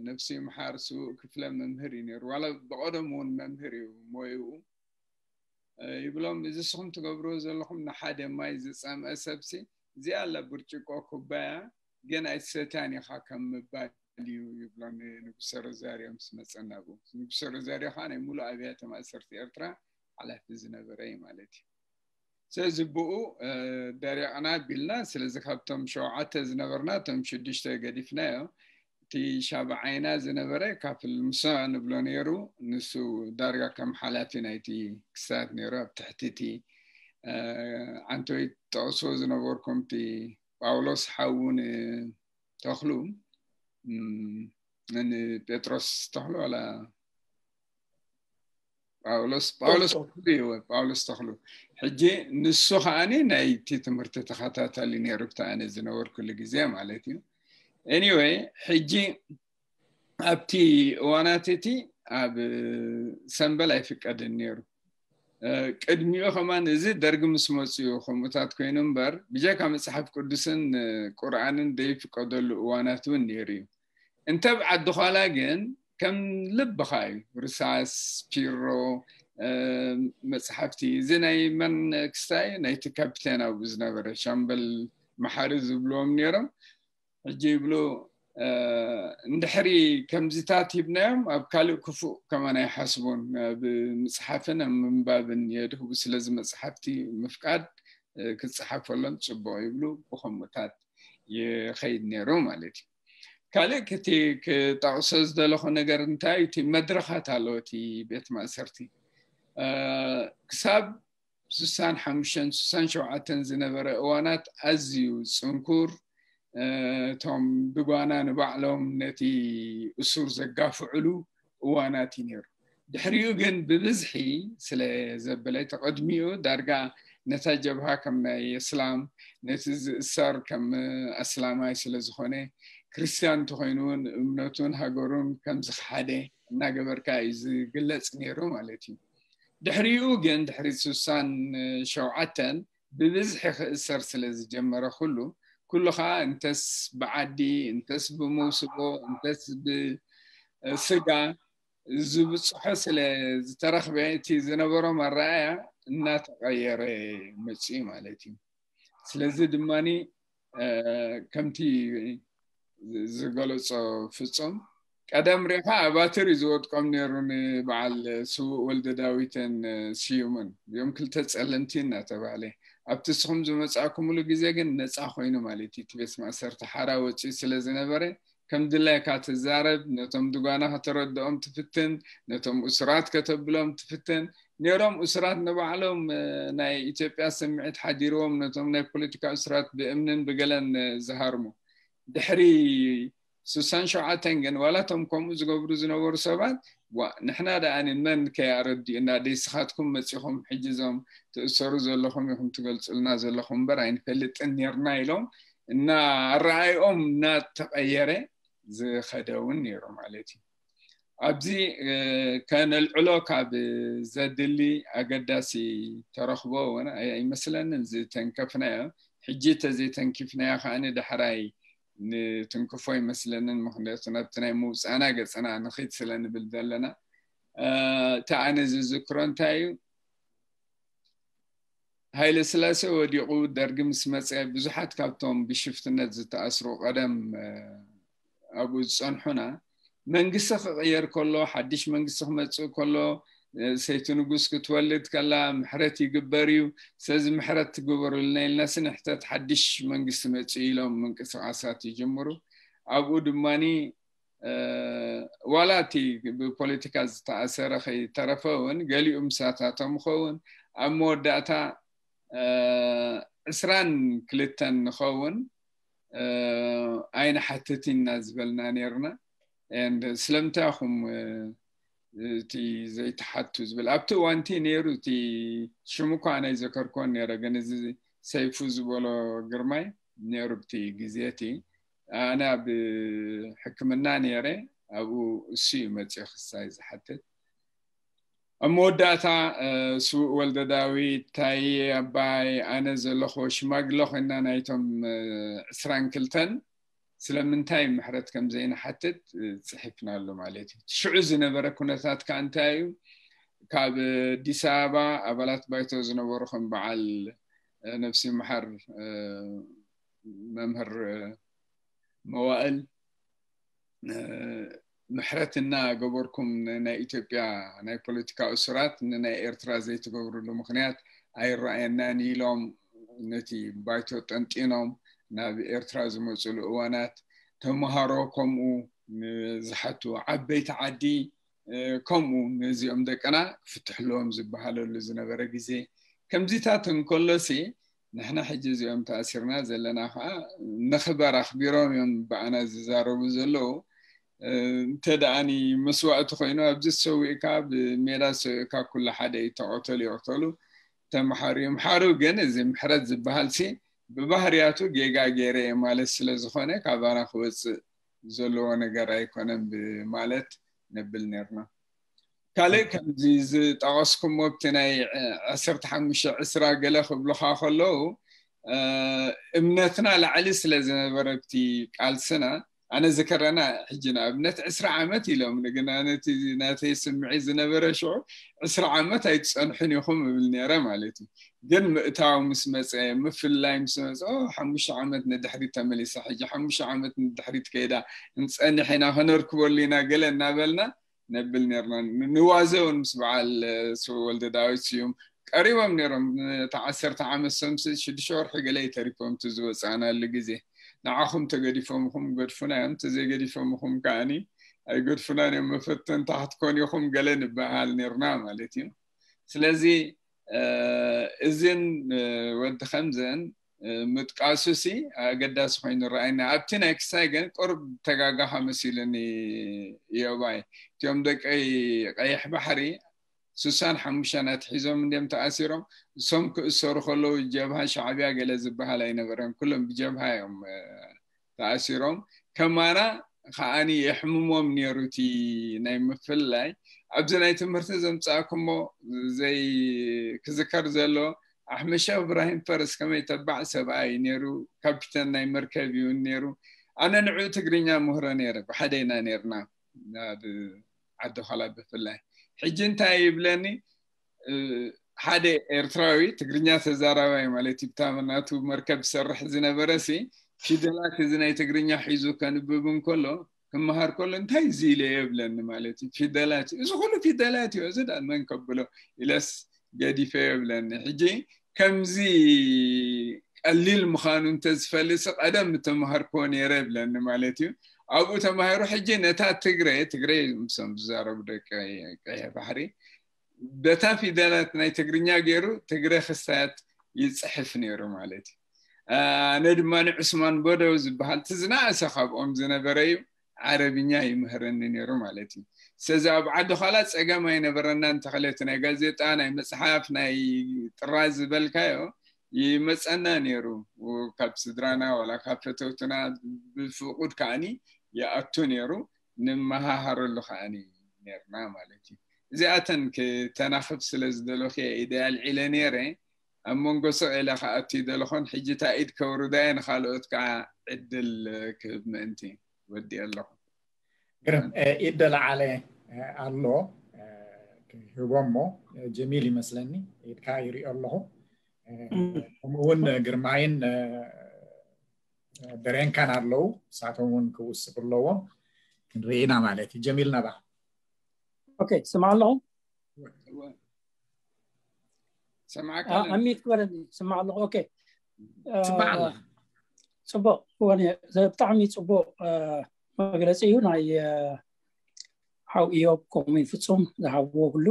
ነፍሲ ምሓር ስዉእ ክፍለ መምህር እዩ ነይሩ። ዋላ ብቐደሙ እውን መምህር እዩ ሞይኡ። ይብሎም እዚ ስኹም ትገብርዎ ዘለኹም ንሓደ ማይ ዝፀምአ ሰብሲ እዚኣ ኣላ ብርጭቆ ኩባያ ግን ኣይትሰትያን ኢኻ ከም ምባል እዩ ይብሎ ንጉሰ ሮዛርዮ ምስ መፀ ናብኡ። ንጉሰ ሮዛርዮ ከዓ ናይ ሙሉእ ኣብያተ ማእሰርቲ ኤርትራ ሓላፊ ዝነበረ እዩ ማለት እዩ። ስለዚ ብኡ ደሪቕና ቢልና። ስለዚ ካብቶም ሸውዓተ ዝነበርና እቶም ሽዱሽተ ገዲፍናዮ። እቲ ሻብዓይና ዝነበረ ካፍል ሙሳ ንብሎ ነይሩ። ንሱ ዳርጋ ከም ሓላፊ ናይቲ ክስታት ነይሩ ኣብ ትሕቲ እቲ ዓንተወይ ጠቕሶ ዝነበርኩም እቲ ጳውሎስ ሓውን ተኽሉ ንጴጥሮስ ተኽሉ ዋላ ጳውሎስ ጳውሎስ ተኽሉ እዩ። ጳውሎስ ተኽሉ ሕጂ ንሱ ከዓኒ ናይቲ ትምህርቲ ተኸታታሊ ነይሩ፣ ክታ ኣነ ዝነበርኩሉ ግዜ ማለት እዩ። Anyway፣ ሕጂ ኣብቲ እዋናት እቲ ኣብ ሰምበል ኣይፍቀድን ነይሩ። ቅድሚኡ ከማን እዚ ደርጊ ምስ መፅኡ ከምኡታት ኮይኑ እምበር፣ ብጀካ መፅሓፍ ቅዱስን ቁርኣንን ዘይፍቀደሉ እዋናት እውን ነይሩ እዩ። እንተ ኣብ ዓዲ ዃላ ግን ከም ልብኻ እዩ። ርሳስ፣ ፒሮ፣ መፅሓፍቲ፣ እዚ ናይ መን ክስታይ ናይቲ ካፒቴን ኣብኡ ዝነበረ ሻምበል መሓሪ ዝብልዎም ነይሮም። ሕጂ ይብሉ፣ እንድሕሪ ከምዚታት ሂብናዮም ኣብ ካልእ ክፉእ ከማን ኣይሓስቡን። ኣብ ምፅሓፍን ኣብ ምንባብን የድህቡ። ስለዚ መፅሓፍቲ ምፍቃድ ክፅሓፈሎም ፅቡቕ ይብሉ። ብኸምኡታት ይኸይድ ነይሩ ማለት እዩ። ካልእ ክቲ ክጠቕሶ ዝደለኹ ነገር እንታይ እቲ መድረኻት ኣለዎ እቲ ቤት ማእሰርቲ ክሳብ ሱሳን ሓሙሽተን ሱሳን ሸውዓተን ዝነበረ እዋናት ኣዝዩ ፅንኩር፣ እቶም ብጓና ንባዕሎም ነቲ እሱር ዘጋፍዕሉ እዋናት እዩ ነይሩ። ድሕሪኡ ግን ብብዝሒ ስለ ዘበለ፣ ተቐድሚኡ ዳርጋ ነታ ጀብሃ ከም ናይ እስላም፣ ነቲ ዝእሰር ከም ኣስላማይ ስለ ዝኾነ፣ ክርስትያን እንተኾይኑ እውን እምነቱን ሃገሩን ከም ዝኸሓደ እናገበርካ እዩ ዝግለጽ ነይሩ ማለት እዩ። ድሕሪኡ ግን ድሕሪ ሱሳን ሸውዓተን ብብዝሒ ክእሰር ስለ ዝጀመረ ኩሉ ኩሉ ከዓ እንተስ ብዓዲ እንተስ ብመውስቦ እንተስ ብስጋ ዝብፅሖ ስለ ዝተረኽበ እቲ ዝነበሮም ኣረኣያ እናተቐየረ መፅኡ ማለት እዩ። ስለዚ ድማ ከምቲ ዝገለፆ ፍፁም ቀደም ሪኻ ኣባትር እዩ ዝወድቆም ነይሩ ንበዓል ስውእ ወልደ ዳዊትን ስዩምን እዮም ክልተ ፀለምቲ እናተባህለ ኣብቲ እስኹም ዝመፃእኩምሉ ግዜ ግን ነፃ ኮይኑ ማለት እዩ። እቲ ቤት ማእሰርቲ ሓራ ወፂኡ ስለ ዝነበረ ከም ድላይካ ትዛረብ፣ ነቶም ድጓና ከተረድኦም ትፍትን፣ ነቶም እሱራት ከተብሎም ትፍትን ነይሮም። እሱራት ንባዕሎም ናይ ኢትዮጵያ ስምዒት ሓዲርዎም ነቶም ናይ ፖለቲካ እሱራት ብእምንን ብገለን ዝሃርሙ ድሕሪ ሱሳን ሸውዓተን ግን ዋላ እቶም ከምኡ ዝገብሩ ዝነበሩ ሰባት ዋ ንሕና ደኣ ንመን ከይኣረዲኡና ደይ ስኻትኩም መፂኹም ሕጂ እዞም ትእሰሩ ዘለኹም ኢኹም ትገልፁልና ዘለኹም እምበር ኣይንፈልጥን ነርና ኢሎም እና ኣረኣይኦም እናተቐየረ ዝኸደ እውን ነይሩ ማለት እዩ። ኣብዚ ከነልዕሎ ካብ ዘድሊ ኣገዳሲ ተረኽቦ እውን ኣይመስለንን ዝተንከፍናዮ። ሕጂ ተዘይተንኪፍናዮ ከዓኒ ዳሕራይ ንትንክፎ ኣይመስለንን። ምኽንያቱ ናብቲ ናይ ምውፃእና ገፅና ንኺድ ስለ ንብል ዘለና። እቲ ኣነ ዝዝክሮ እንታይ እዩ? ሃይለ ስላሴ ወዲቑ ደርጊ ምስ መፀ ብዙሓት ካብቶም ብሽፍትነት ዝተኣስሩ ቀደም ኣብኡ ዝፀንሑና መንግስቲ ክቕየር ከሎ ሓድሽ መንግስቲ ክመፅእ ከሎ ሰይቲ ንጉስ ክትወልድ ከላ ምሕረት ይግበር እዩ። ስለዚ ምሕረት ትግበሩልና ኢልና ስንሕተት ሓድሽ መንግስቲ መፅኡ ኢሎም ምንቅስቃሳት ይጅምሩ። ኣብኡ ድማኒ ዋላ እቲ ብፖለቲካ ዝተኣሰረ ከይተረፈ እውን ገሊኡ ምሳታቶም ይኸውን ኣብ መወዳእታ ዕስራን ክልተን ንኸውን ኣይንሓትት ኢና ዝበልና ነርና። ስለምንታይ ኹም እቲ ዘይተሓቱ ዝብል ኣብቲ እዋንቲ ነይሩ። እቲ ሽሙ እኳ ናይ ዘከርኮን ነረ ግን እዚ ሰይፉ ዝበሎ ግርማይ ነይሩ ብቲ ግዜ እቲ ኣነ ኣብ ሕክምና ነይረ። ኣብኡ እሱ እዩ መፅኡ ክሳይ ዝሓትት ኣብ መወዳእታ ስውእ ወልደ ዳዊት ታየ ኣባይ ኣነ ዘለኹ ሽማግለ ኮይና ናይቶም ዕስራን ክልተን ስለምንታይ ምሕረት ከም ዘይንሓትት ፅሒፍናሉ ማለት እዩ። ሽዑ ዝነበረ ኩነታት ከዓ እንታይ እዩ? ካብ ኣዲስ ኣበባ ኣባላት ባይቶ ዝነበሩ ከም በዓል ነብሲ መሓር መምህር መዋእል ምሕረት እናገበርኩም ናይ ኢትዮጵያ ናይ ፖለቲካ እሱራት ንናይ ኤርትራ ዘይትገብርሉ ምክንያት ኣይረኣየናን ኢሎም ነቲ ባይቶ ጠንጢኖም ናብ ኤርትራ ዝመፅሉ እዋናት ተምሃሮ ከምኡ ዝሓቱ ዓበይቲ ዓዲ ከምኡ ነዚኦም ደቅና ክፍትሕሎም ዝበሃለሉ ዝነበረ ግዜ ከምዚታት እንከሎሲ ንሕና ሕጂ እዚኦም ተኣሲርና ዘለና ከዓ ንኽበር ኣኽቢሮም እዮም ብኣና ዝዛረቡ ዘለዉ። እንተ ደኣኒ መስዋእቲ ኮይኑ ኣብዚ ዝሰዊእካ ብሜዳ ዝሰዊእካ ኩሉ ሓደ እዩ። ተቐተሉ ይቕተሉ፣ ተምሓሩ ይምሓሩ። ግን እዚ ምሕረት ዝበሃል ሲ ብባህርያቱ ጌጋ ገይረ እየ ማለት ስለ ዝኾነ ካባና ክወፅእ ዘለዎ ነገር ኣይኮነን ብማለት ነብል ነርና። ካልእ ከምዚ ዝጠቐስኩሞ ኣብቲ ናይ ዓሰርተ ሓሙሽተ ዕስራ ገለ ክብሉኻ ከለዉ እምነትና ላዕሊ ስለ ዝነበረ ኣብቲ ቃልስና ኣነ ዝከረና ሕጂ ንኣብነት ዕስራ ዓመት ኢሎም ንግና ነቲ ናተይ ስምዒ ዝነበረ ሽዑ ዕስራ ዓመት ኣይትፀንሑን ኢኹም እብል ነረ ማለት እዩ። ግን ምእታው ምስ መፀ ምፍላይ ምስ መፀ ሓሙሽተ ዓመት ንድሕሪት ተመሊሳ ሕጂ ሓሙሽተ ዓመት ንድሕሪት ከይዳ እንፀንሕ ኢና ከነርክበሉ ኢና ገለ እናበልና ነብል ነርና። ንዋዘ እውን ምስ በዓል ወልደ ዳዊት ስዩም ቀሪቦም ነሮም። እቲ ዓሰርተ ዓመት ሰምሲ ሽዱሽተ ወርሒ ገለ ተሪፎም እቲ ዝወፃእናሉ ግዜ ንዓኹም ተገዲፎምኹም ገድፉና እዮም፣ ተዘይገዲፎምኹም ከዓኒ ኣይገድፉናን እዮም፣ መፈተንታ ክትኮን ኢኹም ገለ ንበሃል ነርና ማለት እዩ። ስለዚ እዝን ወዲ ከምዘን ምጥቃሱ ሲ ኣገዳሲ ኮይኑ ረኣይና። ኣብቲ ናይ ክሳይ ግን ቁርብ ተጋጋኻ መሲሉኒ። እዮባይ እቲኦም ደቂ ቀይሕ ባሕሪ ሱሳን ሓሙሽተን ኣትሒዞም እንዲም ተኣሲሮም። እሶም ክእሰሩ ከለዉ ጀብሃ ሻዕብያ ገለ ዝበሃል ኣይነበረን። ኩሎም ብጀብሃ እዮም ተኣሲሮም። ከማና ከዓኒ የሕምሞም ነይሩ እቲ ናይ ምፍልላይ። ኣብዚ ናይ ትምህርቲ ዘምፃእኩሞ ዘይ ክዝከር ዘሎ ኣሕመድ ሸኽ እብራሂም ፈረስ ከመይ ተባዕ ሰብኣይ ነይሩ። ካፒተን ናይ መርከብ እዩ ነይሩ። ኣነ ንዑ ትግርኛ ምህሮ ነይረ ብሓደ ኢና ነርና ኣብ ዓዲ ኸላ ብፍላይ። ሕጂ እንታይ ይብለኒ ሓደ ኤርትራዊ ትግርኛ ተዛራባይ ማለት እዩ ብታ ናቱ መርከብ ዝሰርሕ ዝነበረ ሲ ፊደላት እዚ ናይ ትግርኛ ሒዙ ከንብብ እንከሎ ክመሃር ከሎ እንታይ እዚ ኢለ የብለኒ ማለት እዩ። ፊደላት እዩ እዚ ኩሉ ፊደላት እዩ እዚ ዳ መን ከብሎ ኢለስ ገዲፈ የብለኒ። ሕጂ ከምዚ ቀሊል ምዃኑ እንተዝፈልጥ ቀደም ምተማሃርክዎ ነይረ ይብለኒ ማለት እዩ። ኣብኡ ተማሂሩ ሕጂ ነታ ትግረ ትግረ ምሶም ዝዛረቡ ደቂ ቀይሕ ባሕሪ በታ ፊደላት ናይ ትግርኛ ገይሩ ትግረ ክስታያት ይፅሕፍ ነይሩ ማለት እዩ። ኣነ ድማ ንዑስማን በደው ዝበሃል እቲ ዝነኣሰ ካብኦም ዝነበረ እዩ ዓረብኛ ይምህረኒ ነይሩ ማለት እዩ። ስለዚ ኣብ ዓዲ ኻላ ፀገም ኣይነበረና እንተኸለት ናይ ጋዜጣ ናይ መፅሓፍ ናይ ጥራዝ ዝበልካዮ ይመፀና ነይሩ ካብ ስድራና ዋላ ካብ ፈተውትና ብፍቁድ ከዓኒ ይኣቱ ነይሩ። ንመሃሃረሉ ከዓኒ ነርና ማለት እዩ። እዚኣተን ክተናኽፍ ስለ ዝደለኹ ኢደ ኣልዒለ ነይረ። ኣብ መንጎ ስቕ ኢለ ክኣቱ ይደለኹን ሕጂ እታ ኢድ ከውርዳየ ንኻልኦት ከዓ ዕድል ክህብ ምእንቲ ወዲ ኣለኹ። ግርም ኢድ ደለዓለ ኣሎ ክህቦ እሞ ጀሚል ይመስለኒ ኢድካ ይሪኦ ኣለኹ። ከምኡውን ግርማይን ደሬንካን ኣለዉ እሳቶም እውን ክውስኹ ኣለዎም ክንርኢና ማለት እዩ። ጀሚል ናባኻ። ኦኬ ስማዕ ኣለኹ ሰማዕካ ኣለና። ኣሚት ክበለኒ ስማዕ ኣለኹ። ኦኬ ስማዕ ኣለኻ። ፅቡቅ ኮነ ብጣዕሚ ፅቡቅ መግለፂ እዩ ናይ ሓው ኢዮብ ከምኡ ፍፁም ዝሃብዎ ኩሉ።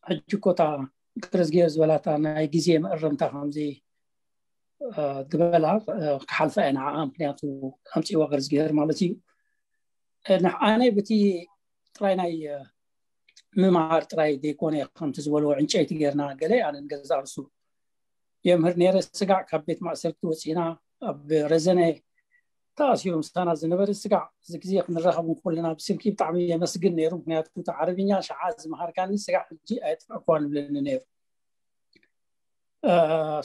ሕጂ እኮ እታ ክርስጌር ዝበላታ ናይ ግዜ መእረምታ ከምዚ ዝበላ ክሓልፋ እየ ንዓኣ ምክንያቱ ኣምፅእዋ ክርስጌር ማለት እዩ። ኣነ ብቲ ጥራይ ናይ ምምሃር ጥራይ ዘይኮነ ከምቲ ዝበልዎ ዕንጨይቲ ጌርና ገለ ኣነ ንገዛ ርሱ የምህር ነይረ። ስጋዕ ካብ ቤት ማእሰርቲ ወፂና ኣብ ረዘነ ተኣሲሩ ምሳና ዝነበረ ስጋዕ እዚ ግዜ ክንራኸብ እንኮለና ብስልኪ ብጣዕሚ የመስግን ነይሩ። ምክንያቱ እቲ ዓረብኛ ሸዓ ዝመሃርካኒ ስጋዕ ሕጂ ኣየጥፍዕኳን ይብለኒ ነይሩ።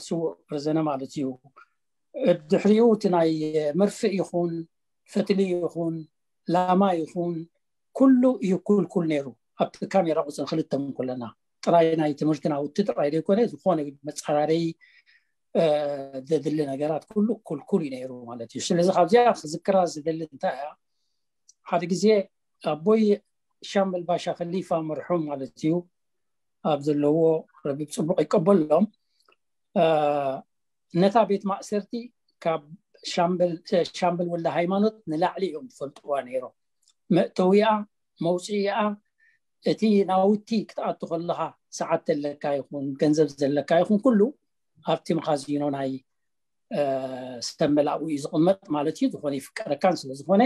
ስዉእ ረዘነ ማለት እዩ። ድሕሪኡ እቲ ናይ መርፍእ ይኹን ፈትሊ ይኹን ላማ ይኹን ኩሉ እዩ ኩልኩል ነይሩ። ኣብቲ ካሜራ ቁፅሪ ክልተ እንኮለና ጥራይ ናይ ትምህርቲ ናውቲ ጥራይ ዘይኮነ ዝኾነ መፀራረይ ዘድሊ ነገራት ኩሉ ኩልኩል እዩ ነይሩ ማለት እዩ። ስለዚ ካብዚኣ ክዝክራ ዝደሊ እንታይ እያ ሓደ ግዜ ኣቦይ ሻምበል ባሻ ከሊፋ መርሑም ማለት እዩ ኣብ ዘለዎ ረቢብ ፅቡቅ ይቀበሎም ነታ ቤት ማእሰርቲ ካብ ሻምበል ወልደ ሃይማኖት ንላዕሊ እዮም ዝፈልጥዋ ነይሮም። መእተዊኣ መውፅኢኣ እቲ ናውቲ ክትኣቱ ከለኻ ሰዓት ዘለካ ይኹን ገንዘብ ዘለካ ይኹን ኩሉ ኣብቲ መኻዚኖ ናይ ሰመላኡ እዩ ዝቕመጥ ማለት እዩ። ዝኾነ ይፍቀረካን ስለዝኾነ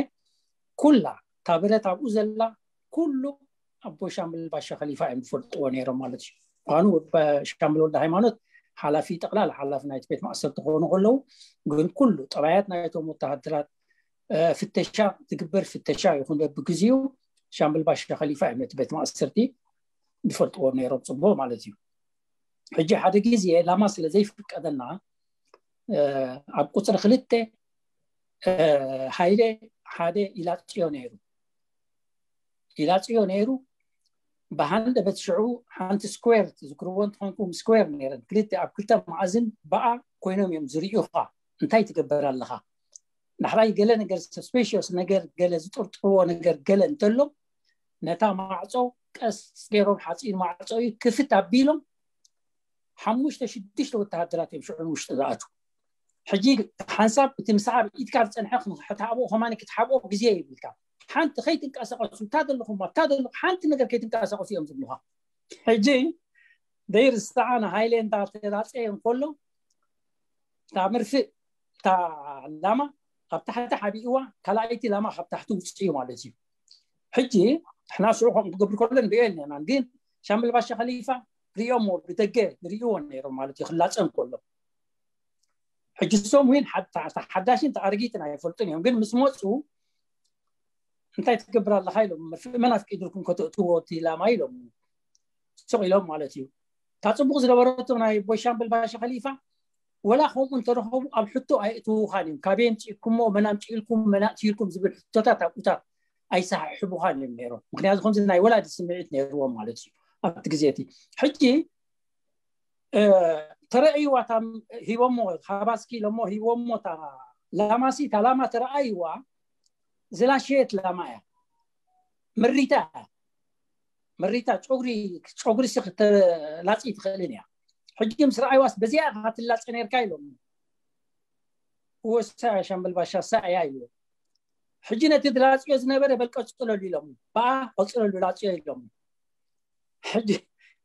ኩላ እታ ብረት ኣብኡ ዘላ ኩሉ ኣቦ ሻምብል ባሻ ከሊፋ እዮም ዝፈልጥዎ ነይሮም ማለት እዩ። ኳኑ ሻምብል ወልደ ሃይማኖት ሓላፊ ጠቕላላ ሓላፊ ናይቲ ቤት ማእሰርቲ ክኾኑ ከለዉ ግን ኩሉ ጠባያት ናይቶም ወተሃደራት ፍተሻ ትግበር ፍተሻ ይኹን በብግዚኡ ሻምብል ባሻ ከሊፋ እዮም ነቲ ቤት ማእሰርቲ ዝፈልጥዎም ነይሮም ፅቡቅ ማለት እዩ። ሕጂ ሓደ ግዜ ላማ ስለ ዘይፍቀደና ኣብ ቁፅሪ ክልተ ሃይለ ሓደ ኢላፅዮ ነይሩ ኢላፅዮ ነይሩ ብሃንደበት ሽዑ ሓንቲ ስኩዌር ትዝክርዎ እንትኾንኩም ስኩዌር ነይረን ክልተ ኣብ ክልተ መኣዝን በኣ ኮይኖም እዮም ዝርእዩኻ እንታይ ትገብር ኣለኻ ዳሕራይ ገለ ነገር ሰስፔሽስ ነገር ገለ ዝጥርጥርዎ ነገር ገለ እንተሎ ነታ ማዕፆ ቀስ ገይሮም ሓፂን ማዕፆ እዩ ክፍት ኣቢሎም ሓሙሽተ ሽዱሽተ ወተሃደራት እዮም ሽዑ ውሽጢ ዝኣቱ ሕጂ ሓንሳብ እቲ ምሳዕ ኢድካ ዝፀንሐ ክትሓብኦ ከማን ክትሓብኦ ግዜ ይብልካ ሓንቲ ከይትንቀሳቀሱ እታ ዘለኹም እታ ዘለኹ ሓንቲ ነገር ከይትንቀሳቀሱ እዮም ዝብሉካ ሕጂ ደይር ሰዓና ሃይለ እንዳተላፀየ እንከሎ እታ መርፍእ እታ ላማ ካብ ታሕቲ ሓቢእዋ ካልኣይቲ ላማ ካብ ታሕቲ ውፅእ እዩ ማለት እዩ ሕጂ ሕና ስዑ ከም ክገብር ከሎ ንሪኦ የለናን ግን ሻምብል ባሻ ከሊፋ ሪኦሞ ብደገ ንርእይዎ ነይሮም ማለት እዩ ክላፀ እንከሎ ሕጂ ሶም ዊን ሓዳሽን ተኣርጊትን ኣይፈልጡን እዮም ግን ምስ መፁ እንታይ ትገብር ኣለካ ኢሎም መርፍእ መን ኣፍቂድልኩም ከተእትዎ እቲ ላማ ኢሎም ሱቕ ኢሎም ማለት እዩ እታ ፅቡቅ ዝነበረቶ ናይ ቦይሻምብል ባሻ ከሊፋ ወላ ከምኡ እንተረኸቡ ኣብ ሕቶ ኣይእትውኻን እዮም ካበይ ኣምፂእኩሞ መን ኣምፂእልኩም መን ኣእትይልኩም ዝብል ሕቶታት ኣብኡታት ኣይሰሓሕቡኻን እዮም ነይሮም ምክንያቱ ከምዚ ናይ ወላዲ ስምዒት ነይርዎም ማለት እዩ ኣብቲ ግዜ እቲ ሕጂ ተረእይዋ ታ ሂቦሞ ሃባስኪ ኢሎሞ ሂቦሞ ታ ላማሲ እታ ላማ ተረኣይዋ ዝላሸየት ላማ እያ ምሪታ እያ ምሪታ ጨጉሪ ጨጉሪ ሲ ክትላፂ ትኽእልን እያ ሕጂ ምስ ረኣይዋስ በዚኣ ኢኻ ትላፀ ነርካ ኢሎም ወሳ ሻምበል ባሻ ሳእያ ኢሉ ሕጂ ነቲ ዝላፅዮ ዝነበረ በል ቀፅለሉ ኢሎም በኣ ቀፅለሉ ላፅዮ ኢሎም ሕጂ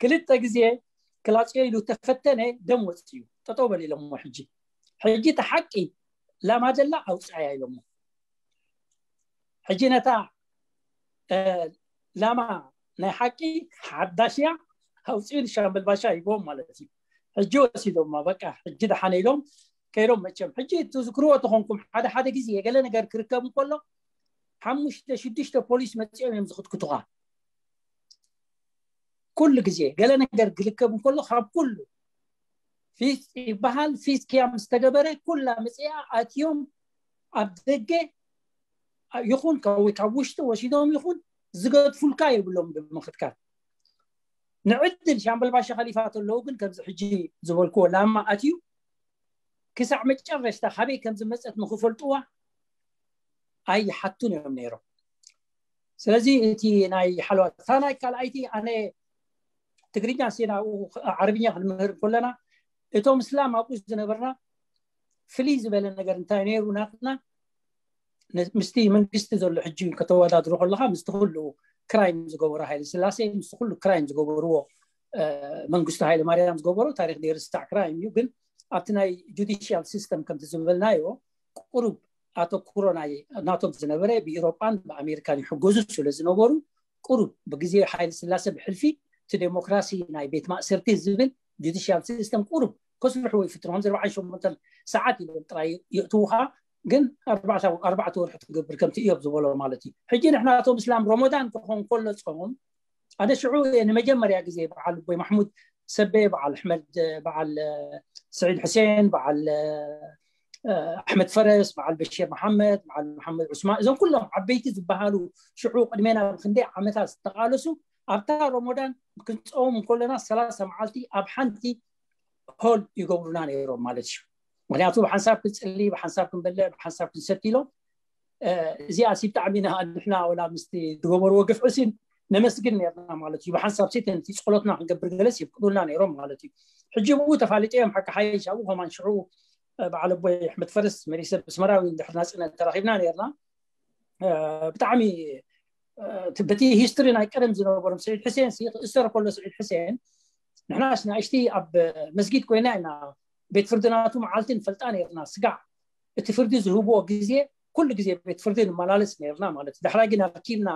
ክልተ ግዜ ክላፅዮ ኢሉ ተፈተነ ደም ወፅዩ ጠጠው በል ኢሎሞ ሕጂ ሕጂ እቲ ሓቂ ላማ ደላ ኣውፅኣያ ኢሎሞ ሕጂ ነታ ላማ ናይ ሓቂ ሓዳሽያ ኣውፅኡ ንሻምበል ባሻ ሂቦም ማለት እዩ ሕጂ ወሲዶማ በቃ ሕጂ ደሓነ ኢሎም ከይዶም መቸም ሕጂ ትዝክርዎ ተኾንኩም ሓደ ሓደ ግዜ ገለ ነገር ክርከብ እንከሎ ሓሙሽተ ሽዱሽተ ፖሊስ መፂኦም እዮም ዝኽትክቱኻ ኩሉ ግዜ ገለ ነገር ክርከብ እንከሎ ካብ ኩሉ ፊስ ይበሃል ፊስ ክያም ዝተገበረ ኩላ መፅኣ ኣትዮም ኣብ ደገ ይኹን ካብ ውሽጢ ወሲዶም ይኹን ዝገድፉልካ የብሎም ብምኽትካት ንዕድል ሻምበል ባሻ ከሊፋ ተለዉ ግን ከምዚ ሕጂ ዝበልክዎ ላማ ኣትዩ ክሳዕ መጨረሽታ ካበይ ከም ዝመፀት ንክፈልጥዋ ኣይሓቱን እዮም ነይሮም ስለዚ እቲ ናይ ሓለዋ እታ ናይ ካልኣይቲ ኣነ ትግርኛ ሲ ናብኡ ዓረብኛ ክንምህር ከለና እቶም እስላም ኣብኡ ዝነበርና ፍልይ ዝበለ ነገር እንታይ ነይሩ ናትና ምስቲ መንግስቲ ዘሎ ሕጂ ከተወዳድሮ ከለካ ምስቲ ኩሉ ክራይም ዝገበሩ ሃይለ ስላሴ ምስቲ ኩሉ ክራይም ዝገበርዎ መንግስቱ ሃይለ ማርያም ዝገበሩ ታሪክ ዘይርስዕ ክራይም እዩ ግን ኣብቲ ናይ ጁዲሽያል ሲስተም ከምቲ ዝበልናዮ ቁሩብ ኣተኩሮ ናይ ናቶም ዝነበረ ብኢሮጳን ብኣሜሪካን ይሕገዙ ስለ ዝነበሩ ቁሩብ ብግዜ ሓይለ ስላሴ ብሕልፊ እቲ ዴሞክራሲ ናይ ቤት ማእሰርቲ ዝብል ጁዲሽያል ሲስተም ቁሩብ ከስርሕዎ ይፍትኑ ከምዚ ኣርባዓን ሸሞንተን ሰዓት ኢሎም ጥራይ የእትውኻ ግን ኣርባዕተ ወርሒ ትገብር ከምቲ እዮም ዝበሎ ማለት እዩ ሕጂ ንሕና እቶም እስላም ሮሞዳን ክኾን ከሎ ፆም ኣነ ሽዑ ንመጀመርያ ግዜ በዓል ቦይ ማሕሙድ ሰበ በዓል ኣሕመድ በዓል ስዒድ ሕሴን በዓል ኣሕመድ ፈረስ በዓል በሽር መሓመድ በዓል መሓመድ ዑስማን እዞም ኩሎም ዓበይቲ ዝበሃሉ ሽዑ ቅድሜና ብክንደይ ዓመታት ዝተቃለሱ ኣብታ ሮሞዳን ክንፀዎም እንከለና ሰላሳ መዓልቲ ኣብ ሓንቲ ሆል ይገብሩና ነይሮም ማለት እዩ ምክንያቱ ብሓንሳብ ክንፅሊ ብሓንሳብ ክንበልዕ ብሓንሳብ ክንሰቲ ኢሎም እዚኣ ሲ ብጣዕሚ ኢና ንሕና ወላ ምስቲ ዝገበርዎ ግፍዒ ሲ ነመስግን ነርና ማለት እዩ ብሓንሳብ ሲ ነቲ ፀሎትና ክንገብር ገለስ ይፍቅዱልና ነይሮም ማለት እዩ ሕጂ ብኡ ተፋሊጠ እዮም ሓቂ ሓይሽ ኣብኡ ከማን ሽዑ በዓል ኣቦይ ኣሕመድ ፈርስ መሪሰ ብስመራዊ እንድሕር ናፅነት ተራኺብና ነርና ብጣዕሚ በቲ ሂስትሪ ናይ ቀደም ዝነበሮም ስዒድ ሕሴን ክእሰር ከሎ ስዒድ ሕሴን ንሕናስ ንእሽቲ ኣብ መስጊድ ኮይና ኢና ቤት ፍርዲ ናቱ መዓልቲ ንፈልጣ ነርና። ስጋዕ እቲ ፍርዲ ዝህብዎ ግዜ ኩሉ ግዜ ቤት ፍርዲ ንመላለስ ነርና ማለት እዩ። ዳሕራይ ግን ኣርኪብና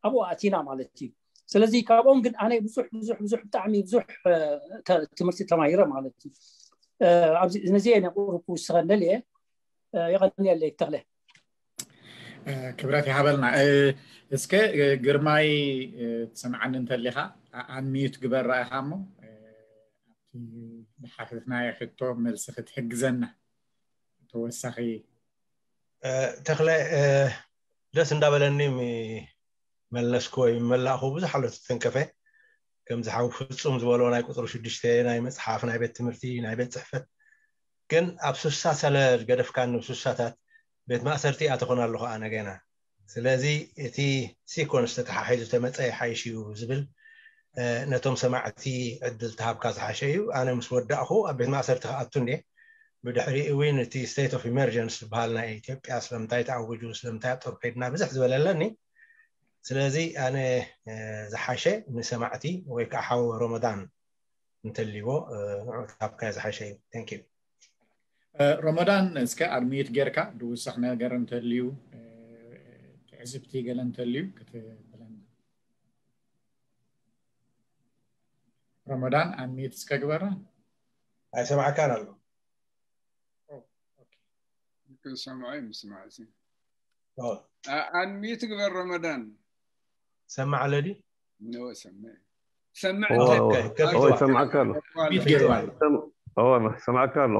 ኣብኡ ኣቲና ማለት እዩ። ስለዚ ካብኦም ግን ኣነ ብዙሕ ብዙሕ ብዙሕ ብጣዕሚ ብዙሕ ትምህርቲ ተማሂረ ማለት እዩ። ኣብዚ ነዚ እየ ነቁሩ ክውስኸ እንደልየ። የቐንየለይ ተኽለ። ክብረት ይሃበልና። እስከ ግርማይ ትሰምዓኒ እንተሊኻ ኣንሚዩት ግበር ራኢኻ እሞ ዝሓተትናዮ ሕቶ መልሲ ክትሕግዘና ተወሳኺ። ተኽለ፣ ደስ እንዳበለኒ መለስኩ ወይ መላእኹ ብዙሕ ኣሎ ተንከፈ። ከምዚ ሓው ፍጹም ዝበሎ ናይ ቁፅሪ ሽዱሽተ ናይ መፅሓፍ ናይ ቤት ትምህርቲ ናይ ቤት ፅሕፈት ግን ኣብ ሱሳ ሰለ ገደፍካኒ ሱሳታት ቤት ማእሰርቲ ኣተኾን ኣለኹ ኣነ ገና። ስለዚ እቲ ሲኮንስ ተተሓሒዙ ተመፀ ይሓይሽ እዩ ዝብል ነቶም ሰማዕቲ ዕድል ተሃብካ ዝሓሸ እዩ። ኣነ ምስ ወዳእኹ ኣብ ቤት ማእሰርቲ ክኣቱ እንዴ ብድሕሪ እውን እቲ state of emergency ዝበሃል ናይ ኢትዮጵያ ስለምንታይ ተኣውጁ ስለምንታይ ኣብ ጦር ከይድና ብዝሕ ዝበለለኒ። ስለዚ ኣነ ዝሓሸ ንሰማዕቲ ወይ ከዓ ሓው ሮመዳን እንተልዎ ንዑ ተሃብካ ዝሓሸ እዩ። Thank you። ሮመዳን እስከ ኣድሚት ጌርካ ድውሰኽ ነገር እንተልዩ ትዕዝብቲ ገለ እንተልዩ ክትብለና። ረመዳን ኣንሚት እስከ ግበራ። ኣይሰማዕካን ኣሎ። ክሰምዖ ምስማዕ እዚ ኣንሚት ግበር ረመዳን። ሰማዕ ኣለዲ ነው ሰምዕ ሰምዕ ሰማዕካ ኣሎ። ሰማዕካ ኣሎ።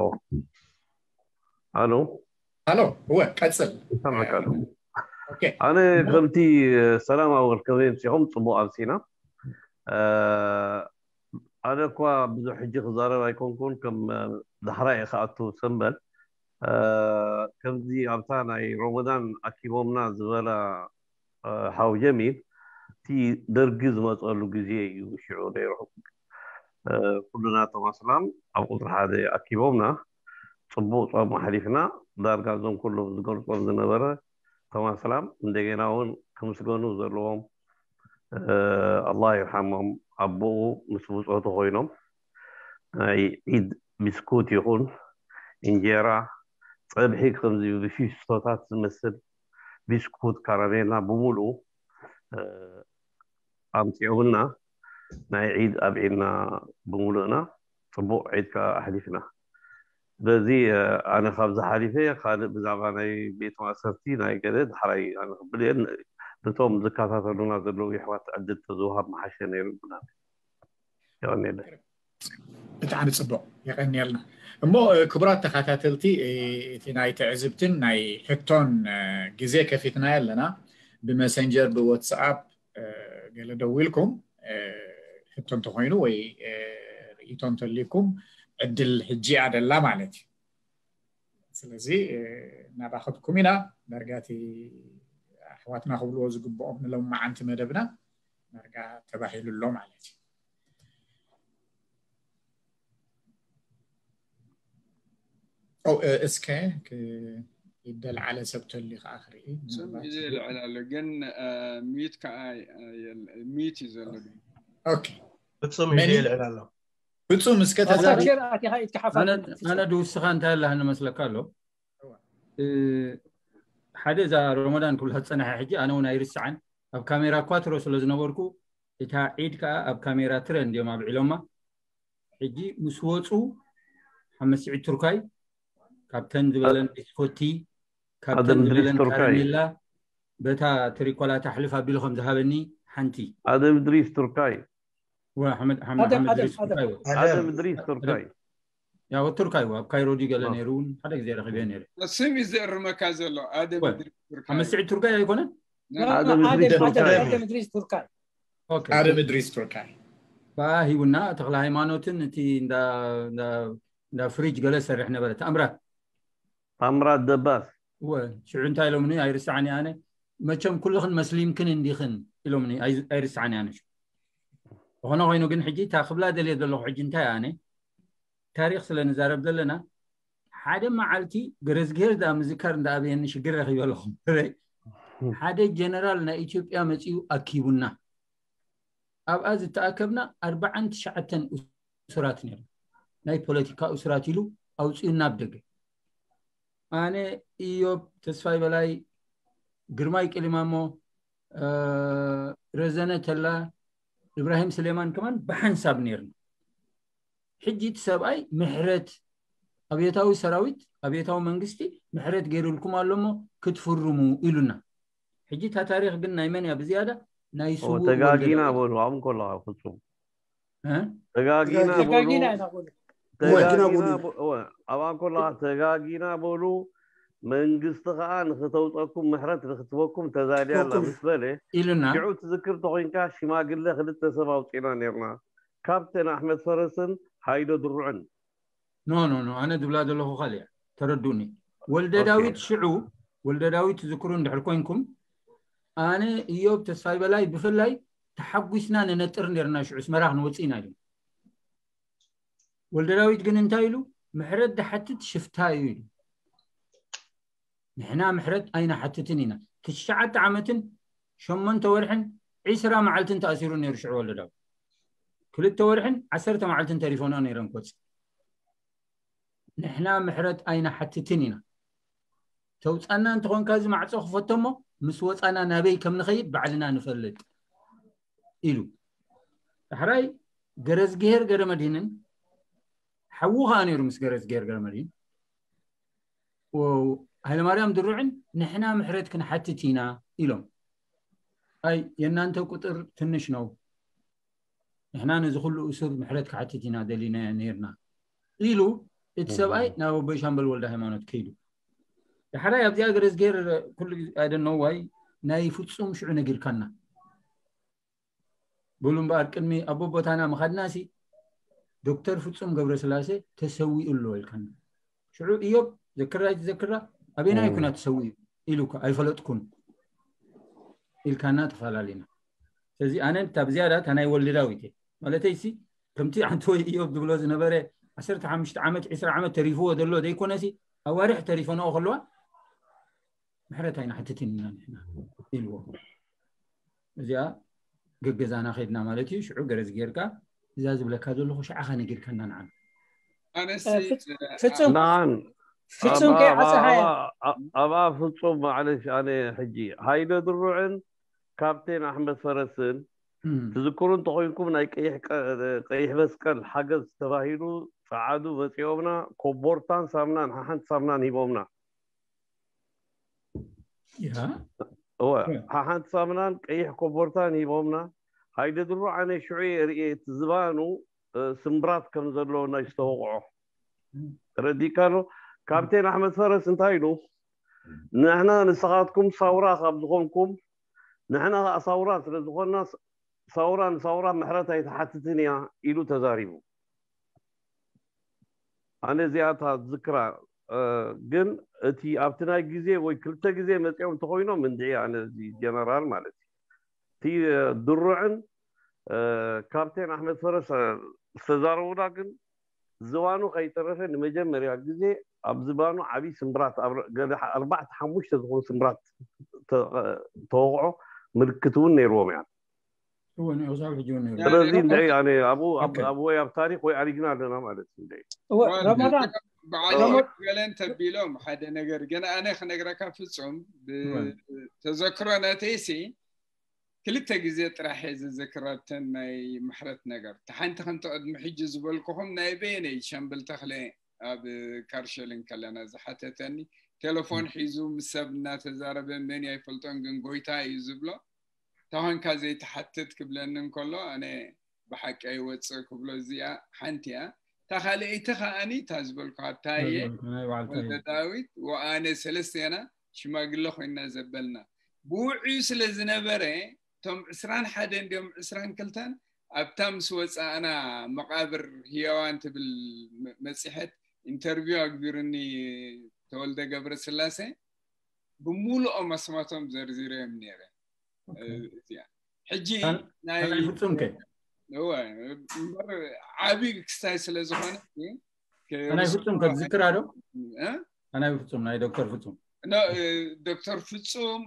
ኣሎ። እወ ቀፅል። ሰማዕካ ኣሎ። ኣነ ከምቲ ሰላም ኣወል ከመይ ምሲኹም? ፅቡቅ ኣምሲና። ኣነ እኳ ብዙሕ ሕጂ ክዛረብ ኣይኮንኩን፣ ከም ዳሕራይ ክኣቱ ሰንበል። ከምዚ ኣብታ ናይ ሮመዳን ኣኪቦምና ዝበላ ሓው ጀሚል፣ እቲ ደርጊ ዝመፀሉ ግዜ እዩ ሽዑ ነይሩ። ኩሉና እቶም ኣስላም ኣብ ቁፅሪ ሓደ ኣኪቦምና፣ ፅቡቅ ፆም ኣሕሊፍና። ዳርጋ እዞም ኩሎም ዝገልፆም ዝነበረ እቶም ኣስላም እንደገና እውን ክምስገኑ ዘለዎም፣ ኣላህ ይርሓሞም፣ ኣቦኡ ምስ ብፆቱ ኮይኖም ናይ ዒድ ቢስኩት ይኹን እንጀራ፣ ፀብሒ፣ ከምዚ ብፊስቶታት ዝመስል ቢስኩት፣ ካራሜላ ብምልኡ ኣምፂኦምና ናይ ዒድ ኣብዒልና ብምሉእና ፅቡቅ ዒድ ከዓ ኣሕሊፍና። ስለዚ ኣነ ካብዚ ሓሊፈ ካልእ ብዛዕባ ናይ ቤት ማእሰርቲ ናይ ገለ ዳሕራይ ኣነ ክብል እየ። ነቶም ዝከታተሉና ዘለዉ የሕዋት ዕድል ተዝወሃብ መሓሸ ነይሩ ብና። የቐንየለ። ብጣዕሚ ፅቡቅ፣ የቀንየልና። እሞ ክቡራት ተኸታተልቲ፣ እቲ ናይ ትዕዝብትን ናይ ሕቶን ግዜ ከፊትና ኣለና። ብመሰንጀር ብዋትስኣፕ ገለ ደዊልኩም ሕቶ እንተኮይኑ ወይ ርእይቶ እንተልይኩም ዕድል ሕጂ እያ ደላ ማለት እዩ። ስለዚ እናራኸብኩም ኢና። ዳርጋ እቲ ኣሕዋትና ክብልዎ ዝግብኦም ንሎማዓንቲ መደብና ዳርጋ ተባሂሉ ኣሎ ማለት እዩ። እስከ ይደልዓለ ሰብ ተልዩ ከዓ ክርኢ። ስም ይዘ ይልዕል ኣሎ ግን ሚዩት ከዓ ሚዩት እዩ ዘሎ። ኦኬ ፍጹም ይዘ ይልዕል ኣሎ። ፍጹም እስከ ተዛረብ። ኣነ ድውስኻ እንታይ ኣለሃኒ መስለካ ኣሎ። ሓደ እዛ ሮመዳን ክብላ ዝፀናሐ ሕጂ ኣነ እውን ኣይርስዓን። ኣብ ካሜራ እኳ ትሮ ስለ ዝነበርኩ እታ ዒድ ከዓ ኣብ ካሜራ ትረ እንዲዮም ኣብዒሎማ። ሕጂ ምስ ወፁ ሓመስዒድ ቱርካይ ካብተን ዝበለን ቢስኮቲ ካብተን ዝበለን ካረሜላ በታ ትሪኮላ ታሕልፍ ኣቢሉ ከም ዝሃበኒ ሓንቲ ኣደም ድሪስ ቱርካይ ሓመድ ቱርካይ ኣደም ድሪስ ቱርካይ ያው ቱርካይ ኣብ ካይሮ ድዩ ገለ ነይሩ እውን ሓደ ግዜ ረኺበ ነይረ። ስም እዩ ዘእርመካ ዘሎ ኣደም ድሪስ ቱርካይ። ሓመስዒድ ቱርካይ ኣይኮነን? ኣደም ድሪስ ቱርካይ ኣደም ድሪስ ቱርካይ በኣ ሂቡና። ተክለ ሃይማኖትን እቲ እንዳ ፍሪጅ ገለ ሰርሕ ነበረ። ታምራት ታምራት ደባስ እወ ሽዑ እንታይ ኢሎምኒ ኣይርስዓን ኣነ። መቸም ኩልኽን መስሊምክን እንዲኽን ኢሎምኒ። ኣይርስዓን ኣነ። ዝኾነ ኮይኑ ግን ሕጂ እታ ክብላ ደልየ ዘለኹ ሕጂ እንታይ ኣነ ታሪክ ስለ ንዛረብ ዘለና ሓደ መዓልቲ ገረዝግሄር ዳ ምዝካር እንዳኣበየኒ ሽግር ረኺበ ኣለኹም። ሓደ ጀነራል ናይ ኢትዮጵያ መጺኡ ኣኪቡና። ኣብኣ ዝተኣከብና ኣርባዓን ትሽዓተን እሱራት ነይሩ። ናይ ፖለቲካ እሱራት ኢሉ ኣውጺኡና ኣብ ደገ። ኣነ፣ ኢዮብ ተስፋይ በላይ፣ ግርማይ ቅሊማሞ፣ ረዘነ ተላ፣ እብራሂም ስሌማን ከማን ብሓንሳብ ነይርና። ሕጂ እቲ ሰብኣይ ምሕረት፣ ኣብዮታዊ ሰራዊት፣ ኣብዮታዊ መንግስቲ ምሕረት ገይሩልኩም ኣሎ እሞ ክትፍርሙ ኢሉና። ሕጂ እታ ታሪኽ ግን ናይ መን እያ ብዝያዳ? ናይ ስዉእ ተጋጊና በሉ። ኣብኡ ከለኻ ፍጹም ተጋጊና በሉ። ኣብኣ ከለኻ ተጋጊና በሉ። መንግስቲ ከዓ ንክተውፀኩም ምሕረት ንክትበኩም ተዛልያ ኣላ ምስ በለ ኢሉና። ሽዑ ትዝክር ተኮይንካ ሽማግለ ክልተ ሰብ ኣውፂና ነርና። ካፕቴን ኣሕመድ ፈረስን ሃይለ ድሩዕን። ኖ ኖ ኖ ኣነ ዝብላ ዘለኹ ካልእ እያ። ተረዱኒ። ወልደ ዳዊት ሽዑ ወልደ ዳዊት ትዝክሩ እንድሕር ኮይንኩም ኣነ እዮብ ተስፋይ በላይ ብፍላይ ተሓጒስና ንነጥር ነርና። ሽዑ ስመራ ክንወፅእ ኢና ኢሉ። ወልደ ዳዊት ግን እንታይ ኢሉ? ምሕረት ድሓትት ሽፍታ እዩ ኢሉ። ንሕና ምሕረት ኣይንሓትትን ኢና። ትሽዓተ ዓመትን ሸሞንተ ወርሕን ዒስራ መዓልትን ተኣሲሩ ነይሩ ሽዑ ወልደ ዳዊት። ክልተ ወርሕን ዓሰርተ መዓልትን ተሪፎና ነይረን ክወፅእ። ንሕና ምሕረት ኣይንሓትትን ኢና። ተውፃና እንተኾንካ እዚ ማዕፆ ክፈቶ እሞ ምስ ወፃና ናበይ ከም ንኸይድ ባዕልና ንፈልጥ ኢሉ። ዳሕራይ ገረዝግሄር ገረመድህንን ሓዉ ከዓ ነይሩ ምስ ገረዝግሄር ገረመድህን ሃይለማርያም ድሩዕን ንሕና ምሕረት ክንሓትት ኢና ኢሎም። ኣይ የእናንተ ቁጥር ትንሽ ነው፣ ንሕና ነዚ ኩሉ እሱር ምሕረት ክሓትት ኢና ደሊና ነርና ኢሉ እቲ ሰብኣይ ናብ ኣቦይ ሻምበል ወልደ ሃይማኖት ከይዱ። ዳሕራይ ኣብዚኣ ገረዝጌር ኩሉ I don't know why ናይ ፍጹም ሽዑ ነጊርካና። በሉ እምበኣር ቅድሚ ኣቦቦታና ምኻድናሲ ዶክተር ፍጹም ገብረስላሴ ተሰዊኡ ኣሎ ኢልካና። ሽዑ እዮብ ዘክራ ኣይትዘክራ ኣበይናይ ኩና ተሰዊኡ ኢሉ እኮ ኣይፈለጥኩን ኢልካና ተፈላለና። ስለዚ ኣነ እታ ብዝያዳ እታ ናይ ወልዲ ዳዊት እየ ማለተይ ሲ ከምቲ ኣንተ ወይ እዮብ ዝብሎ ዝነበረ ዓሰርተ ሓሙሽተ ዓመት ዒስራ ዓመት ተሪፍዎ ዘሎ ዘይኮነሲ ኣዋርሕ ተሪፈንኦ ከለዋ ምሕረት ኣይንሓትትን ኢና ንሕና ኢልዎ። እዚኣ ገገዛና ከድና ማለት እዩ። ሽዑ ገረዝ ጌርካ እዛ ዝብለካ ዘለኹ ሽዓኻ ነጊርካና ንዓና። ኣነሲ ፍጹም ንዓን ፍጹም ከይዓፀሃያ ኣብኣ ፍጹም ማዕለሽ ኣነ ሕጂ ሃይለ ድሩዕን ካፕቴን ኣሕመድ ፈረስን ትዝክሩ እንተኮይንኩም ናይ ቀይሕ መስቀል ሓገዝ ተባሂሉ ፀዓዱ መፂኦምና ኮቦርታን ሳምናን ሓሓንቲ ሳምናን ሂቦምና። ሓሓንቲ ሳምናን ቀይሕ ኮቦርታን ሂቦምና። ሃይለ ድሮ ኣነ ሽዑ የርእየ እቲ ዝባኑ ስምብራት ከም ዘለዎና ዝተወቕዖ ተረዲካ ኣሎ። ካፕቴን ኣሕመድ ፈረስ እንታይ ኢሉ? ንሕና ንስኻትኩም ሳውራ ካብ ዝኾንኩም ንሕና ከዓ ሳውራ ስለ ዝኾንና ሳውራ ንሳውራ ምሕረት ኣይትሓትትን እያ ኢሉ ተዛሪቡ። ኣነ እዚኣታ ዝክራ ግን እቲ ኣብቲ ናይ ግዜ ወይ ክልተ ግዜ መፂኦም እንተኮይኖም እንድዒ ኣነ እዚ ጀነራል ማለት እዩ እቲ ድሩዕን ካፕቴን ኣሕመድ ፈረስ ዝተዛረቡና ግን ዝባኑ ከይተረፈ ንመጀመርያ ግዜ ኣብ ዝባኑ ዓብዪ ስምብራት ኣርባዕተ ሓሙሽተ ዝኾኑ ስምብራት ተወቕዖ ምልክት እውን ነይርዎም እያ። ስለዚ እንደ ኣነ ኣብኡ ኣብ ወይ ኣብ ታሪክ ወይ ኣሪግና ኣለና ማለት እዩ። እንደ ረመዳን በዓል ገለን ተቢሎም ሓደ ነገር ግን ኣነ ክነግረካ ፍጹም ተዘክሮ ነተይሲ ክልተ ግዜ ጥራሕ እየ ዝዝክር ኣብተን ናይ ምሕረት ነገር። እቲ ሓንቲ ከምቲ ቅድሚ ሕጂ ዝበልኩኹም ናይ በየነይ ሸምብል ተኽለ ኣብ ካርሸል እንከለና ዝሓተተኒ ቴሌፎን ሒዙ ምስ ሰብ እናተዛረበ መን ኣይፈልጦን ግን ጎይታ እዩ ዝብሎ ተኾንካ ዘይትሓትት ክብለኒ እንከሎ ኣነ ብሓቂ ኣይወፅእ ክብሎ እዚኣ ሓንቲ እያ። እታ ካልኣይቲ ከዓኒ እታ ዝበልኩ ኣብታየ ወልደ ዳዊት ወኣነ ሰለስቴና ሽማግለ ኮይና ዘበልና ብውዕዩ ስለ ዝነበረ እቶም ዕስራን ሓደን ድዮም ዕስራን ክልተን ኣብታ ምስ ወፃእና መቃብር ህያዋን ትብል መፂሐት ኢንተርቪው ኣግቢርኒ ተወልደ ገብረ ስላሴ ብሙሉኦም ኣስማቶም ዘርዚረዮም ነይረ። እዚኣ ሕጂ ናይ ፍጹም ከ እምበር ዓብዪ ክስታይ ስለ ዝኾነ ናይ ፍጹም ከ ዝክራ ዶ ናይ ፍጹም ናይ ዶክተር ፍጹም ዶክተር ፍጹም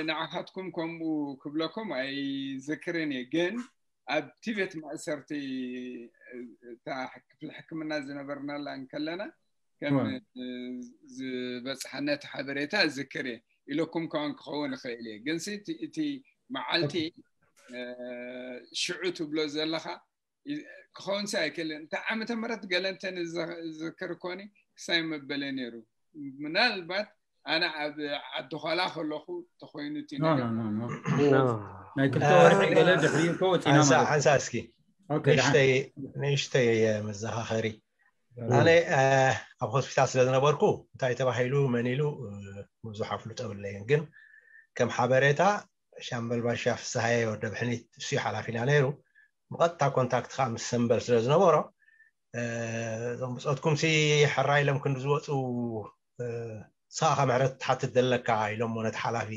ንዓኻትኩም ከምኡ ክብለኩም ኣይዝክርን እየ፣ ግን ኣብቲ ቤት ማእሰርቲ እታ ክፍሊ ሕክምና ዝነበርናላ እንከለና ከም ዝበፅሓና እቲ ሓበሬታ እዝክር እየ። ኢለኩም ከውን ክኸውን ይኽእል እየ፣ ግን እቲ መዓልቲ ሽዑ ትብሎ ዘለኻ ክኸውን ሲ ኣይክእልን። እንታይ ዓመተ ምህረት ገለ እንተ ዝዝክር ኮኒ ክሳይ መበለ ነይሩ። ምናልባት ኣነ ኣብ ዓዲ ኳላ ከለኹ ተኾይኑ እቲ ነገር። ናይ ክልተ ወርሒ ገለ ድሕሪ እኮ ወፂና ማለት ሓንሳ እስኪ ንእሽተይ መዘኻኸሪ ኣነ ኣብ ሆስፒታል ስለ ዝነበርኩ እንታይ ተባሂሉ መን ኢሉ ብዙሕ ኣፍልጦ የብለይን፣ ግን ከም ሓበሬታ ሻምበል ባሻ ፍስሃየ ወደ ብሕኒት እሱ ሓላፊና ነይሩ። ብቐጥታ ኮንታክት ከዓ ምስ ሰምበል ስለ ዝነበሮ እዞም ብፆትኩም ሲ ሕራ ኢሎም ክንዲ ዝወፁ ንስኻ ምሕረት ትሓትት ዘለካ ኢሎሞ ነቲ ሓላፊ።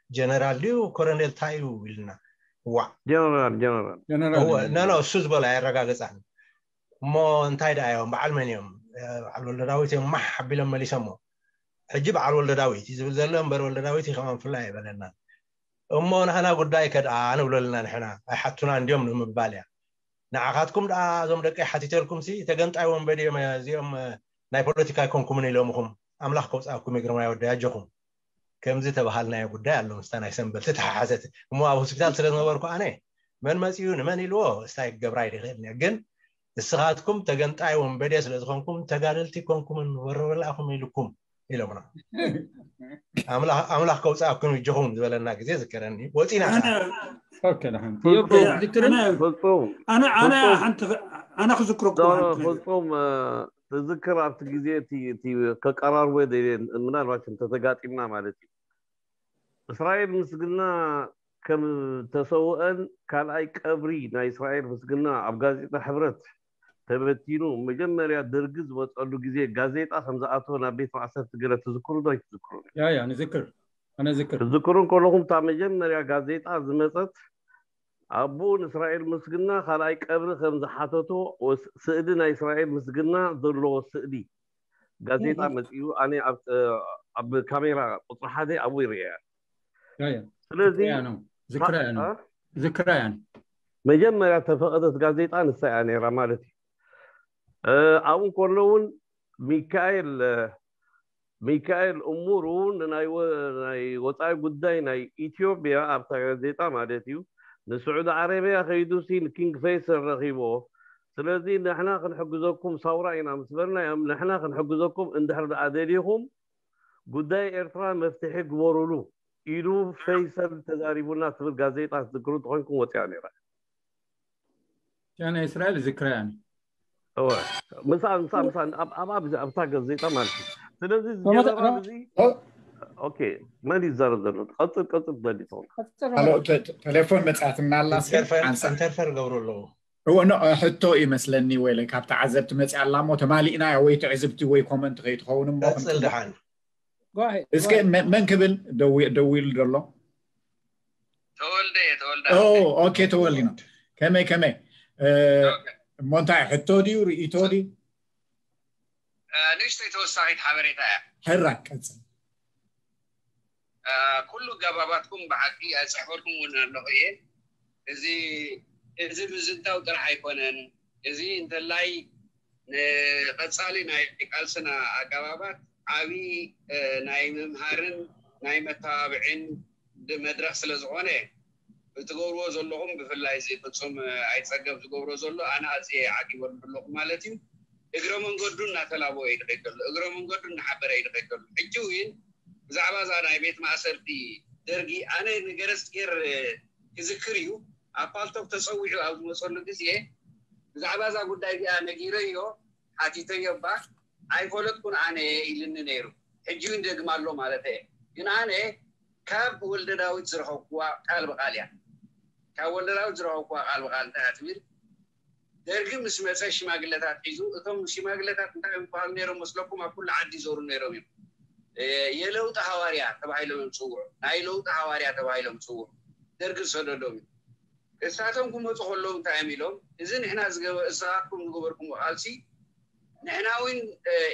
ጀነራል ድዩ ኮረኔል እንታይ እዩ ኢልና። እዋዕ ጀነራል ጀነራል ኖ እሱ ዝበሎ ኣየረጋገፃን። እሞ እንታይ ደኣ እዮም በዓል መን እዮም? በዓል ወልደ ዳዊት እዮም ማሕ ኣቢሎም መሊሶሞ። ሕጂ በዓል ወልደ ዳዊት እዩ ዝብል ዘሎ እምበር ወልደ ዳዊት እዩ ከማን ፍላይ ኣይበለናን። እሞ ናህና ጉዳይ ከድኣ ንብለልና ንሕና ኣይሓቱና እንዲዮም ንምባል እያ። ንዓኻትኩም ደኣ እዞም ደቀይ ሓቲተልኩም ሲ ተገንጣይ ወንበዴ እዮም እዚኦም ናይ ፖለቲካ ኣይኮንኩምን ኢሎምኹም። ኣምላኽ ከውፃእኩም ይግርማ ይወደ ያጀኹም። ከምዚ ተባሃልናዮ ጉዳይ ኣሎ ምስታ ናይ ሰንበል ተተሓሓዘት እሞ ኣብ ሆስፒታል ስለ ዝነበርኩ ኣነ መን መፂኡ ንመን ኢልዎ እስታይ ክገብራ ይደኽእል ግን ንስኻትኩም ተገንጣይ ወንበዴ ስለ ዝኾንኩም ተጋደልቲ ኮንኩምን ወረበላኹም ኢልኩም ኢሎምና። ኣምላኽ ከውፃእኩም ይጀኹም ዝበለና ግዜ ዝከረኒ ወፂና። ኣነ ክዝክረኩም ፍፁም ትዝክር ኣብቲ ግዜ ከቀራርቦ ደልየ ምናልባት እንተተጋጢምና ማለት እዩ። እስራኤል ምስግና ከም ተሰውአን ካልኣይ ቀብሪ ናይ እስራኤል ምስግና ኣብ ጋዜጣ ሕብረት ተበቲኑ መጀመርያ ደርጊ ዝመፀሉ ግዜ ጋዜጣ ከም ዝኣተወ ናብ ቤት ማእሰርቲ ገለ ትዝክሩ ዶ ኣይትዝክሩ? ያ ያ ንዝክር ኣነ ዝክር ትዝክሩ ከለኹም እታ መጀመርያ ጋዜጣ ዝመፀት ኣቦኡ ንእስራኤል ምስግና ካልኣይ ቀብሪ ከም ዝሓተቶ ስእሊ ናይ እስራኤል ምስግና ዘለዎ ስእሊ ጋዜጣ መፂኡ ኣነ ኣብ ካሜራ ቁፅሪ ሓደ ኣብኡ ይርእያ። ስለዚ ዝክራያን መጀመርያ ተፈቐደት ጋዜጣ ንሳ እያ ነይራ ማለት እዩ። ኣብኡ ከሎ እውን ሚካኤል ሚካኤል እሙሩ ንናይ ወፃኢ ጉዳይ ናይ ኢትዮጵያ ኣብታ ጋዜጣ ማለት እዩ ንስዑዲ ዓረብያ ከይዱሲ ንኪንግ ፈይሰል ረኺቦ። ስለዚ ንሕና ክንሕግዘኩም ሳውራ ኢና ምስ በልናዮም ንሕና ክንሕግዘኩም እንድሕር ደኣ ደሊኹም ጉዳይ ኤርትራ መፍትሒ ግበሩሉ ኢሉ ፈይሰል ተዛሪቡና ትብል ጋዜጣ ትዝክሩ ተኾይንኩም ወፂኣ ነይራ። ናይ እስራኤል ዝክራያን እወ ምሳ ምሳ ምሳ ኣብ ኣብ ኣብዛ ኣብታ ጋዜጣ ማለት እዩ። ስለዚ እዚ ጀነራል እዚ ኦኬ መን ይዛረብ ዘሎ? ቀጽል ቀጽል ትደሊ ትኾን። ቴሌፎን መጻትና ኣላ ኢንተርፈር ገብሩ ኣለዉ። እወ ኖ ሕቶ ይመስለኒ ወይለ ካብ ተዓዘብቲ መጽያ ኣላ እሞ ተማሊእና ወይ ትዕዝብቲ ወይ ኮመንት ከይትኸውን እሞ ቀጽል ደሓን እስከ መን ክብል ደዊሉ ዘሎ? ተወልደ ተወልደ ኦኬ ተወልደ ነው። ከመይ ከመይ እሞ እንታይ ሕቶ ድዩ ርእይቶ ድዩ? ንእሽተይ ተወሳኺት ሓበሬታ እያ። ሕራይ ቀጽል። ኩሉ ገባባትኩም ብሓቂ ኣይፅሕፈልኩም እውን ኣለኹ እየ። እዚ እዚ ምዝንታው ጥራሕ ኣይኮነን። እዚ እንተላይ ንቐፃሊ ናይ ቃልስና ኣገባባት ዓብዪ ናይ ምምሃርን ናይ መተባብዒን መድረኽ ስለ ዝኾነ ብትገብርዎ ዘለኹም ብፍላይ እዚ ፍፁም ኣይፀገብ ዝገብሮ ዘሎ ኣነ ኣዝየ ዓጊበሉ ኣለኹ ማለት እዩ። እግረ መንገዱ እናተላበወ እዩ ዝኸይድ ዘሎ፣ እግረ መንገዱ እናሓበረ እዩ ዝኸይድ ዘሎ። ሕጂ እውን ብዛዕባ እዛ ናይ ቤት ማእሰርቲ ደርጊ ኣነ ንገረስጌር ክዝክር እዩ ኣብ ፓልቶክ ተፀዊዑ ኣብ ዝመፀሉ ግዜ ብዛዕባ እዛ ጉዳይ እዚኣ ነጊረዮ ሓቲተዮ እባ ኣይፈለጥኩን ኣነ ኢልኒ ነይሩ። ሕጂ እውን ይደግም ኣሎ ማለት እየ። ግን ኣነ ካብ ወልደ ዳዊት ዝረኸብኩዋ ቃል ብቃል እያ። ካብ ወልደ ዳዊት ዝረኸብኩዋ ቃል ብቃል እንታይ እያ ትብል? ደርጊ ምስ መፀ ሽማግለታት ሒዙ፣ እቶም ሽማግለታት እንታይ ይበሃሉ ነይሮም መስለኩም? ኣብ ኩሉ ዓዲ ይዞሩ ነይሮም እዮም። የለውጢ ሃዋርያ ተባሂሎም እዮም ዝፅውዑ። ናይ ለውጢ ሃዋርያ ተባሂሎም ዝፅውዑ ደርጊ ዝሰደዶም እዩ። እሳቶም ክመፁ ከለዉ እንታይ እዮም ኢሎም? እዚ ንሕና እሳትኩም ዝገበርኩም ቃልሲ ንሕና እውን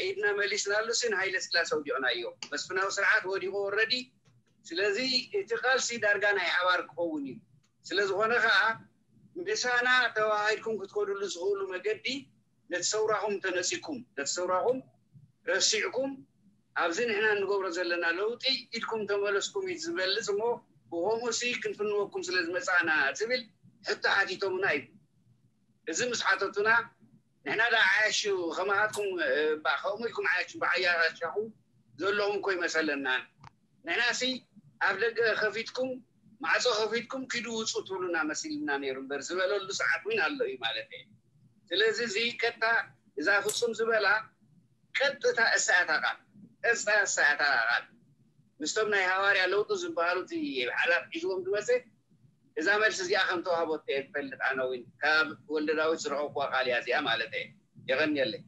ኢድና መሊስናሉ ሲ ንሃይለ ስላሴ ወዲቕናዮ። መስፍናዊ ስርዓት ወዲቑ ወረዲ ስለዚ እቲ ቃልሲ ዳርጋ ናይ ሓባር ክኸውን እዩ። ስለዝኾነ ከዓ ምሳና ተዋሃሂድኩም ክትከዱሉ ዝኽእሉ መገዲ ነቲ ሰውራኹም ተነፂኩም ነቲ ሰውራኹም ረሲዕኩም ኣብዚ ንሕና እንገብሮ ዘለና ለውጢ ኢድኩም ተመለስኩም እዩ ዝበልፅ እሞ ብኸምኡ ሲ ክንፍንወኩም ስለ ዝመፃና ዝብል ሕቶ ሓቲቶምና እዩ። እዚ ምስ ሓተቱና ንሕና ዳ ዓያሹ ከማኻትኩም ከምኡ ኢልኩም ዓያሹ ብዓያሻኹም ዘለኹም እኮ ይመሰለና። ንሕና ሲ ኣብ ደገ ከፊትኩም ማዕፆ ከፊትኩም ኪዱ ውፁ ትብሉና መሲልና ነይሩ እምበር ዝበለሉ ሰዓት እውን ኣሎ እዩ ማለት እዩ። ስለዚ እዚ ቀጥታ እዛ ፍፁም ዝበላ ቀጥታ እሳኣታ ቃል ቀጥታ እሳኣታ ቃል ምስቶም ናይ ሃዋርያ ለውጡ ዝበሃሉ እቲ ሓላፍ ሒዝዎም ዝመፀ እዛ መልሲ እዚኣ ከም ተዋህቦት እየ ዝፈልጥ ኣነ እውን ካብ ወልደ ዳዊት ዝረኸብኩዋ ቃል እያ እዚኣ ማለት እየ። የቐንየለይ።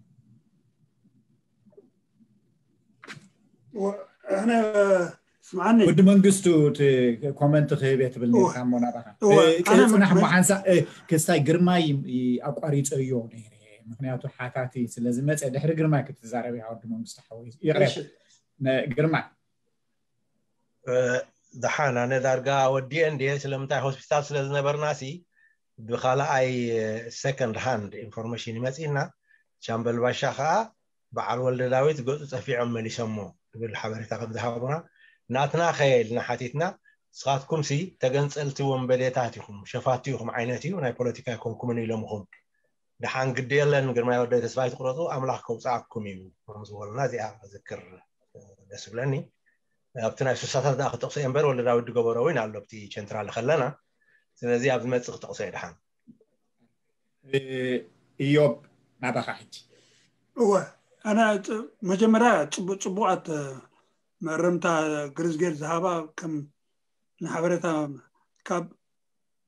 እነ ስምዓኒ ወዲ መንግስቱ እቲ ኮመንት ክህብ እየ ትብል ነርካ እሞ ናባኻ። እወ፣ እ፣ ኣነ ጽናሕ መ- እሞ ሓንሳእ፣ እ፣ ክስታይ ግርማይ ይ-፣ ኣቋሪጸዮ ነይረ። ምክንያቱ ሓታቲ ስለ ዝመጸ ድሕሪ ግርማይ ክትዛረብ ኢኻ ወዲ መንግስቱ ሓወይ። ይቕሬታ። እሺ። ነ-፣ ግርማይ። እ፣ ደሓን ኣነ ዳርጋ ወዲኤ እንድየ። ስለምንታይ ሆስፒታል ስለ ዝነበርና ሲ ብኻልኣይ ሰከንድ ሃንድ ኢንፎርሜሽን ይመፅእና። ቻምበል ባሻ ከዓ በዓል ወልደ ዳዊት ገፁ ጠፊዖም መሊሶሞ ዝብል ሓበሬታ ከም ዝሃቡና ናትና ከየ ኢልና ሓቲትና። ንስኻትኩም ሲ ተገንፀልቲ ወንበዴታት ኢኹም፣ ሸፋቱ ኢኹም ዓይነት እዩ፣ ናይ ፖለቲካ ኣይኮንኩምን ኢሎምኹም። ደሓን ግዲ የለን ግርማይ ወደይ ተስፋ ኣይትቁረፁ፣ ኣምላኽ ከውፅኣኩም እዩ ከም ዝበሉና እዚኣ ዝክር ደስ ብለኒ። ኣብቲ ናይ ሱሳታት ደኣ ክጠቕሶ እየ እምበር ወልደ ዳዊት ዝገበሮ እውን ኣሎ ኣብቲ ቸንትራል ከለና። ስለዚ ኣብ ዝመፅእ ክጠቕሶ እየ ደሓን። እ፣ ኢዮብ ናባኻ ሕጂ። እወ፣ ኣነ ፅ- መጀመርያ ፅቡ- ፅቡቓት መእረምታ ግርዝጌር ዝሃባ ከም ንሓበሬታ ካብ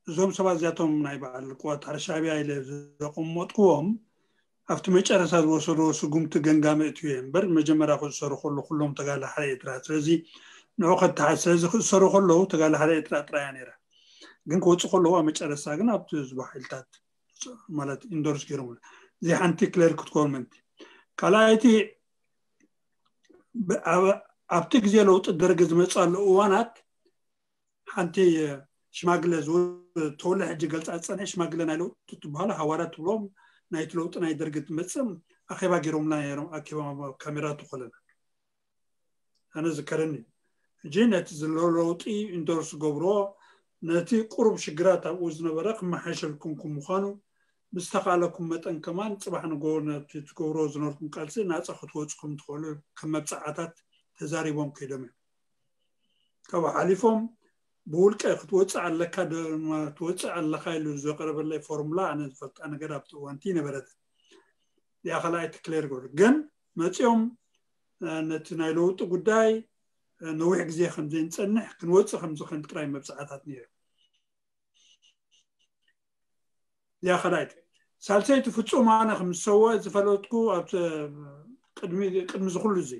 እዞም ሰባት እዚኣቶም ናይ በዓል ቅዋት ሓረ ሻዕብያ ኢለ ዘቐመጥኩዎም ኣብቲ መጨረሻ ዝወሰድዎ ስጉምቲ ገንጋሚ እትዩ እየ እምበር መጀመርያ ክእሰሩ ከሎ ኩሎም ተጋለ ሓደ ኤርትራ ስለዚ ንዑ ከተሓ ስለዚ ክእሰሩ ከለዉ ተጋለ ሓደ ኤርትራ ጥራያ ነይራ ግን ክወፁ ከለዉ ኣብ መጨረሻ ግን ኣብቲ ዝባ ሓይልታት ማለት ኢንዶርስ ገይሮም እዚ ሓንቲ ክለር ክትኮርመንቲ ካልኣይቲ ብ- ኣብ- ኣብቲ ግዜ ለውጢ ደርጊ ዝመፅኣሉ እዋናት ሓንቲ ሽማግለ ዝው- ተወለ ሕጂ ገልፃ ዝፀንሐ ሽማግለ ናይ ለውጢ ትበሃሉ ሃዋርያ ትብሎም ናይቲ ለውጢ ናይ ደርጊ ትመፅም ኣኼባ ገይሮምና ነይሮም ኣኪባ ካሜራ ተኮለና ኣነ ዝከረኒ ሕጂ ነቲ ዝለለውጢ ኢንዶርስ ገብሮ ነቲ ቁሩብ ሽግራት ኣብኡ ዝነበረ ክመሓሸልኩም ምዃኑ ብዝተኻእለኩም መጠን ከማን ፅባሕ ንጎ ነቲ ትገብሮ ዝነበርኩም ቃልሲ ናፃ ክትወፁ ከም ትኽእሉ ከም መብፃዓታት ተዛሪቦም ከይዶም እዮም ካብኡ ሓሊፎም ብውልቀ ክትወፅእ ኣለካ ድማ ትወፅእ ኣለካ ኢሉ ዘቅረበለይ ፎርሙላ ኣነ ዝፈልጣ ነገር ኣብቲ እዋንቲ ነበረት እዚኣ ካልኣይቲ ክሌር ገሩ ግን መፂኦም ነቲ ናይ ለውጢ ጉዳይ ነዊሕ ግዜ ከም ዘይንፀንሕ ክንወፅእ ከም ዝኽእል ጥራይ መብፃዕታት ነይሩ እዚኣ ካልኣይቲ ሳልሰይቲ ፍፁም ኣነ ከም ዝሰወ ዝፈለጥኩ ኣብ ቅድሚ ቅድሚ ዝኩሉ እዚ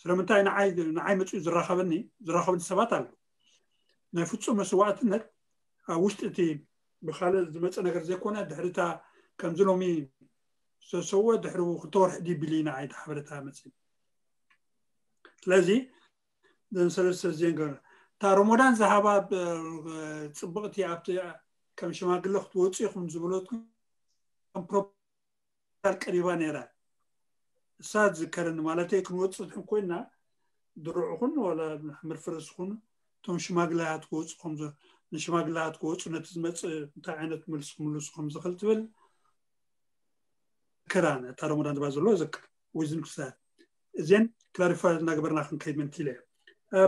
ስለምንታይ ንዓይ ንዓይ መፅኡ ዝራኸበኒ ዝራኸበኒ ሰባት ኣሎ ናይ ፍፁም መስዋዕትነት ኣብ ውሽጢ እቲ ብካልእ ዝመፀ ነገር ዘይኮነ ድሕሪታ ከምዚ ሎሚ ዝተሰወ ድሕሪ ክልተ ወርሒ ድዩ ቢሉ ኢና ዓይተ ሓበሬታ መፅእ ስለዚ ዘን ሰለስተ ዜን ገ እታ ሮሞዳን ዝሃባ ብ- ፅብቕቲ ኣብቲ ከም ሽማግለ ክትወፁ ኢኹም ዝበለትኩም ፕሮፖዛል ቀሪባ ነይራ እሳ ዝከረኒ ማለተይ ክንወፅእ ኮይና ድሩዕ ኹን ዋላ ሕምር ፍርስ ኹን እቶም ሽማግለያት ክወፁ ከም ንሽማግለያት ክወፁ ነቲ ዝመፅእ እንታይ ዓይነት መልሲ ክምልሱ ከም ዝኽእል ትብል ክራን እታ ሮሞዳን ዝባ ዘሎ ዘክር ዊዝን ክሳት እዚን ክላሪፋይ እናገበርና ክንከይድ ምንቲ ኢለ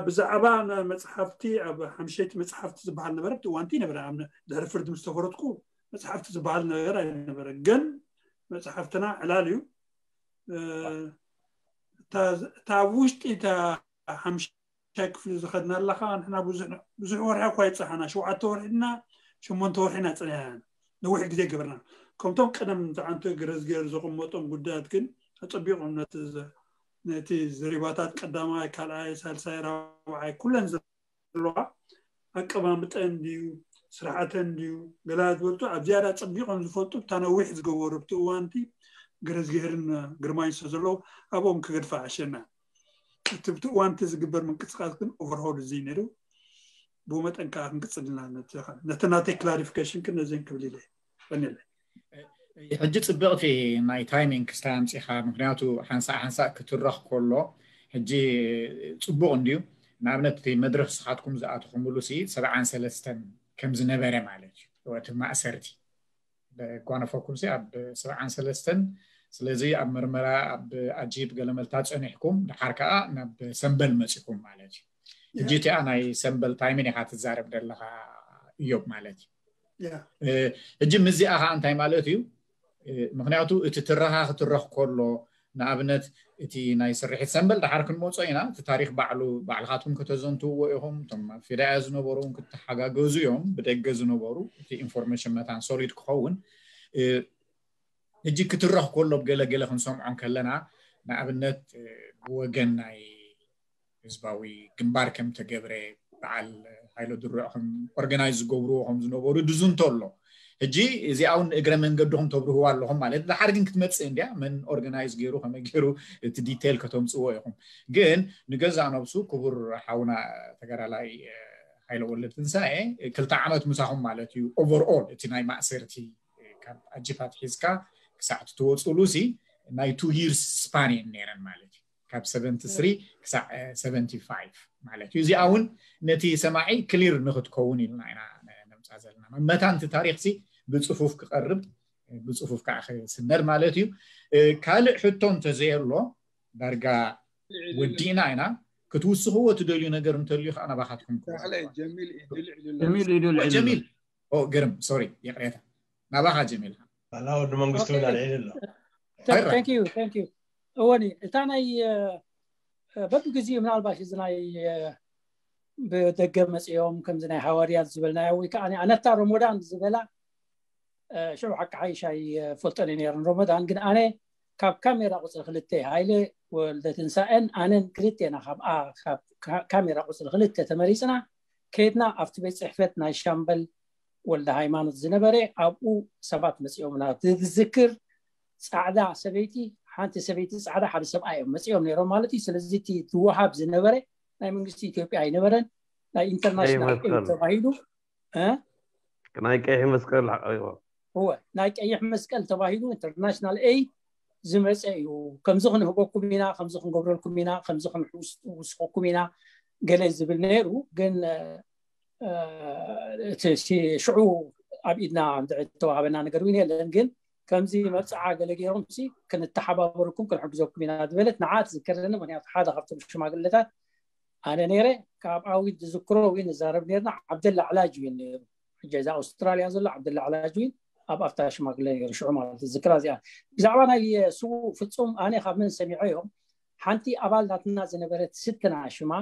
ብዛዕባ መፅሓፍቲ ኣብ ሓምሸይቲ መፅሓፍቲ ዝበሃል ነበረ እቲ ዋንቲ ነበረ ድሕሪ ፍርዲ ምስ ተፈረድኩ መፅሓፍቲ ዝበሃል ነገር ኣይነበረ ግን መፅሓፍትና ዕላል እዩ እታ ውሽጢ እታ ሓምሻይ ክፍሊ ዝኸድና ኣለኻ ንሕና ብዙሕ ወርሒ እኳ ይፀሓና ሸውዓተ ወርሒ ድና ሸሞንተ ወርሒ ኢና ፀኒሕና ነዊሕ ግዜ ገበርና ከምቶም ቀደም ዝዓንቶ ግረዝጌር ዘቐመጦም ጉዳያት ግን ኣፀቢቖም ነቲ ዘሪባታት ቀዳማይ ካልኣይ ሳልሳይ ራብዓይ ኩለን ዘለዋ ኣቀማምጠን ድዩ ስርዓተን ድዩ ገላ ዝበልቱ ኣብ ዝያዳ ፀቢቖም ዝፈልጡ እታ ነዊሕ ዝገበሩ ኣብቲ እዋንቲ ግረዝጌርን ግርማይን ስለ ዘለዉ ኣብኦም ክገድፋ ዓሸና እቲ ብቲ እዋንቲ ዝግበር ምንቅስቃስ ግን ኦቨርሆል እዚ ነይሩ። ብኡ መጠን ከዓ ክንቅፅል ኢና። ነቲ ናተይ ክላሪፊኬሽን ግን ነዚን ክብል ኢለ። ቀኒለ ሕጂ ፅብቕቲ ናይ ታይሚንግ ክስታይ ኣምፂኻ። ምክንያቱ ሓንሳእ ሓንሳእ ክትረኽ ከሎ ሕጂ ፅቡቕ እንድዩ። ንኣብነት እቲ መድረክ ስኻትኩም ዝኣተኹምሉ ሲ ሰብዓን ሰለስተን ከም ዝነበረ ማለት እዩ። እቲ ማእሰርቲ ጓነፈኩም ሲ ኣብ ሰብዓን ሰለስተን። ስለዚ ኣብ መርመራ ኣብ ኣጂብ ገለመልታ ፀኒሕኩም ድሓር ከዓ ናብ ሰምበል መፂኹም ማለት እዩ። ሕጂ እቲኣ ናይ ሰምበል ታይምን ኢኻ ትዛረብ ዘለኻ እዮብ ማለት እዩ። ሕጂ ምዚኣ ከዓ እንታይ ማለት እዩ? ምክንያቱ እቲ ትረኻ ክትረኽ ከሎ ንኣብነት እቲ ናይ ስርሒት ሰምበል ድሓር ክንመፆ ኢና። እቲ ታሪክ ባዕሉ ባዕልኻትኩም ከተዘንትውዎ ኢኹም። እቶም ኣብ ፌዳያ ዝነበሩ እውን ክትተሓጋገዙ እዮም። ብደገ ዝነበሩ እቲ ኢንፎርሜሽን መታን ሶሊድ ክኸውን። ሕጂ ክትረኽ ከሎ ገለገለ ክንሰምዖ ከለና ንኣብነት ብወገን ናይ ህዝባዊ ግንባር ከም ተገብረ በዓል ሃይለ ድሩዕ ከም ኦርጋናይዝ ዝገብርዎ ከም ዝነበሩ ድዙንቶ ኣሎ። ሕጂ እዚኣ እውን እግረ መንገድኹም ተብርህዋ ኣለኹም ማለት። ድሓር ግን ክትመፅእ እንድያ መን ኦርጋናይዝ ገይሩ ከመይ ገይሩ እቲ ዲቴይል ከተምፅዎ ኢኹም። ግን ንገዛእ ነብሱ ክቡር ሓውና ተጋዳላይ ሃይለ ወልደ ትንሳኤ ክልተ ዓመት ምሳኹም ማለት እዩ። ኦቨርኦል እቲ ናይ ማእሰርቲ ካብ ኣጂፓት ሒዝካ ክሳዕ ትወፅሉ ሲ ናይ ቱ ይርስ ስፓን እየን ነይረን ማለት እዩ። ካብ ሰቨንቲ ስሪ ክሳዕ ሰቨንቲ ፋይቭ ማለት እዩ። እዚኣ እውን ነቲ ሰማዒ ክሊር ንክትከውን ኢልና ኢና ነምፃ ዘለና። መታን እቲ ታሪክ ሲ ብፅፉፍ ክቐርብ ብፅፉፍ ከዓ ክስነድ ማለት እዩ። ካልእ ሕቶ እንተዘየሎ ዳርጋ ወዲእና ኢና። ክትውስኽዎ ትደልዩ ነገር እንተልዩ ከዓ ናባኻትኩም ክወስድ። ጀሚል እዩ፣ ድልዕ ኢሉ ኣሎ። ጀሚል እዩ፣ ድልዕ ኢሉ ኣሎ። ጀሚል፣ ኦ፣ ግርም፣ ሶሪ፣ ይቕሬታ። ናባኻ ጀሚል። ኣላ ወዲ መንግስቱ እውን ኣልዒሉ ኣሎ። Thank you, thank you። እወኒ፣ እታ ናይ በብግዜኡ ምናልባሽ እዚ ናይ ብደገ መፅኦም ከምዚ ናይ ሃዋርያት ዝበልናዮ ወይ ከዓ ኣነታ ሮሞዳን ዝበላ ሽዑ ሓቂ ሓይሽ ኣይፈልጠን ነይረን ሮሞዳን። ግን ኣነ ካብ ካሜራ ቁፅሪ ክልተ ሃይለ ወልደ ትንሳኤን ኣነን ክልቴና ካብ ካሜራ ቁፅሪ ክልተ ተመሪፅና ከይድና ኣብቲ ቤት ፅሕፈት ናይ ሻምበል ወልደ ሃይማኖት ዝነበረ ኣብኡ ሰባት መፂኦምና። ዝዝክር ፃዕዳ ሰበይቲ፣ ሓንቲ ሰበይቲ ፃዕዳ፣ ሓደ ሰብኣይ እዮም መፂኦም ነይሮም ማለት እዩ። ስለዚ እቲ ዝወሃብ ዝነበረ ናይ መንግስቲ ኢትዮጵያ ኣይነበረን፣ ናይ ኢንተርናሽናል ኤድ ተባሂሉ። ናይ ቀይሕ መስቀል። እወ፣ ናይ ቀይሕ መስቀል ተባሂሉ ኢንተርናሽናል ኤድ ዝመፀ እዩ። ከምዚ ክንህበኩም ኢና፣ ከምዚ ክንገብረልኩም ኢና፣ ከምዚ ክንውስኸኩም ኢና ገለ ዝብል ነይሩ። ግን እቲ ሽዑ ኣብ ኢድና ዝተዋሃበና ነገር እውን የለን። ግን ከምዚ መብፅዓ ገለ ገይሮም ሲ ክንተሓባበረኩም ክንሕግዘኩም ኢና ዝበለት ንዓ ትዝከረኒ። ምክንያቱ ሓደ ካብቶም ሽማግለታት ኣነ ነይረ። ካብ ኣዊት ዝዝክሮ እውን ንዛረብ ነይርና። ዓብደላ ዕላጅ እውን ነይሩ። ሕጂ እዛ ኣውስትራልያ ዘሎ ዓብደላ ዕላጅ እውን ኣብ ኣብታ ሽማግለ ነይሩ ሽዑ ማለት እዩ። ዝክራ እዚኣ ብዛዕባ ናይ ስዉእ ፍጹም ኣነ ካብ መን ሰሚዐ እዮም ሓንቲ ኣባል ናትና ዝነበረት ስትና ሽማ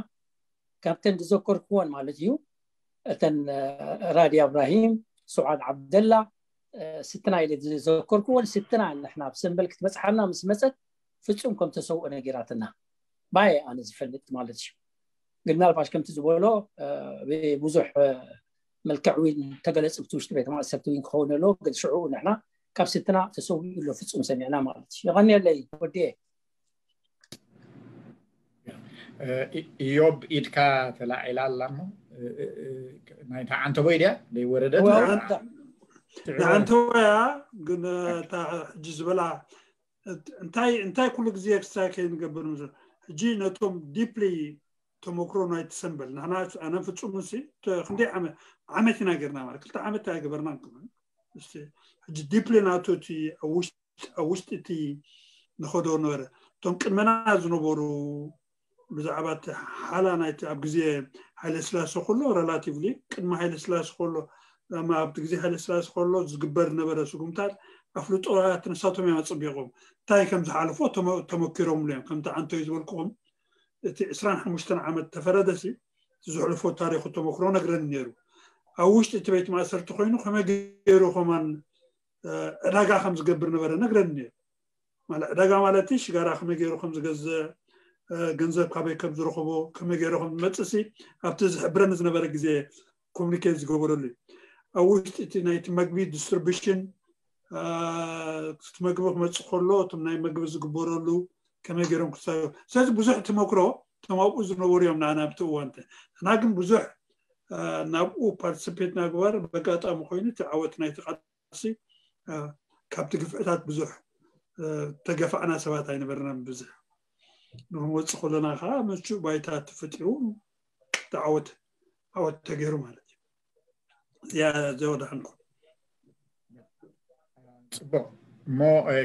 ካብተን ዝዘከርክዎን ማለት እዩ። እተን ራዲ ኣብራሂም፣ ሱዓድ ዓብደላ፣ ስትና ኢለ ዝዘከርክዎን ስትና ንሕና ኣብ ሰንበል ክትበፅሓና ምስ መፀት ፍጹም ከም ተሰውኦ ነጊራትና ባየ ኣነ ዝፈልጥ ማለት እዩ። ግን ምናልባሽ ከምቲ ዝበሎ ብዙሕ መልክዕ እውን ተገለፅ ብቲ ውሽጢ ቤተ ማእሰርቲ እውን ክኸውን ኣለዎ። ግን ሽዑ ንሕና ካብ ስትና ተሰዊኡ ኣሎ ፍጹም ሰሚዕና ማለት እዩ። የቐንየለይ ወዲየ። ኢዮብ ኢድካ ተላዒላ ኣላ እሞ ናይታ ዓንተቦይ ድያ ዘይወረደት? ንዓንተቦያ ግን እታ ሕጂ ዝበላ እንታይ እንታይ ኩሉ ግዜ ክሳይ ከይንገብር ምስ ሕጂ ነቶም ዲፕሊ ተመክሮ ናይ ትሰንበል ንሕና ኣነ ፍጹም ሲ ክንደይ ዓመት ዓመት ኢና ገርና ማለት ክልተ ዓመት ኣይገበርና እንክምን እስቲ ሕጂ ዲፕሊ ናቱ እቲ ኣብ ውሽጢ እቲ ንኸዶ ነበረ እቶም ቅድመና ዝነበሩ ብዛዕባ እቲ ሓላ ናይቲ ኣብ ግዜ ሃይለ ስላሴ ከሎ ሬላቲቭሊ ቅድሚ ሃይለ ስላሴ ከሎ ኣብቲ ግዜ ሃይለ ስላሴ ከሎ ዝግበር ዝነበረ ስጉምታት ኣፍልጦ ንሳቶም እዮም ኣጸቢቖም እንታይ ከም ዝሓለፎ ተመኪሮምሉ እዮም ከምቲ ዓንቶይ ዝበልኩኹም እቲ ዕስራን ሓሙሽተን ዓመት ተፈረደሲ እቲ ዘሕልፎ ታሪኹ ተመክሮ ነግረኒ ነይሩ ኣብ ውሽጢ እቲ ቤት ማእሰርቲ ኮይኑ ከመይ ገይሩ ከማን ዕዳጋ ከም ዝገብር ነበረ ነግረኒ ነይሩ ማለት ዕዳጋ ማለት ሽጋራ ከመይ ገይሩ ከም ዝገዝእ ገንዘብ ካበይ ከም ዝረኽቦ ከመይ ገይሩ ከም ዝመፅእ ሲ ኣብቲ ዝሕብረኒ ዝነበረ ግዜ ኮሚኒኬት ዝገበረሉ እዩ ኣብ ውሽጢ እቲ ናይቲ መግቢ ዲስትሪቢሽን እቲ መግቢ ክመፅእ ከሎ እቶም ናይ መግቢ ዝግበረሉ ከመይ ገይሮም ክሳዮ ስለዚ ብዙሕ ተመክሮ እቶም ኣብኡ ዝነበሩ እዮም ንዓና ኣብቲ እዋን እቲ። ንሕና ግን ብዙሕ ናብኡ ፓርቲስፔት ናግባር በጋጣሚ ኮይኑ እቲ ዓወት ናይቲ ቃልሲ ካብቲ ግፍዕታት ብዙሕ ተገፋዕና ሰባት ኣይነበርናን። ብዙሕ ንክንወፅእ ከለና ከዓ ምቹእ ባይታ ተፈጢሩ ዓወት ዓወት ተገይሩ ማለት እዩ። እዚኣ ዘወዳሕንኩም። ፅቡቅ እሞ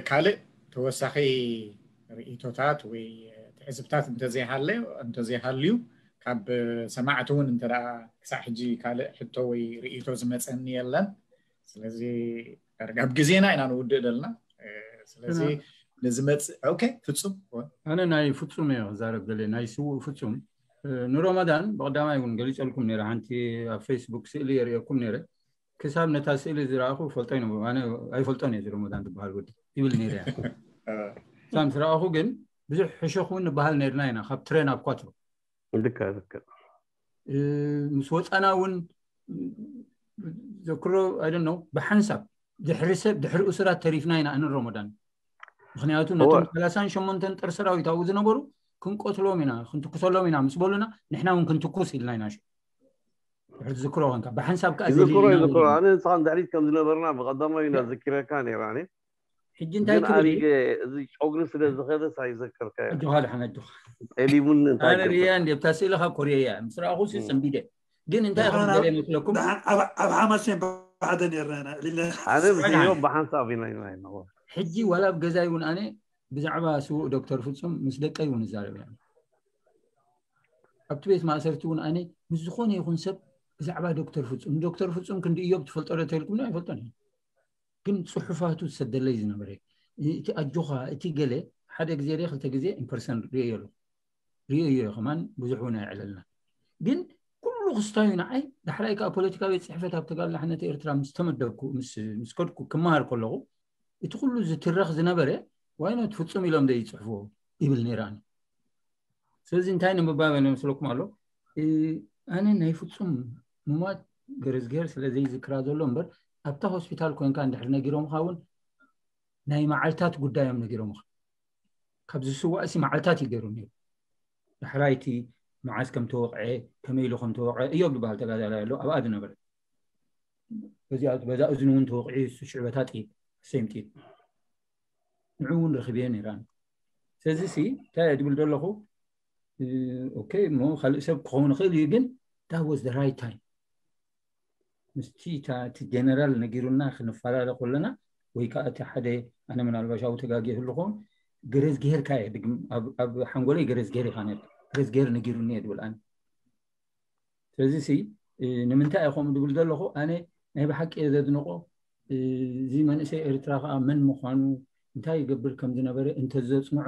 ካልእ ተወሳኺ ርእቶታት ወይ ትዕዝብታት እንተዘይሃለ እንተዘይሃልዩ ካብ ሰማዕቲ እውን እንተ ክሳዕ ሕጂ ካልእ ሕቶ ወይ ርእቶ ዝመፀኒ የለን። ስለዚ ዳርጋ ኣብ ግዜና ኢና ንውድእ ዘለና። ስለዚ ንዝመፅእ ኦኬ ፍፁም ኣነ ናይ ፍፁም እየ ክዛረብ ደልየ ናይ ስውእ ፍፁም ንሮመዳን ብቀዳማይ እውን ገሊፀልኩም ነረ ሓንቲ ኣብ ፌስቡክ ስእሊ የርእየኩም ነረ ክሳብ ነታ ስእሊ ዝረኣኹ ፈልጦ ይነ ኣነ ኣይፈልጦን እየ ሮመዳን ዝበሃል ወዲ ይብል ነረ እያ ሳም ዝረኣኹ ግን ብዙሕ ሕሾኽ እውን ንበሃል ነርና ኢና ካብ ትረ ናብ ኳትሮ ልክዕ ልክዕ ምስ ወፃና እውን ዘክሮ ኣይደን ነው ብሓንሳብ ድሕሪ ሰብ ድሕሪ እሱራት ተሪፍና ኢና ኣንን ሮመዳን ምክንያቱ ነቶም ሰላሳን ሸሞንተን ጥር ሰራዊት ኣብኡ ዝነበሩ ክንቆትሎም ኢና ክንትኩሰሎም ኢና ምስ በሉና ንሕና እውን ክንትኩስ ኢልና ኢና ድሕሪ ዝክሮ ኮንካ ብሓንሳብ ከዓ ይዝክሮ ይዝክሮ ኣነ ንስኻን ድሕሪት ከም ዝነበርና ብቀዳማዊ ኢና ዝኪረካ ነይራ ሕጂ እንታይ ትብል እዚ ጨጉሪ ስለ ዝኸደስ ኣይዘከርካዮ ኣጆኻ ድሓን ኣጆኻ ጠሊሙኒ ኣነ ርያ እንዲ ኣብታ ስእልኻ ኮርየያ ምስ ረኣኹ ሲ ሰንቢደ ግን እንታይ ከም ገለ መስለኩም ኣብ ሓማሴን ብሓደ ነርና ኢና ሊለ ኣነ ምስዮ ብሓንሳብ ኢና ኢና ኢና ሕጂ ዋላ ኣብ ገዛይ እውን ኣነ ብዛዕባ ስዉእ ዶክተር ፍጹም ምስ ደቀይ እውን እዛረብ እያ ኣብቲ ቤት ማእሰርቲ እውን ኣነ ምስ ዝኾነ ይኹን ሰብ ብዛዕባ ዶክተር ፍጹም ንዶክተር ፍጹም ክንዲ እዮብ ትፈልጦ ዶ ተልኩም ኣይፈልጦን እዩ ግን ፅሑፋቱ ዝሰደለይ ዝነበረ እቲ ኣጆኻ እቲ ገለ ሓደ ግዜ ደ ክልተ ግዜ ኢንፐርሰን ርእዮ ኣለኹ ርእዮ እዮ ከማን ብዙሕ እውን ኣይዕለልና ግን ኩሉ ክስታዩ ንዓይ ዳሕራይ ከዓ ፖለቲካ ቤት ፅሕፈት ኣብ ተጋድሎ ሓነት ኤርትራ ምስ ተመደብኩ ምስ ከድኩ ክመሃር ከለኹ እቲ ኩሉ ዝትረኽ ዝነበረ ዋይኖት ፍፁም ኢሎም ደ ይፅሕፍዎ ይብል ነይራኒ ስለዚ እንታይ ንምባበል መስለኩም ኣሎ ኣነ ናይ ፍፁም ሙማት ገረዝገር ስለ ዘይዝክራ ዘሎ እምበር ኣብታ ሆስፒታል ኮንካ እንድሕር ነጊሮምካ እውን ናይ መዓልታት ጉዳዮም ነጊሮምካ ካብ ዝስዋእሲ መዓልታት እዩ ገይሩ ነይሩ ዳሕራይቲ መዓዝ ከም ተወቕዐ ከመይ ኢሉ ከም ተወቕዐ እዮብ ዝበሃል ተጋዳላይ ኣሎ ኣብኣ ዝነበረ በዛ እዝኒ እውን ተወቕዒ ሽዕበታ ጥይት ሰም ጥይት ንዑ እውን ረኪብዮ ነይራን ስለዚ ሲ እንታይ ድብል ዘለኹ ኦኬ እሞ ካልእ ሰብ ክኸውን ይኽእል እዩ ግን that was the right time ምስቲ እቲ ጀነራል ነጊሩና ክንፈላለ ከለና ወይ ከዓ እቲ ሓደ ኣነ ምናልባሽ ኣብኡ ተጋጊ ክልኹም ገረዝግሄርካ እየ ድግም ኣብ ሓንጎለይ ገረዝግሄር ኢኻ ነርካ ገረዝግሄር ነጊሩኒ እየ ድብል ኣነ ስለዚ ሲ ንምንታይ እየ ከምኡ ድብል ዘለኹ ኣነ ናይ ብሓቂ እየ ዘድንቆ እዚ መንእሰይ ኤርትራ ከዓ መን ምዃኑ እንታይ ይገብር ከም ዝነበረ እንተዘፅንዖ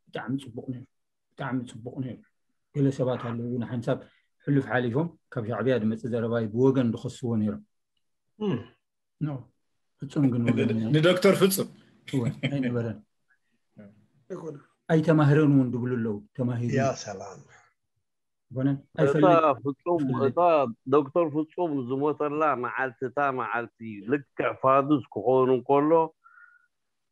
ብጣዕሚ ፅቡቅ ነይሩ ብጣዕሚ ፅቡቅ ነይሩ ገለ ሰባት ኣለዉ ንሓንሳብ ሕሉፍ ሓሊፎም ካብ ሻዕብያ ዝመፅእ ዘረባይ ብወገን ዝኸስዎ ነይሮም ፍፁም ግን ወገን ንዶክተር ፍፁም ኣይነበረን ኣይተማህረን እውን ድብሉ ኣለዉ ተማሂሩ ያ ሰላም ኣይኮነን እታ ፍፁም እታ ዶክተር ፍፁም ዝሞተላ መዓልቲ እታ መዓልቲ ልክዕ ፋዱስ ክኸውን እንከሎ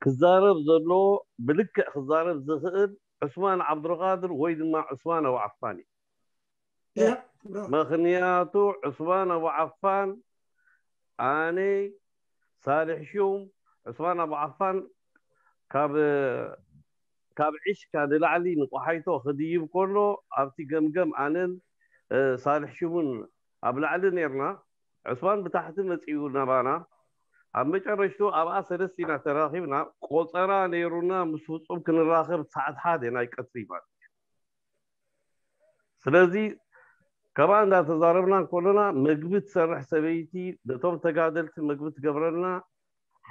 ክዛረብ ዘለዎ ብልክዕ ክዛረብ ዝኽእል ዑስማን ዓብዱልቃድር ወይ ድማ ዑስማን ኣቡ ዓፋን እዩ ምክንያቱ ዑስማን ኣቡ ዓፋን ኣነ ሳልሕ ሹም ዑስማን ኣቡ ዓፋን ካብ ካብ ዕሽካ ንላዕሊ ንቆሓይቶ ክድይብ ከሎ ኣብቲ ገምገም ኣነን ሳልሕ ሹምን ኣብ ላዕሊ ነርና ዑስማን ብታሕቲ መፂኡ ናባና ኣብ መጨረሽቱ ኣብኣ ሰለስቲና ተራኺብና ቆፀራ ነይሩና ምስ ፍፁም ክንራኸብ ሰዓት ሓደ ናይ ቀትሪ ማለት እዩ ስለዚ ከብኣ እንዳተዛረብና ከሎና መግቢ ትሰርሕ ሰበይቲ ነቶም ተጋደልቲ መግቢ ትገብረልና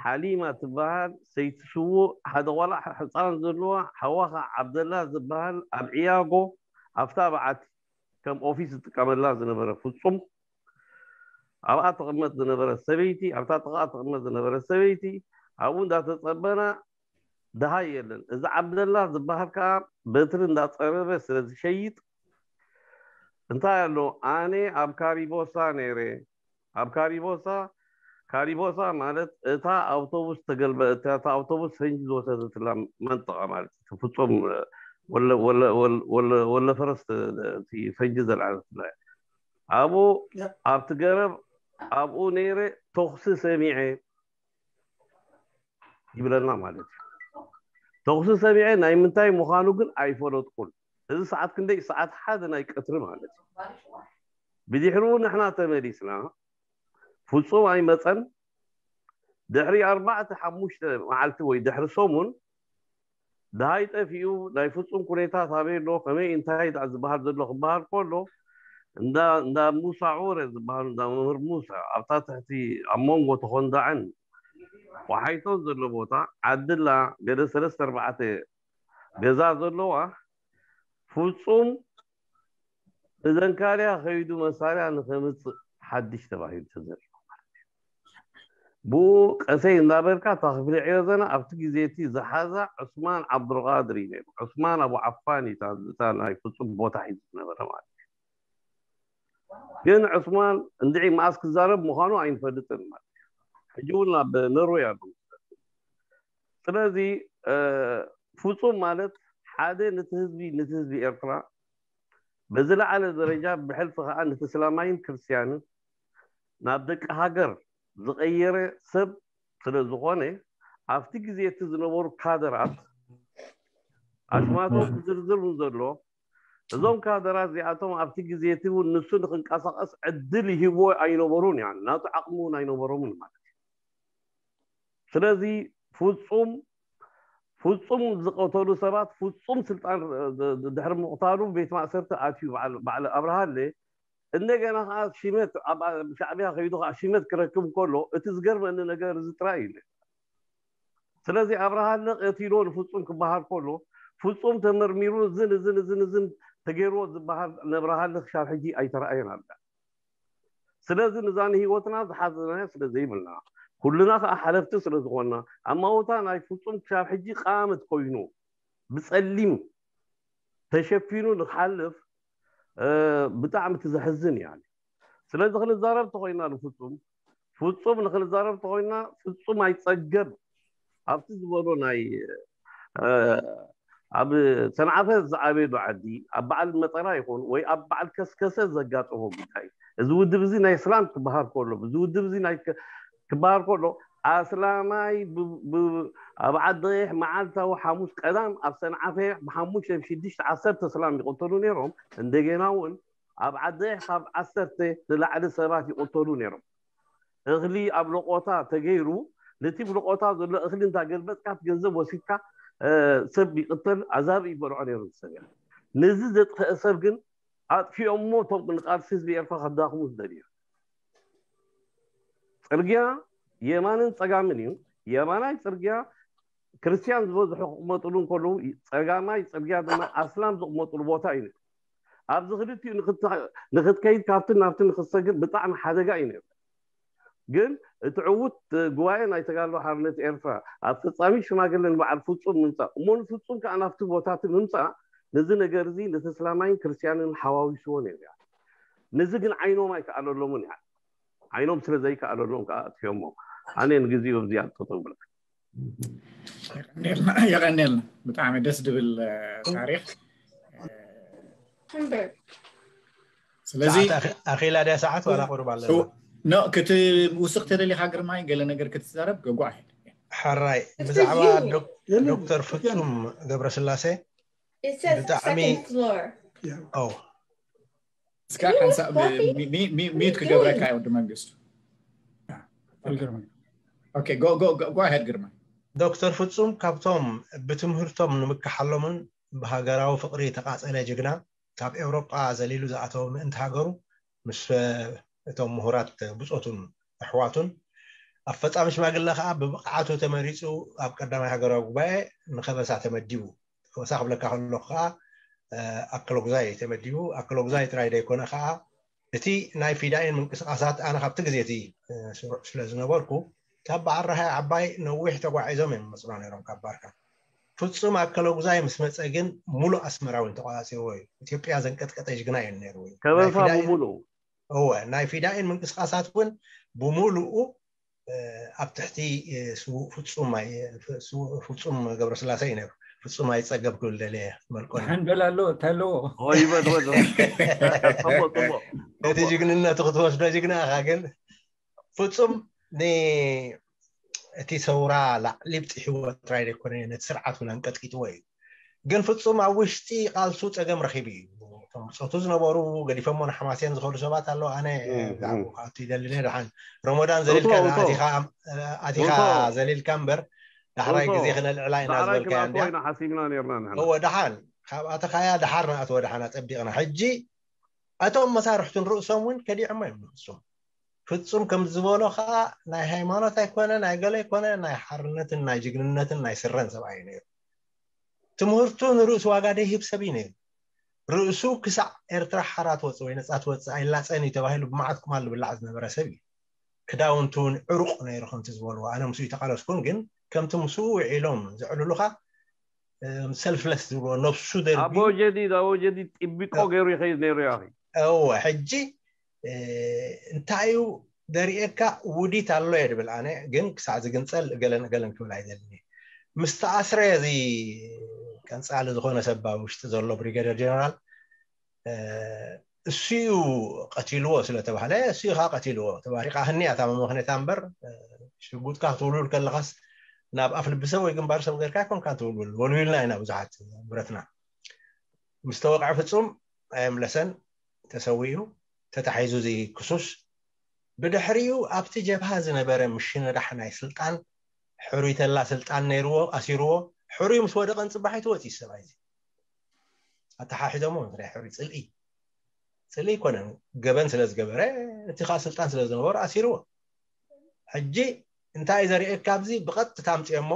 ሓሊማ ትበሃል ሰይቲ ስዉእ ሓደ ቆልዓ ሕፃን ዘለዋ ሓዋኻ ዓብደላ ዝበሃል ኣብ ዕያጎ ኣብታ በዓቲ ከም ኦፊስ ዝጥቀመላ ዝነበረ ፍጹም ኣብኣ ትቕመጥ ዝነበረ ሰበይቲ ኣብታ ጥቓ ትቕመጥ ዝነበረ ሰበይቲ ኣብኡ እንዳተጸበና ድሃይ የለን። እዚ ዓብደላ ዝበሃል ከዓ በትሪ እንዳጸረበ ስለ ዝሸይጥ እንታይ ኣሎ ኣነ ኣብ ካሪቦሳ ነይረ ኣብ ካሪቦሳ ካሪቦሳ ማለት እታ ኣውቶቡስ ተገልበ እታ ኣውቶቡስ ፈንጂ ዝወሰደትላ መንጠቐ ማለት ፍጹም ወለ ፈረስ እቲ ፈንጂ ዘልዓለትላ ኣብኡ ኣብቲ ገረብ ኣብኡ ነይረ ተኹሲ ሰሚዐ ይብለና ማለት እዩ። ተኹሲ ሰሚዐ ናይ ምንታይ ምዃኑ ግን ኣይፈለጥኩን። እዚ ሰዓት ክንደይ? ሰዓት ሓደ ናይ ቀትሪ ማለት እዩ። ብድሕሪኡ ንሕና ተመሊስና፣ ፍጹም ኣይመጸን። ድሕሪ ኣርባዕተ ሓሙሽተ መዓልቲ ወይ ድሕሪ ሰሙን ደሃይ ጠፊኡ፣ ናይ ፍጹም ኩነታት ኣበይ ኣሎ፣ ከመይ እንታይ ደኣ ዝበሃል ዘሎ ክበሃል ከሎ፣ እንዳ እንዳ ሙሳ ዑረ ዝበሃል፣ እንዳ መምህር ሙሳ ኣብታ ትሕቲ ኣብ መንጎ ተኾንዳዕን ወሓይቶን ዘሎ ቦታ ዓድላ ገለ ሰለስተ ኣርባዕተ ገዛ ዘለዋ ፍጹም እዘንካርያ ከይዱ መሳርያ ንኸምፅእ ሓድሽ ተባሂሉ ተዘሪቡ ማለት እዩ። ብኡ ቀሰይ እንዳበልካ እታ ክፍሊ ዕዮ ዘና ኣብቲ ግዜ እቲ ዝሓዛ ዑስማን ዓብዱልቃድር እዩ ነይሩ። ዑስማን ኣቡ ዓፋን እዩ እታ- እታ ናይ ፍፁም ቦታ ሒዙ ዝነበረ ማለት እዩ። ግን ዑስማን እንድዒ መኣስ ክዛረብ ምዃኑ ኣይንፈልጥን ማለት እዩ። ሕጂ እውን ኣብ ኖርወይ ኣሎ። ስለዚ ፍፁም ማለት ሓደ ነቲ ህዝቢ ነቲ ህዝቢ ኤርትራ በዝለዓለ ደረጃ ብሕልፊ ከዓ ነቲ እስላማይን ክርስትያንን ናብ ደቂ ሃገር ዝቐየረ ሰብ ስለ ዝኾነ ኣብቲ ግዜ እቲ ዝነበሩ ካደራት ኣሽማቶም ክዝርዝር እውን ዘሎ እዞም ካደራት እዚኣቶም ኣብቲ ግዜ እቲ እውን ንሱ ንክንቀሳቀስ ዕድል ይህብዎ ኣይነበሩን ያ ናቱ ዓቕሚ እውን ኣይነበሮምን ማለት እዩ። ስለዚ ፍፁም ፍፁም ዝቀተሉ ሰባት ፍፁም ስልጣን ድሕሪ ምቕታሉ ቤት ማእሰርቲ ኣትዩ በዓል ኣብርሃለ እንደገና ከዓ ሽመት ሻዕብያ ከይዱ ከዓ ሽመት ክረክብ ከሎ እቲ ዝገርመኒ ነገር እዚ ጥራይ እዩ። ስለዚ ኣብርሃለ ቀቲሎ ንፍፁም ክበሃል ከሎ ፍፁም ተመርሚሩ እዝን እዝን እዝን እዝን ተገይርዎ ዝበሃል ነብርሃለ ክሻብ ሕጂ ኣይተረኣየን ኣለ። ስለዚ ንዛ ንህይወትና ዝሓዘናዮ ስለ ዘይብልና ኩልና ከዓ ሓለፍቲ ስለ ዝኾንና ኣማውታ ናይ ፍፁም ክሻብ ሕጂ ቃመት ኮይኑ ብፀሊም ተሸፊኑ ንክሓልፍ ብጣዕሚ ትዘሕዝን እያ። ስለዚ ክንዛረብ ተኮይና ንፍፁም ፍፁም ንክንዛረብ ተኮይና ፍፁም ኣይፀገብ ኣብቲ ዝበሎ ናይ ኣብ ሰንዓፈ ዝዓበየሉ ዓዲ ኣብ በዓል መጠራ ይኹን ወይ ኣብ በዓል ከስከሰ ዘጋጠሞ ጉዳይ እዚ ውድብ እዚ ናይ እስላም ክበሃል ከሎ እዚ ውድብ እዚ ናይ ክበሃል ከሎ ኣስላማይ ኣብ ዓዲ ቀይሕ መዓልታዊ ሓሙስ ቀዳም ኣብ ሰንዓፈ ብሓሙሽተ ብሽዱሽተ ዓሰርተ እስላም ይቕተሉ ነይሮም። እንደገና እውን ኣብ ዓዲ ቀይሕ ካብ ዓሰርተ ንላዕሊ ሰባት ይቕተሉ ነይሮም። እኽሊ ኣብ ለቆታ ተገይሩ ነቲ ብለቆታ ዘሎ እኽሊ እንዳ ገልበጥካ እቲ ገንዘብ ወሲድካ ሰብ ይቕተል ኣዛብ ይበልዖ ነይሩ ሰብ እያ። ነዚ ዘጥፈአ ሰብ ግን ኣጥፊኦሞ እቶም ንቃልሲ ህዝቢ ኤርትራ ከዳኽሙ ዝደልዩ። ፅርግያ የማንን ፀጋምን እዩ። የማናይ ፅርግያ ክርስትያን ዝበዝሑ ክቕመጥሉ እንከለዉ ፀጋማይ ፅርግያ ድማ ኣስላም ዝቕመጥሉ ቦታ እዩ። ኣብዚ ክልቲኡ ንክትከይድ ካብትን ናብትን ንክትሰግር ብጣዕሚ ሓደጋ እዩ ነይሩ። ግን እቲ ዕዉት ጉባኤ ናይ ተጋድሎ ሓርነት ኤርትራ ኣፈፃሚ ሽማግለ ንበዓል ፍፁም ምምፃእ እሞ ንፍፁም ከዓ ናብቲ ቦታ እቲ ምምፃእ ነዚ ነገር እዚ ነቲ እስላማይን ክርስትያንን ሓዋዊስዎ ነይሩ እያ። ነዚ ግን ዓይኖም ኣይከኣለሎምን እያ። ዓይኖም ስለ ዘይከኣለሎም ከዓ ኣጥፊኦሞ። ኣነ ንግዜኡ ኣብዚኣ ጠጠው ብለካ። የቀኔልና ብጣዕሚ ደስ ድብል ታሪክ። ስለዚ ኣኺላ ድያ ሰዓት ዋላ ቁሩብ ኣለና። ኖ ክቲ ውስኽ ተደሊኻ ግርማይ ገለ ነገር ክትዛረብ ገጓ። ሕራይ ብዛዕባ ዶክተር ፍጹም ገብረስላሴ ብጣዕሚ እስካ ሓንሳብ ሚዩት ክገብረካ ወዲ መንግስቱ። ጓሄድ ግርማ። ዶክተር ፍጹም ካብቶም ብትምህርቶም ንምክሓሎምን ብሃገራዊ ፍቕሪ ተቓጸለ ጅግና ካብ ኤውሮጳ ዘሊሉ ዝኣተወ ምእንቲ ሃገሩ ምስ እቶም ምሁራት ብጾቱን ኣሕዋቱን ኣብ ፈጻሚ ሽማግለ ከኣ ብብቕዓቱ ተመሪጹ ኣብ ቀዳማይ ሃገራዊ ጉባኤ ንኸበሳ ተመዲቡ። ከበሳ ክብለካ ከለኹ ከኣ ኣከለጉዛይ ተመዲቡ። ኣከለጉዛይ ጥራይ ዘይኮነ ከኣ እቲ ናይ ፊዳይን ምንቅስቃሳት ኣነ ካብቲ ግዜ እቲ ስሩዕ ስለ ዝነበርኩ ካብ በዓል ረሃይ ዓባይ ነዊሕ ተጓዒዞም እዮም ዝመፅና ነይሮም ካብ ባርካ። ፍፁም ኣከለጉዛይ ምስ መፀ ግን ሙሉእ ኣስመራ እውን ተቆፃፂርዎ እዩ። ኢትዮጵያ ዘንቀጥቀጠ ጅግና እዩ ነይሩ። ከበሳ ብሙሉኡ እወ ናይ ፊዳይን ምንቅስቃሳት እውን ብሙሉኡ ኣብ ትሕቲ ፍፁም ገብረስላሴ እዩ ነይሩ። ፍጹም ኣይጸገብ ክብል ደልየ። መልቆ ሓንበል ኣሎ ተለዎ ይበል በል። ጽቡቅ ጽቡቅ። ነቲ ጅግንነቱ ክትወስዶ ጅግና ኢኻ። ግን ፍጹም ን እቲ ሰውራ ላዕሊ ብፅሕዎ ጥራይ ዘይኮነ ነቲ ስርዓት እውን ኣንቀጥቂጥዎ እዩ። ግን ፍጹም ኣብ ውሽጢ ቃልሱ ጸገም ረኺቡ እዩ። እቶም ብፆቱ ዝነበሩ ገዲፈሞ ንሓማሴን ዝኸዱ ሰባት ኣለዉ። ኣነ እም፣ ብዛዕባኡ እም። ክኣቱ ይደሊ ነየ። ደሓን ረመዳን ዘሊልካ እቶ፣ እቶ። ኣቲኻ ኣቲኻ እቶ። ዘሊልካ እምበር ዳሕራይ እቶ። ግዜ ክነልዕላ ኢና ዳሕራይ ዝበልካያ ክነኣትዎ እንድያ። ኢና ሓሲብና ነርና ንሕና። እወ ደሓን ካብ ኣተኻያ ደሓር ንኣትዎ ደሓን ኣጸቢቕና። ሕጂ እቶም መሳርሕቱን ርእሶም እውን ከዲዖሞ እዮም ንፍጹም። ፍጹም ከም ዝበሎ ከዓ ናይ ሃይማኖት ኣይኮነ ናይ ገለ ኣይኮነ ናይ ሓርነትን ናይ ጅግንነትን ናይ ስረን ሰብኣይ እዩ ነይሩ። ትምህርቱ ንርእሱ ዋጋ ደይህብ ሰብ እዩ ነይሩ። ርእሱ ክሳዕ ኤርትራ ሓራ ትወፅእ ወይ ነፃ ትወፅእ ኣይላፀን እዩ ተባሂሉ ብመዓት ቁማል ዝብላዕ ዝነበረ ሰብ እዩ። ክዳውንቱ እውን ዕሩቕ ነይሩ ከምቲ ዝበልዎ። ኣነ ምስኡ ይተቃለስኩን ግን ከምቲ ምስኡ ውዒሎም ዘዕልሉኻ ሰልፍለስ ዝብልዎ ነብሱ ደርቢ ኣቦ ጀዲድ ኣቦ ጀዲድ ጥቢቆ ገይሩ ይኸይድ ነይሩ ያኺ። እወ ሕጂ እ፣ እንታይ እዩ ደርእየካ ውዲት ኣሎ እየ ድብል ኣነ ግን ክሳዕ ዝግንፀል እገለን እገለን ክብል ኣይደልን እየ። ምስ ተኣስረ እዚ ቀንፃሊ ዝኾነ ሰብ ኣብ ውሽጢ ዘሎ ብሪገደር ጀነራል እ፣ እሱ እዩ ቀቲልዎ ስለተባህለ እሱ እዩ ከዓ ቀቲልዎ። ተባሪቃ ህኒያ እታ መመኽነታ እምበር እ፣ ሽጉጥካ ክትውልውል ከለኻስ ናብ ኣፍ ልቢ ሰብ ወይ ግንባር ሰብ ገርካ ኣይኮንካን ትውልውል። ወልዊልና ኢና ብዙሓት ብረትና ምስ ተወቅዐ ፍጹም ኣየምለሰን ተሰዊኡ ተታሒዙ እዚ ክሱስ ብድሕሪኡ ኣብቲ ጀብሃ ዝነበረ ምሽነዳሕ ናይ ስልጣን ሕሩይ ተላ ስልጣን ነይርዎ ኣሲርዎ። ሕሩይ ምስ ወደቐን ጽባሒቱ ወፂ ሰብኣይ እዚ ኣተሓሒዞሞ ምስ ናይ ሕሩይ ፅልኢ ፅልኢ ኣይኮነን ገበን ስለ ዝገበረ እቲ ከዓ ስልጣን ስለ ዝነበሩ ኣሲርዎ። ሕጂ እንታይ ዘርእየካ ኣብዚ ብቐጥታ ኣምፅኦሞ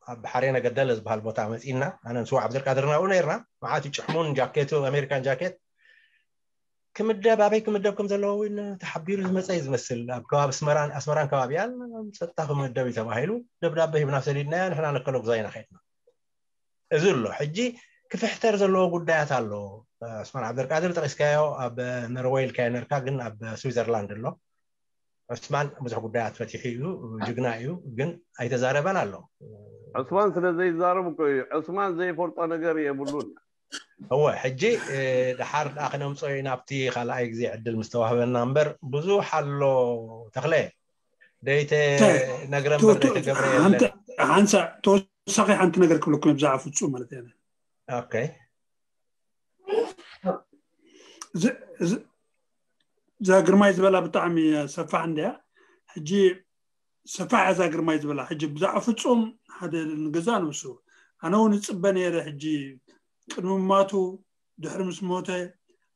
ኣብ ሓሬነ ገደለ ዝበሃል ቦታ መፂና ኣነ ንስዋ ዓብደልቃድር ናብኡ ነርና። መዓት ይጭሕሙን ጃኬቱ ኣሜሪካን ጃኬት ክምደብ ኣበይ ክምደብ ከም ዘለዎ እውን ተሓቢሩ ዝመፀ እዩ ዝመስል። ኣብ ከባቢ ኣስመራን ኣስመራን ከባቢያን ጸጥታ ክምደብ እዩ ተባሂሉ ደብዳቤ ሂብና ሰዲድናዮ። ንሕና ነከሎ ግዛይና ከድና። እዚ ኣሎ ሕጂ ክፍሕተር ዘለዎ ጉዳያት ኣሎ። ዑስማን ዓብደልቃድር ጠቂስካዮ ኣብ ኖርወይ ኢልካዮ ነርካ ግን ኣብ ስዊዘርላንድ ኣሎ። ዑስማን ብዙሕ ጉዳያት ፈቲሑ እዩ። ጅግና እዩ ግን ኣይተዛረበን ኣሎ። ዑስማን ስለ ዘይዛረብ እኮ እዩ። ዑስማን ዘይፈልጦ ነገር የብሉን። እወ ሕጂ ደሓር ደኣ ክነምፅኦ ኢና ኣብቲ ካልኣይ ግዜ ዕድል ምስ ተዋህበና እምበር ብዙሕ ኣሎ። ተኽለ ደይተ ነግረ እምበር ደይተገብረ የለን። ሓንሳ ተወሳኺ ሓንቲ ነገር ክብለኩም ብዛዕባ ፍፁም ማለት እየ። Okay እዛ ግርማይ ዝበላ ብጣዕሚ ሰፋሕ እንድያ። ሕጂ ሰፋሕ እዛ ግርማይ ዝበላ ሕጂ ብዛዕባ ፍፁም ሓደ ንገዛ ንሱ ኣነ እውን እፅበ ነይረ። ሕጂ ቅድሚ ማቱ ድሕሪ ምስ ሞተ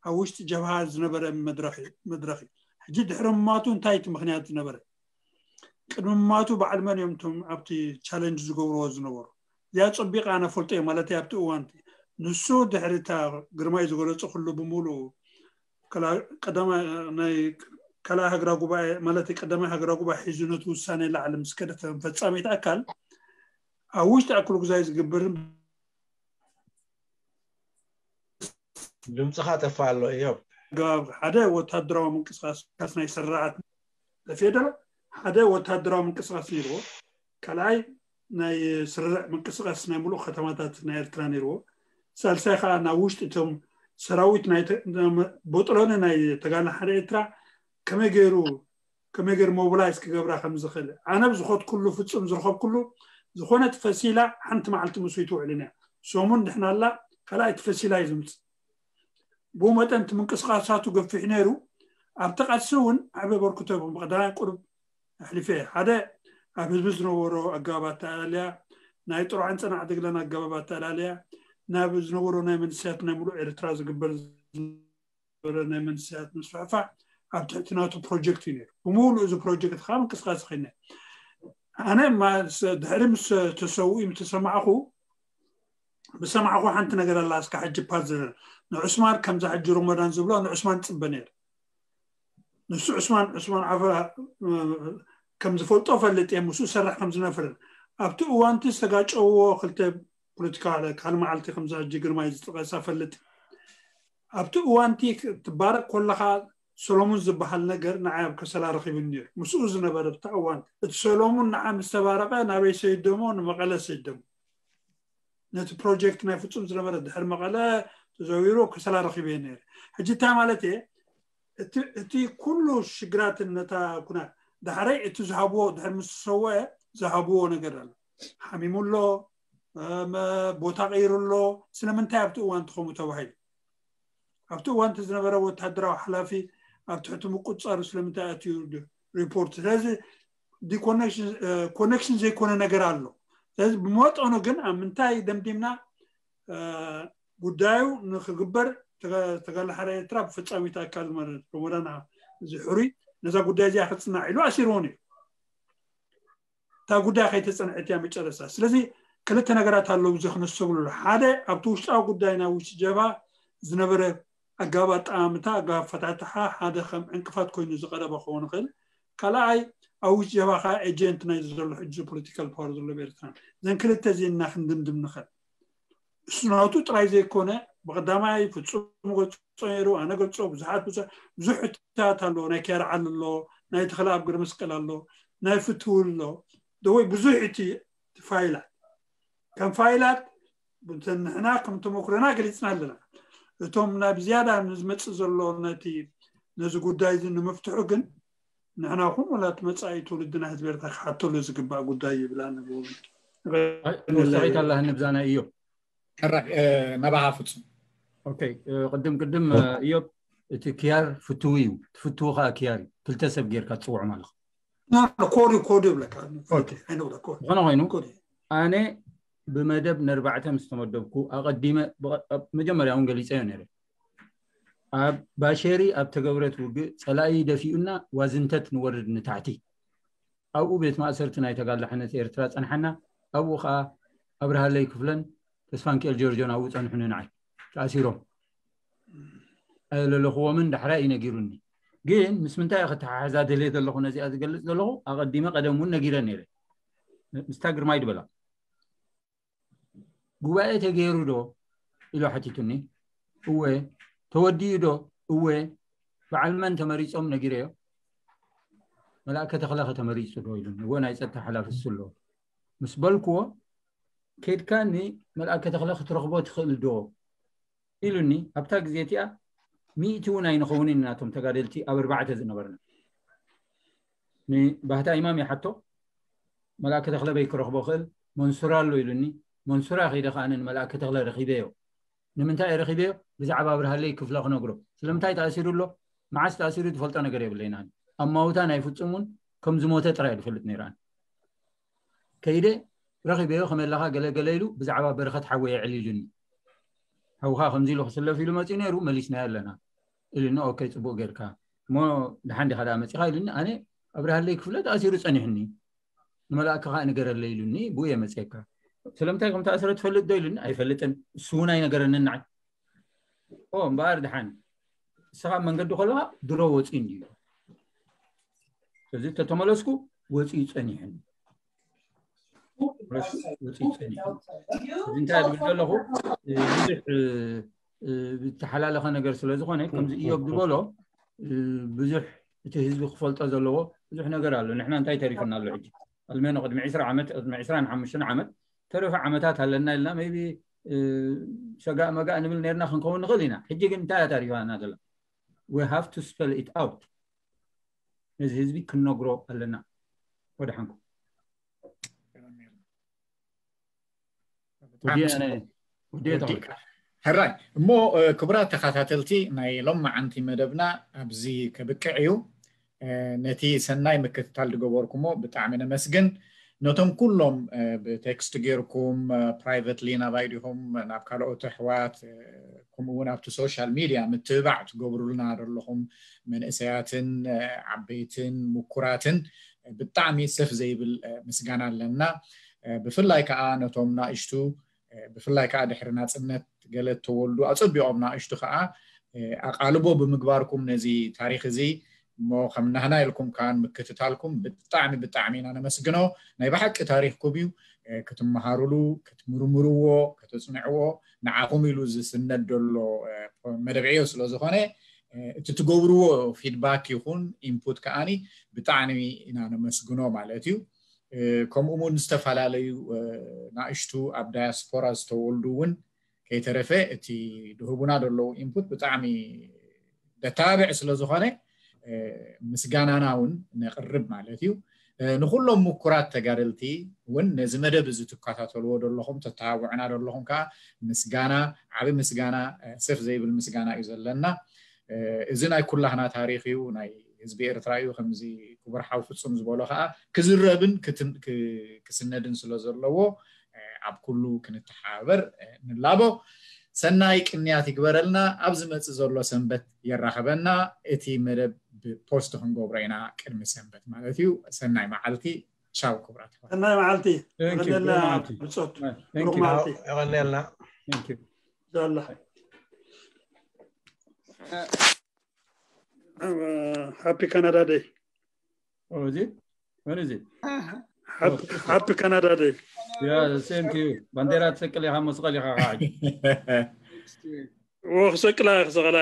ኣብ ውሽጢ ጀብሃ ዝነበረ መድረኽ እዩ። ሕጂ ድሕሪ ማቱ እንታይ እቲ ምክንያት ዝነበረ ቅድሚ ማቱ በዓል መን እዮም እቶም ኣብቲ ቻለንጅ ዝገብርዎ ዝነበሩ? እዚኣ ፀቢቐ ኣነ ፈልጦ እየ ማለት ኣብቲ እዋን እቲ ንሱ ድሕሪ እታ ግርማይ ዝገለፁ ኩሉ ብምሉኡ ካልኣይ ሃገራዊ ጉባኤ ማለት ቀዳማይ ሃገራዊ ጉባኤ ሒዙ ነቲ ውሳኔ ላዕሊ ምስ ከደ ከም ፈፃሚት ኣካል ኣብ ውሽጢ ኣክለ ጉዛይ ዝግበርን ድምፅኻ ጠፋ ኣሎ እዮብ። ኣገባብ ሓደ ወታደራዊ ምንቅስቃስ ናይ ስርዓት ለፌደራል ሓደ ወታደራዊ ምንቅስቃስ ነይርዎ። ካልኣይ ናይ ስርርዕ ምንቅስቃስ ናይ ሙሉእ ከተማታት ናይ ኤርትራ ነይርዎ። ሳልሳይ ከዓ ናብ ውሽጢ እቶም ሰራዊት ናይ ቦጥሎኒ ናይ ተጋድሎ ሓደ ኤርትራ ከመይ ገይሩ ከመይ ገይሩ ሞቢላይዝ ክገብራ ከም ዝኽእል ኣነ ብዝኸድኩሉ ፍጹም ዝረኸብኩሉ ዝኾነት ፈሲላ ሓንቲ መዓልቲ ምስኡ ኣይትውዕልን እያ። ሰሙን ድሕና ኣላ ካልኣይቲ ፈሲላ እዩ ዝምፅእ። ብኡ መጠን እቲ ምንቅስቃሳቱ ገፊሕ ነይሩ። ኣብቲ ቃልሲ እውን ዓቢ ኣበርክቶ ብቐዳማይ ቁሩብ ኣሕሊፈ እየ። ሓደ ኣብ ህዝቢ ዝነበሮ ኣገባብ ኣተኣላልያ ናይ ጥሩዓን ጸናዕ ትግለን ኣገባብ ኣተኣላልያ ናብ ዝነበሮ ናይ መንእሰያት ናይ ሙሉእ ኤርትራ ዝግበር ዝነበረ ናይ መንእሰያት ምስፍሕፋሕ ኣብ ትሕቲ ናቱ ፕሮጀክት እዩ ነይሩ። ብምሉእ እዚ ፕሮጀክት ከዓ ምንቅስቃስ ኸይነ ኣነ ድሕሪ ምስ ተሰውኡ ምስ ተሰማዕኹ ብሰማዕኹ ሓንቲ ነገር ኣላ እስካ ሕጂ ፓዝል ንዑስማን ከምዛ ሕጂ ሮሞዳን ዝብሎ ንዑስማን ፅበ ነይሩ። ንሱ ዑስማን ዑስማን ዓፈ ከም ዝፈልጦ ፈልጥ እየ ምስኡ ሰርሕ ከም ዝነፍርን ኣብቲ እዋንቲ ዝተጋጨውዎ ክልተ ፖለቲካ ካል መዓልቲ ከምዛ ሕጂ ግርማይ ዝጠቀሳ ፈልጥ ኣብቲ እዋንቲ ትባረቅ ኮለካ ሰሎሙን ዝበሃል ነገር ንዓይ ኣብ ከሰላ ረኺቡኒ ነይሩ። ምስኡ ዝነበረ ብታ እዋን እቲ ሰሎሙን ንዓ ምስ ተባረቐ ናበይ ሰይደሞ ንመቐለ ሰይደሞ ነቲ ፕሮጀክት ናይ ፍጹም ዝነበረ ድሕሪ መቐለ ተዘዊሩ ከሰላ ረኺበ ነይረ። ሕጂ እንታይ ማለት እየ? እቲ ኩሉ ሽግራትን ነታ ኩና ዳሕረይ እቲ ዝሃብዎ ድሕሪ ምስ ሰወ ዝሃብዎ ነገር ኣሎ። ሓሚሙ ኣሎ፣ ቦታ ቀይሩ ኣሎ። ስለምንታይ ኣብቲ እዋን ትኸሙ ተባሂሉ ኣብቲ እዋን ዝነበረ ወታደራዊ ሓላፊ ኣብ ትሕቲ ምቁፃሩ ስለምንታይ ኣትዩ ሪፖርት? ስለዚ ኮኔክሽን ዘይኮነ ነገር ኣሎ። ስለዚ ብመጠኑ ግን ኣብ ምንታይ ደምዲምና ጉዳዩ ንክግበር ተጋላሓሪ ኤርትራ ብፈፃሚት ኣካል ማለት ሮሞዳን ዝሕሩይ ነዛ ጉዳይ እዚኣ ክፅናዕ ኢሉ ኣሲርዎን እዩ። እታ ጉዳይ ከይተፀንዐት እያ መጨረስታ። ስለዚ ክልተ ነገራት ኣለዉ እዚ ክነስተብሉ። ሓደ ኣብቲ ውሽጣዊ ጉዳይ ናይ ውሽጢ ጀብሃ ዝነበረ ኣገባብ ኣጠማምታ ኣገባብ ኣፈታትሓ ሓደ ከም ዕንቅፋት ኮይኑ ዝቀረበ ክኸውን ይኽእል። ካልኣይ ኣብ ውሽጢ ጀብሃ ከዓ ኤጀንት ናይ ዘሎ ሕጂ ፖለቲካል ፓወር ዘሎ ኤርትራ። እዘን ክልተ እዚና ክንድምድም ንኽእል። እሱ ናቱ ጥራይ ዘይኮነ ብቀዳማይ ፍጹም ገልጾ ነይሩ፣ ኣነ ገልጾ ብዙሓት ብዙ ብዙሕ ሕታት ኣሎ። ናይ ኪያር ዓሊ ኣሎ፣ ናይ ተኽለ ኣብ ግርመስቀል ኣሎ፣ ናይ ፍትው ኣሎ። ደወይ ብዙሕ እቲ ፋይላት ከም ፋይላት ንሕና ከም ተመክሮና ገሊጽና ኣለና። እቶም ናብ ዝያዳ ንዝመጽእ ዘሎ ነቲ ነዚ ጉዳይ እዚ ንምፍትሑ ግን ንሕና ኹን ወላ እቲ መጻኢ ትውልድና ህዝቢ ኤርትራ ክሓተሉ ዝግባእ ጉዳይ ይብላ ንብሉ። ወሳኺት ኣላ ንብዛና እዩ። ሕራይ ናባኻ ፍጹም። ኦኬ፣ ቅድም ቅድም እዮብ እቲ ኪያር ፍትው እዩ፣ ትፍትው ከዓ ኪያር እዩ። ክልተ ሰብ ጌርካ ትጽውዖም ኣለኹ። ኮድ ኮድ ይብለካ። ዝኾነ ኮይኑ ኣነ ብመደብ ነርባዕተ ምስ ተመደብኩ ኣቐዲመ መጀመርያ እውን ገሊፀዮ ነይረ። ኣብ ባሸሪ ኣብ ተገብረት ውግእ ፀላኢ ደፊኡና ዋዝንተት ንወርድ ንታሕቲ። ኣብኡ ቤት ማእሰርቲ ናይ ተጋላሕነት ኤርትራ ፀንሓና። ኣብኡ ከዓ ኣብርሃለይ ክፍለን ተስፋንኪኤል ጆርጆን ኣብኡ ፀንሑ ንንዓይ ተኣሲሮም። ኣየለለኽዎምን ዳሕራይ እዩ ነጊሩኒ። ግን ምስ ምንታይ እየ ከተሓሕዛ ደልየ ዘለኹ ነዚኣ ዝገልፅ ዘለኹ ኣቐዲመ ቀደም እውን ነጊረ ነይረ። ምስታ ግርማይ ድበላ ጉባኤ ተገይሩ ዶ ኢሎ ሓቲቱኒ። እወ። ተወዲኡ ዶ? እወ። በዓል መን ተመሪፆም ነጊረዮ። መልኣከ ተኽለ ከተመሪፁ ዶ ኢሉኒ። እወ ናይ ፀጥታ ሓላፊ እሱ ኣለዎ ምስ በልክዎ ከድካ ንመልኣከ ተኽለ ክትረኽቦ ትኽእል ዶ ኢሉኒ። ኣብታ ግዜ እቲኣ ሚእቲ እውን ኣይንኸውንን ኢና እቶም ተጋደልቲ ኣብ ኣርባዕተ ዝነበርና። ንባህታ ኢማም ይሓቶ መልኣከ ተኽለ በይ ክረኽቦ ክእል መንሱራ ኣሎ ኢሉኒ። መንሱራ ከይደ ከኣ ንመልኣከ ተኽለ ረኺበዮ። ንምንታይ እየ ረኺበዮ? ብዛዕባ ኣብርሃለይ ክፍለ ክነግሮ። ስለምንታይ ተኣሲሩ ኣሎ? መዓስ ተኣሲሩ ዝፈልጦ ነገር የብለይን። ኣብ ማውታ ናይ ፍጹም እውን ከም ዝሞተ ጥራይ ዝፈልጥ ነይረ። ከይደ ረኺበዮ ከመይ ኣለኻ ገለ ገለ ኢሉ ብዛዕባ በረኸት ሓወይ የዕሊሉኒ። ሓውኻ ከምዚ ኢሉ ክስለፍ ኢሉ መፂኡ ነይሩ መሊስናዮ ኣለና ኢሉኒ። ኦኬ ፅቡቅ ጌርካ እሞ ደሓን ዲኻ ደኣ መፂኻ ኢሉኒ። ኣነ ኣብርሃለይ ክፍለ ተኣሲሩ ፀኒሕኒ ንመልኣክ ከዓ ንገረለይ ኢሉኒ። ብኡ እየ መፅየካ። ስለምንታይ ከም ተኣስረ ትፈልጥ ዶ ኢሉኒ። ኣይፈልጥን። እሱ እውን ኣይነገረንን ንዓይ። ኦ እምበኣር ደሓን ንስኻ ኣብ መንገዲ ከለኻ ድሮ ወፂኡ እንድዩ። ስለዚ ተተመለስኩ ወፂኡ ፀኒሕኒ። ወፂኡ ፀኒሕኒ። እዚ እንታይ ዝብል ዘለኹ ብዙሕ ዝተሓላለኸ ነገር ስለ ዝኾነ ከምዚ እዮብ ዝበሎ ብዙሕ እቲ ህዝቢ ክፈልጦ ዘለዎ ብዙሕ ነገር ኣሎ። ንሕና እንታይ ተሪፉና ኣሎ ሕጂ? ኣልሜኖ ቅድሚ ዕስራ ዓመት ቅድሚ ዕስራን ሓሙሽተን ዓመት ተረፈ ዓመታት ኣለና ኢልና maybe ሰጋእ መጋእ ንብል ነርና ክንከውን ንኽእል ኢና። ሕጂ ግን እንታይ እያ ታሪፋና ዘላ? We have to spell it out። ነዚ ህዝቢ ክንነግሮ ኣለና። ወደሓንኩም። ሕራይ እሞ ክቡራት ተኸታተልቲ ናይ ሎማዓንቲ መደብና ኣብዚ ከብቅዕ እዩ። ነቲ ሰናይ ምክትታል ዝገበርኩሞ ብጣዕሚ ነመስግን። ነቶም ኩሎም ብቴክስት ጌርኩም ፕራይቨትሊ ናባይ ዲኹም ናብ ካልኦት ኣሕዋት ከምኡ እውን ኣብቲ ሶሻል ሚድያ ምትብባዕ ትገብሩልና ዘለኹም መንእሰያትን ዓበይትን ምኩራትን ብጣዕሚ ሰፍ ዘይብል ምስጋና ኣለና። ብፍላይ ከዓ ነቶም ናእሽቱ ብፍላይ ከዓ ድሕሪ ናፅነት ገለ ተወልዱ ኣፀቢቖም ናእሽቱ ከዓ ኣቓልቦ ብምግባርኩም ነዚ ታሪክ እዚ እሞ ከም ናህና ኢልኩም ከዓን ምክትታልኩም ብጣዕሚ ብጣዕሚ ኢና ነመስግኖ። ናይ ብሓቂ ታሪክኩም እዩ። ክትመሃሩሉ ክትምርምርዎ ከተፅንዕዎ ንዓኹም ኢሉ ዝስነድ ዘሎ መደብ ዕዮ ስለዝኾነ እቲ ትገብርዎ ፊድባክ ይኹን ኢንፑት ከዓኒ ብጣዕሚ ኢና ነመስግኖ ማለት እዩ። ከምኡ እውን ዝተፈላለዩ ናእሽቱ ኣብ ዳያስፖራ ዝተወልዱ እውን ከይተረፈ እቲ ድህቡና ዘለዉ ኢንፑት ብጣዕሚ ደታብዕ ስለ ዝኾነ ምስጋናና እውን ነቕርብ ማለት እዩ። ንኩሎም ምኩራት ተጋደልቲ እውን ነዚ መደብ እዚ ትከታተልዎ ዘለኹም ተተባብዑና ዘለኹም ከዓ ምስጋና ዓብ ምስጋና ሰፍ ዘይብል ምስጋና እዩ ዘለና። እዚ ናይ ኩላህና ታሪክ እዩ ናይ ህዝቢ ኤርትራ እዩ። ከምዚ ክቡር ሓው ፍጹም ዝበሎ ከዓ ክዝረብን ክስነድን ስለ ዘለዎ ኣብ ኩሉ ክንተሓባበር ንላቦ። ሰናይ ቅንያት ይግበረልና። ኣብ ዝመፅእ ዘሎ ሰንበት የራኸበና። እቲ መደብ ብፖስት ክንገብሮ ኢና ቅድሚ ሰንበት ማለት እዩ። ሰናይ መዓልቲ። ቻው ክቡራት ኣሕዋት። ሰናይ መዓልቲ። የቐንየልና ብጾት። ብሩኽ መዓልቲ። የቐንየልና። ዛላ ሃፒ ካናዳ ደይ። Oh, is it? When is it? ሃፒ ካናዳ ደይ። Yeah, same to you. ባንዴራ ትሰቅል ኢኻ መስቐል ኢኻ ከዓ። ክሰቅላ ክሰቕላ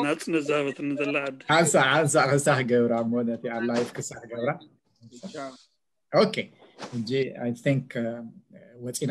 ናፅነት ዝሃበትኒ ዘላ ዓዲ። ሓንሳእ ሓንሳእ ክሳሕ ገብራ እሞ ነቲ ኣብ ላይፍ ክሳሕ ገብራ። ኦኬ፣ ሕጂ I think ወፂና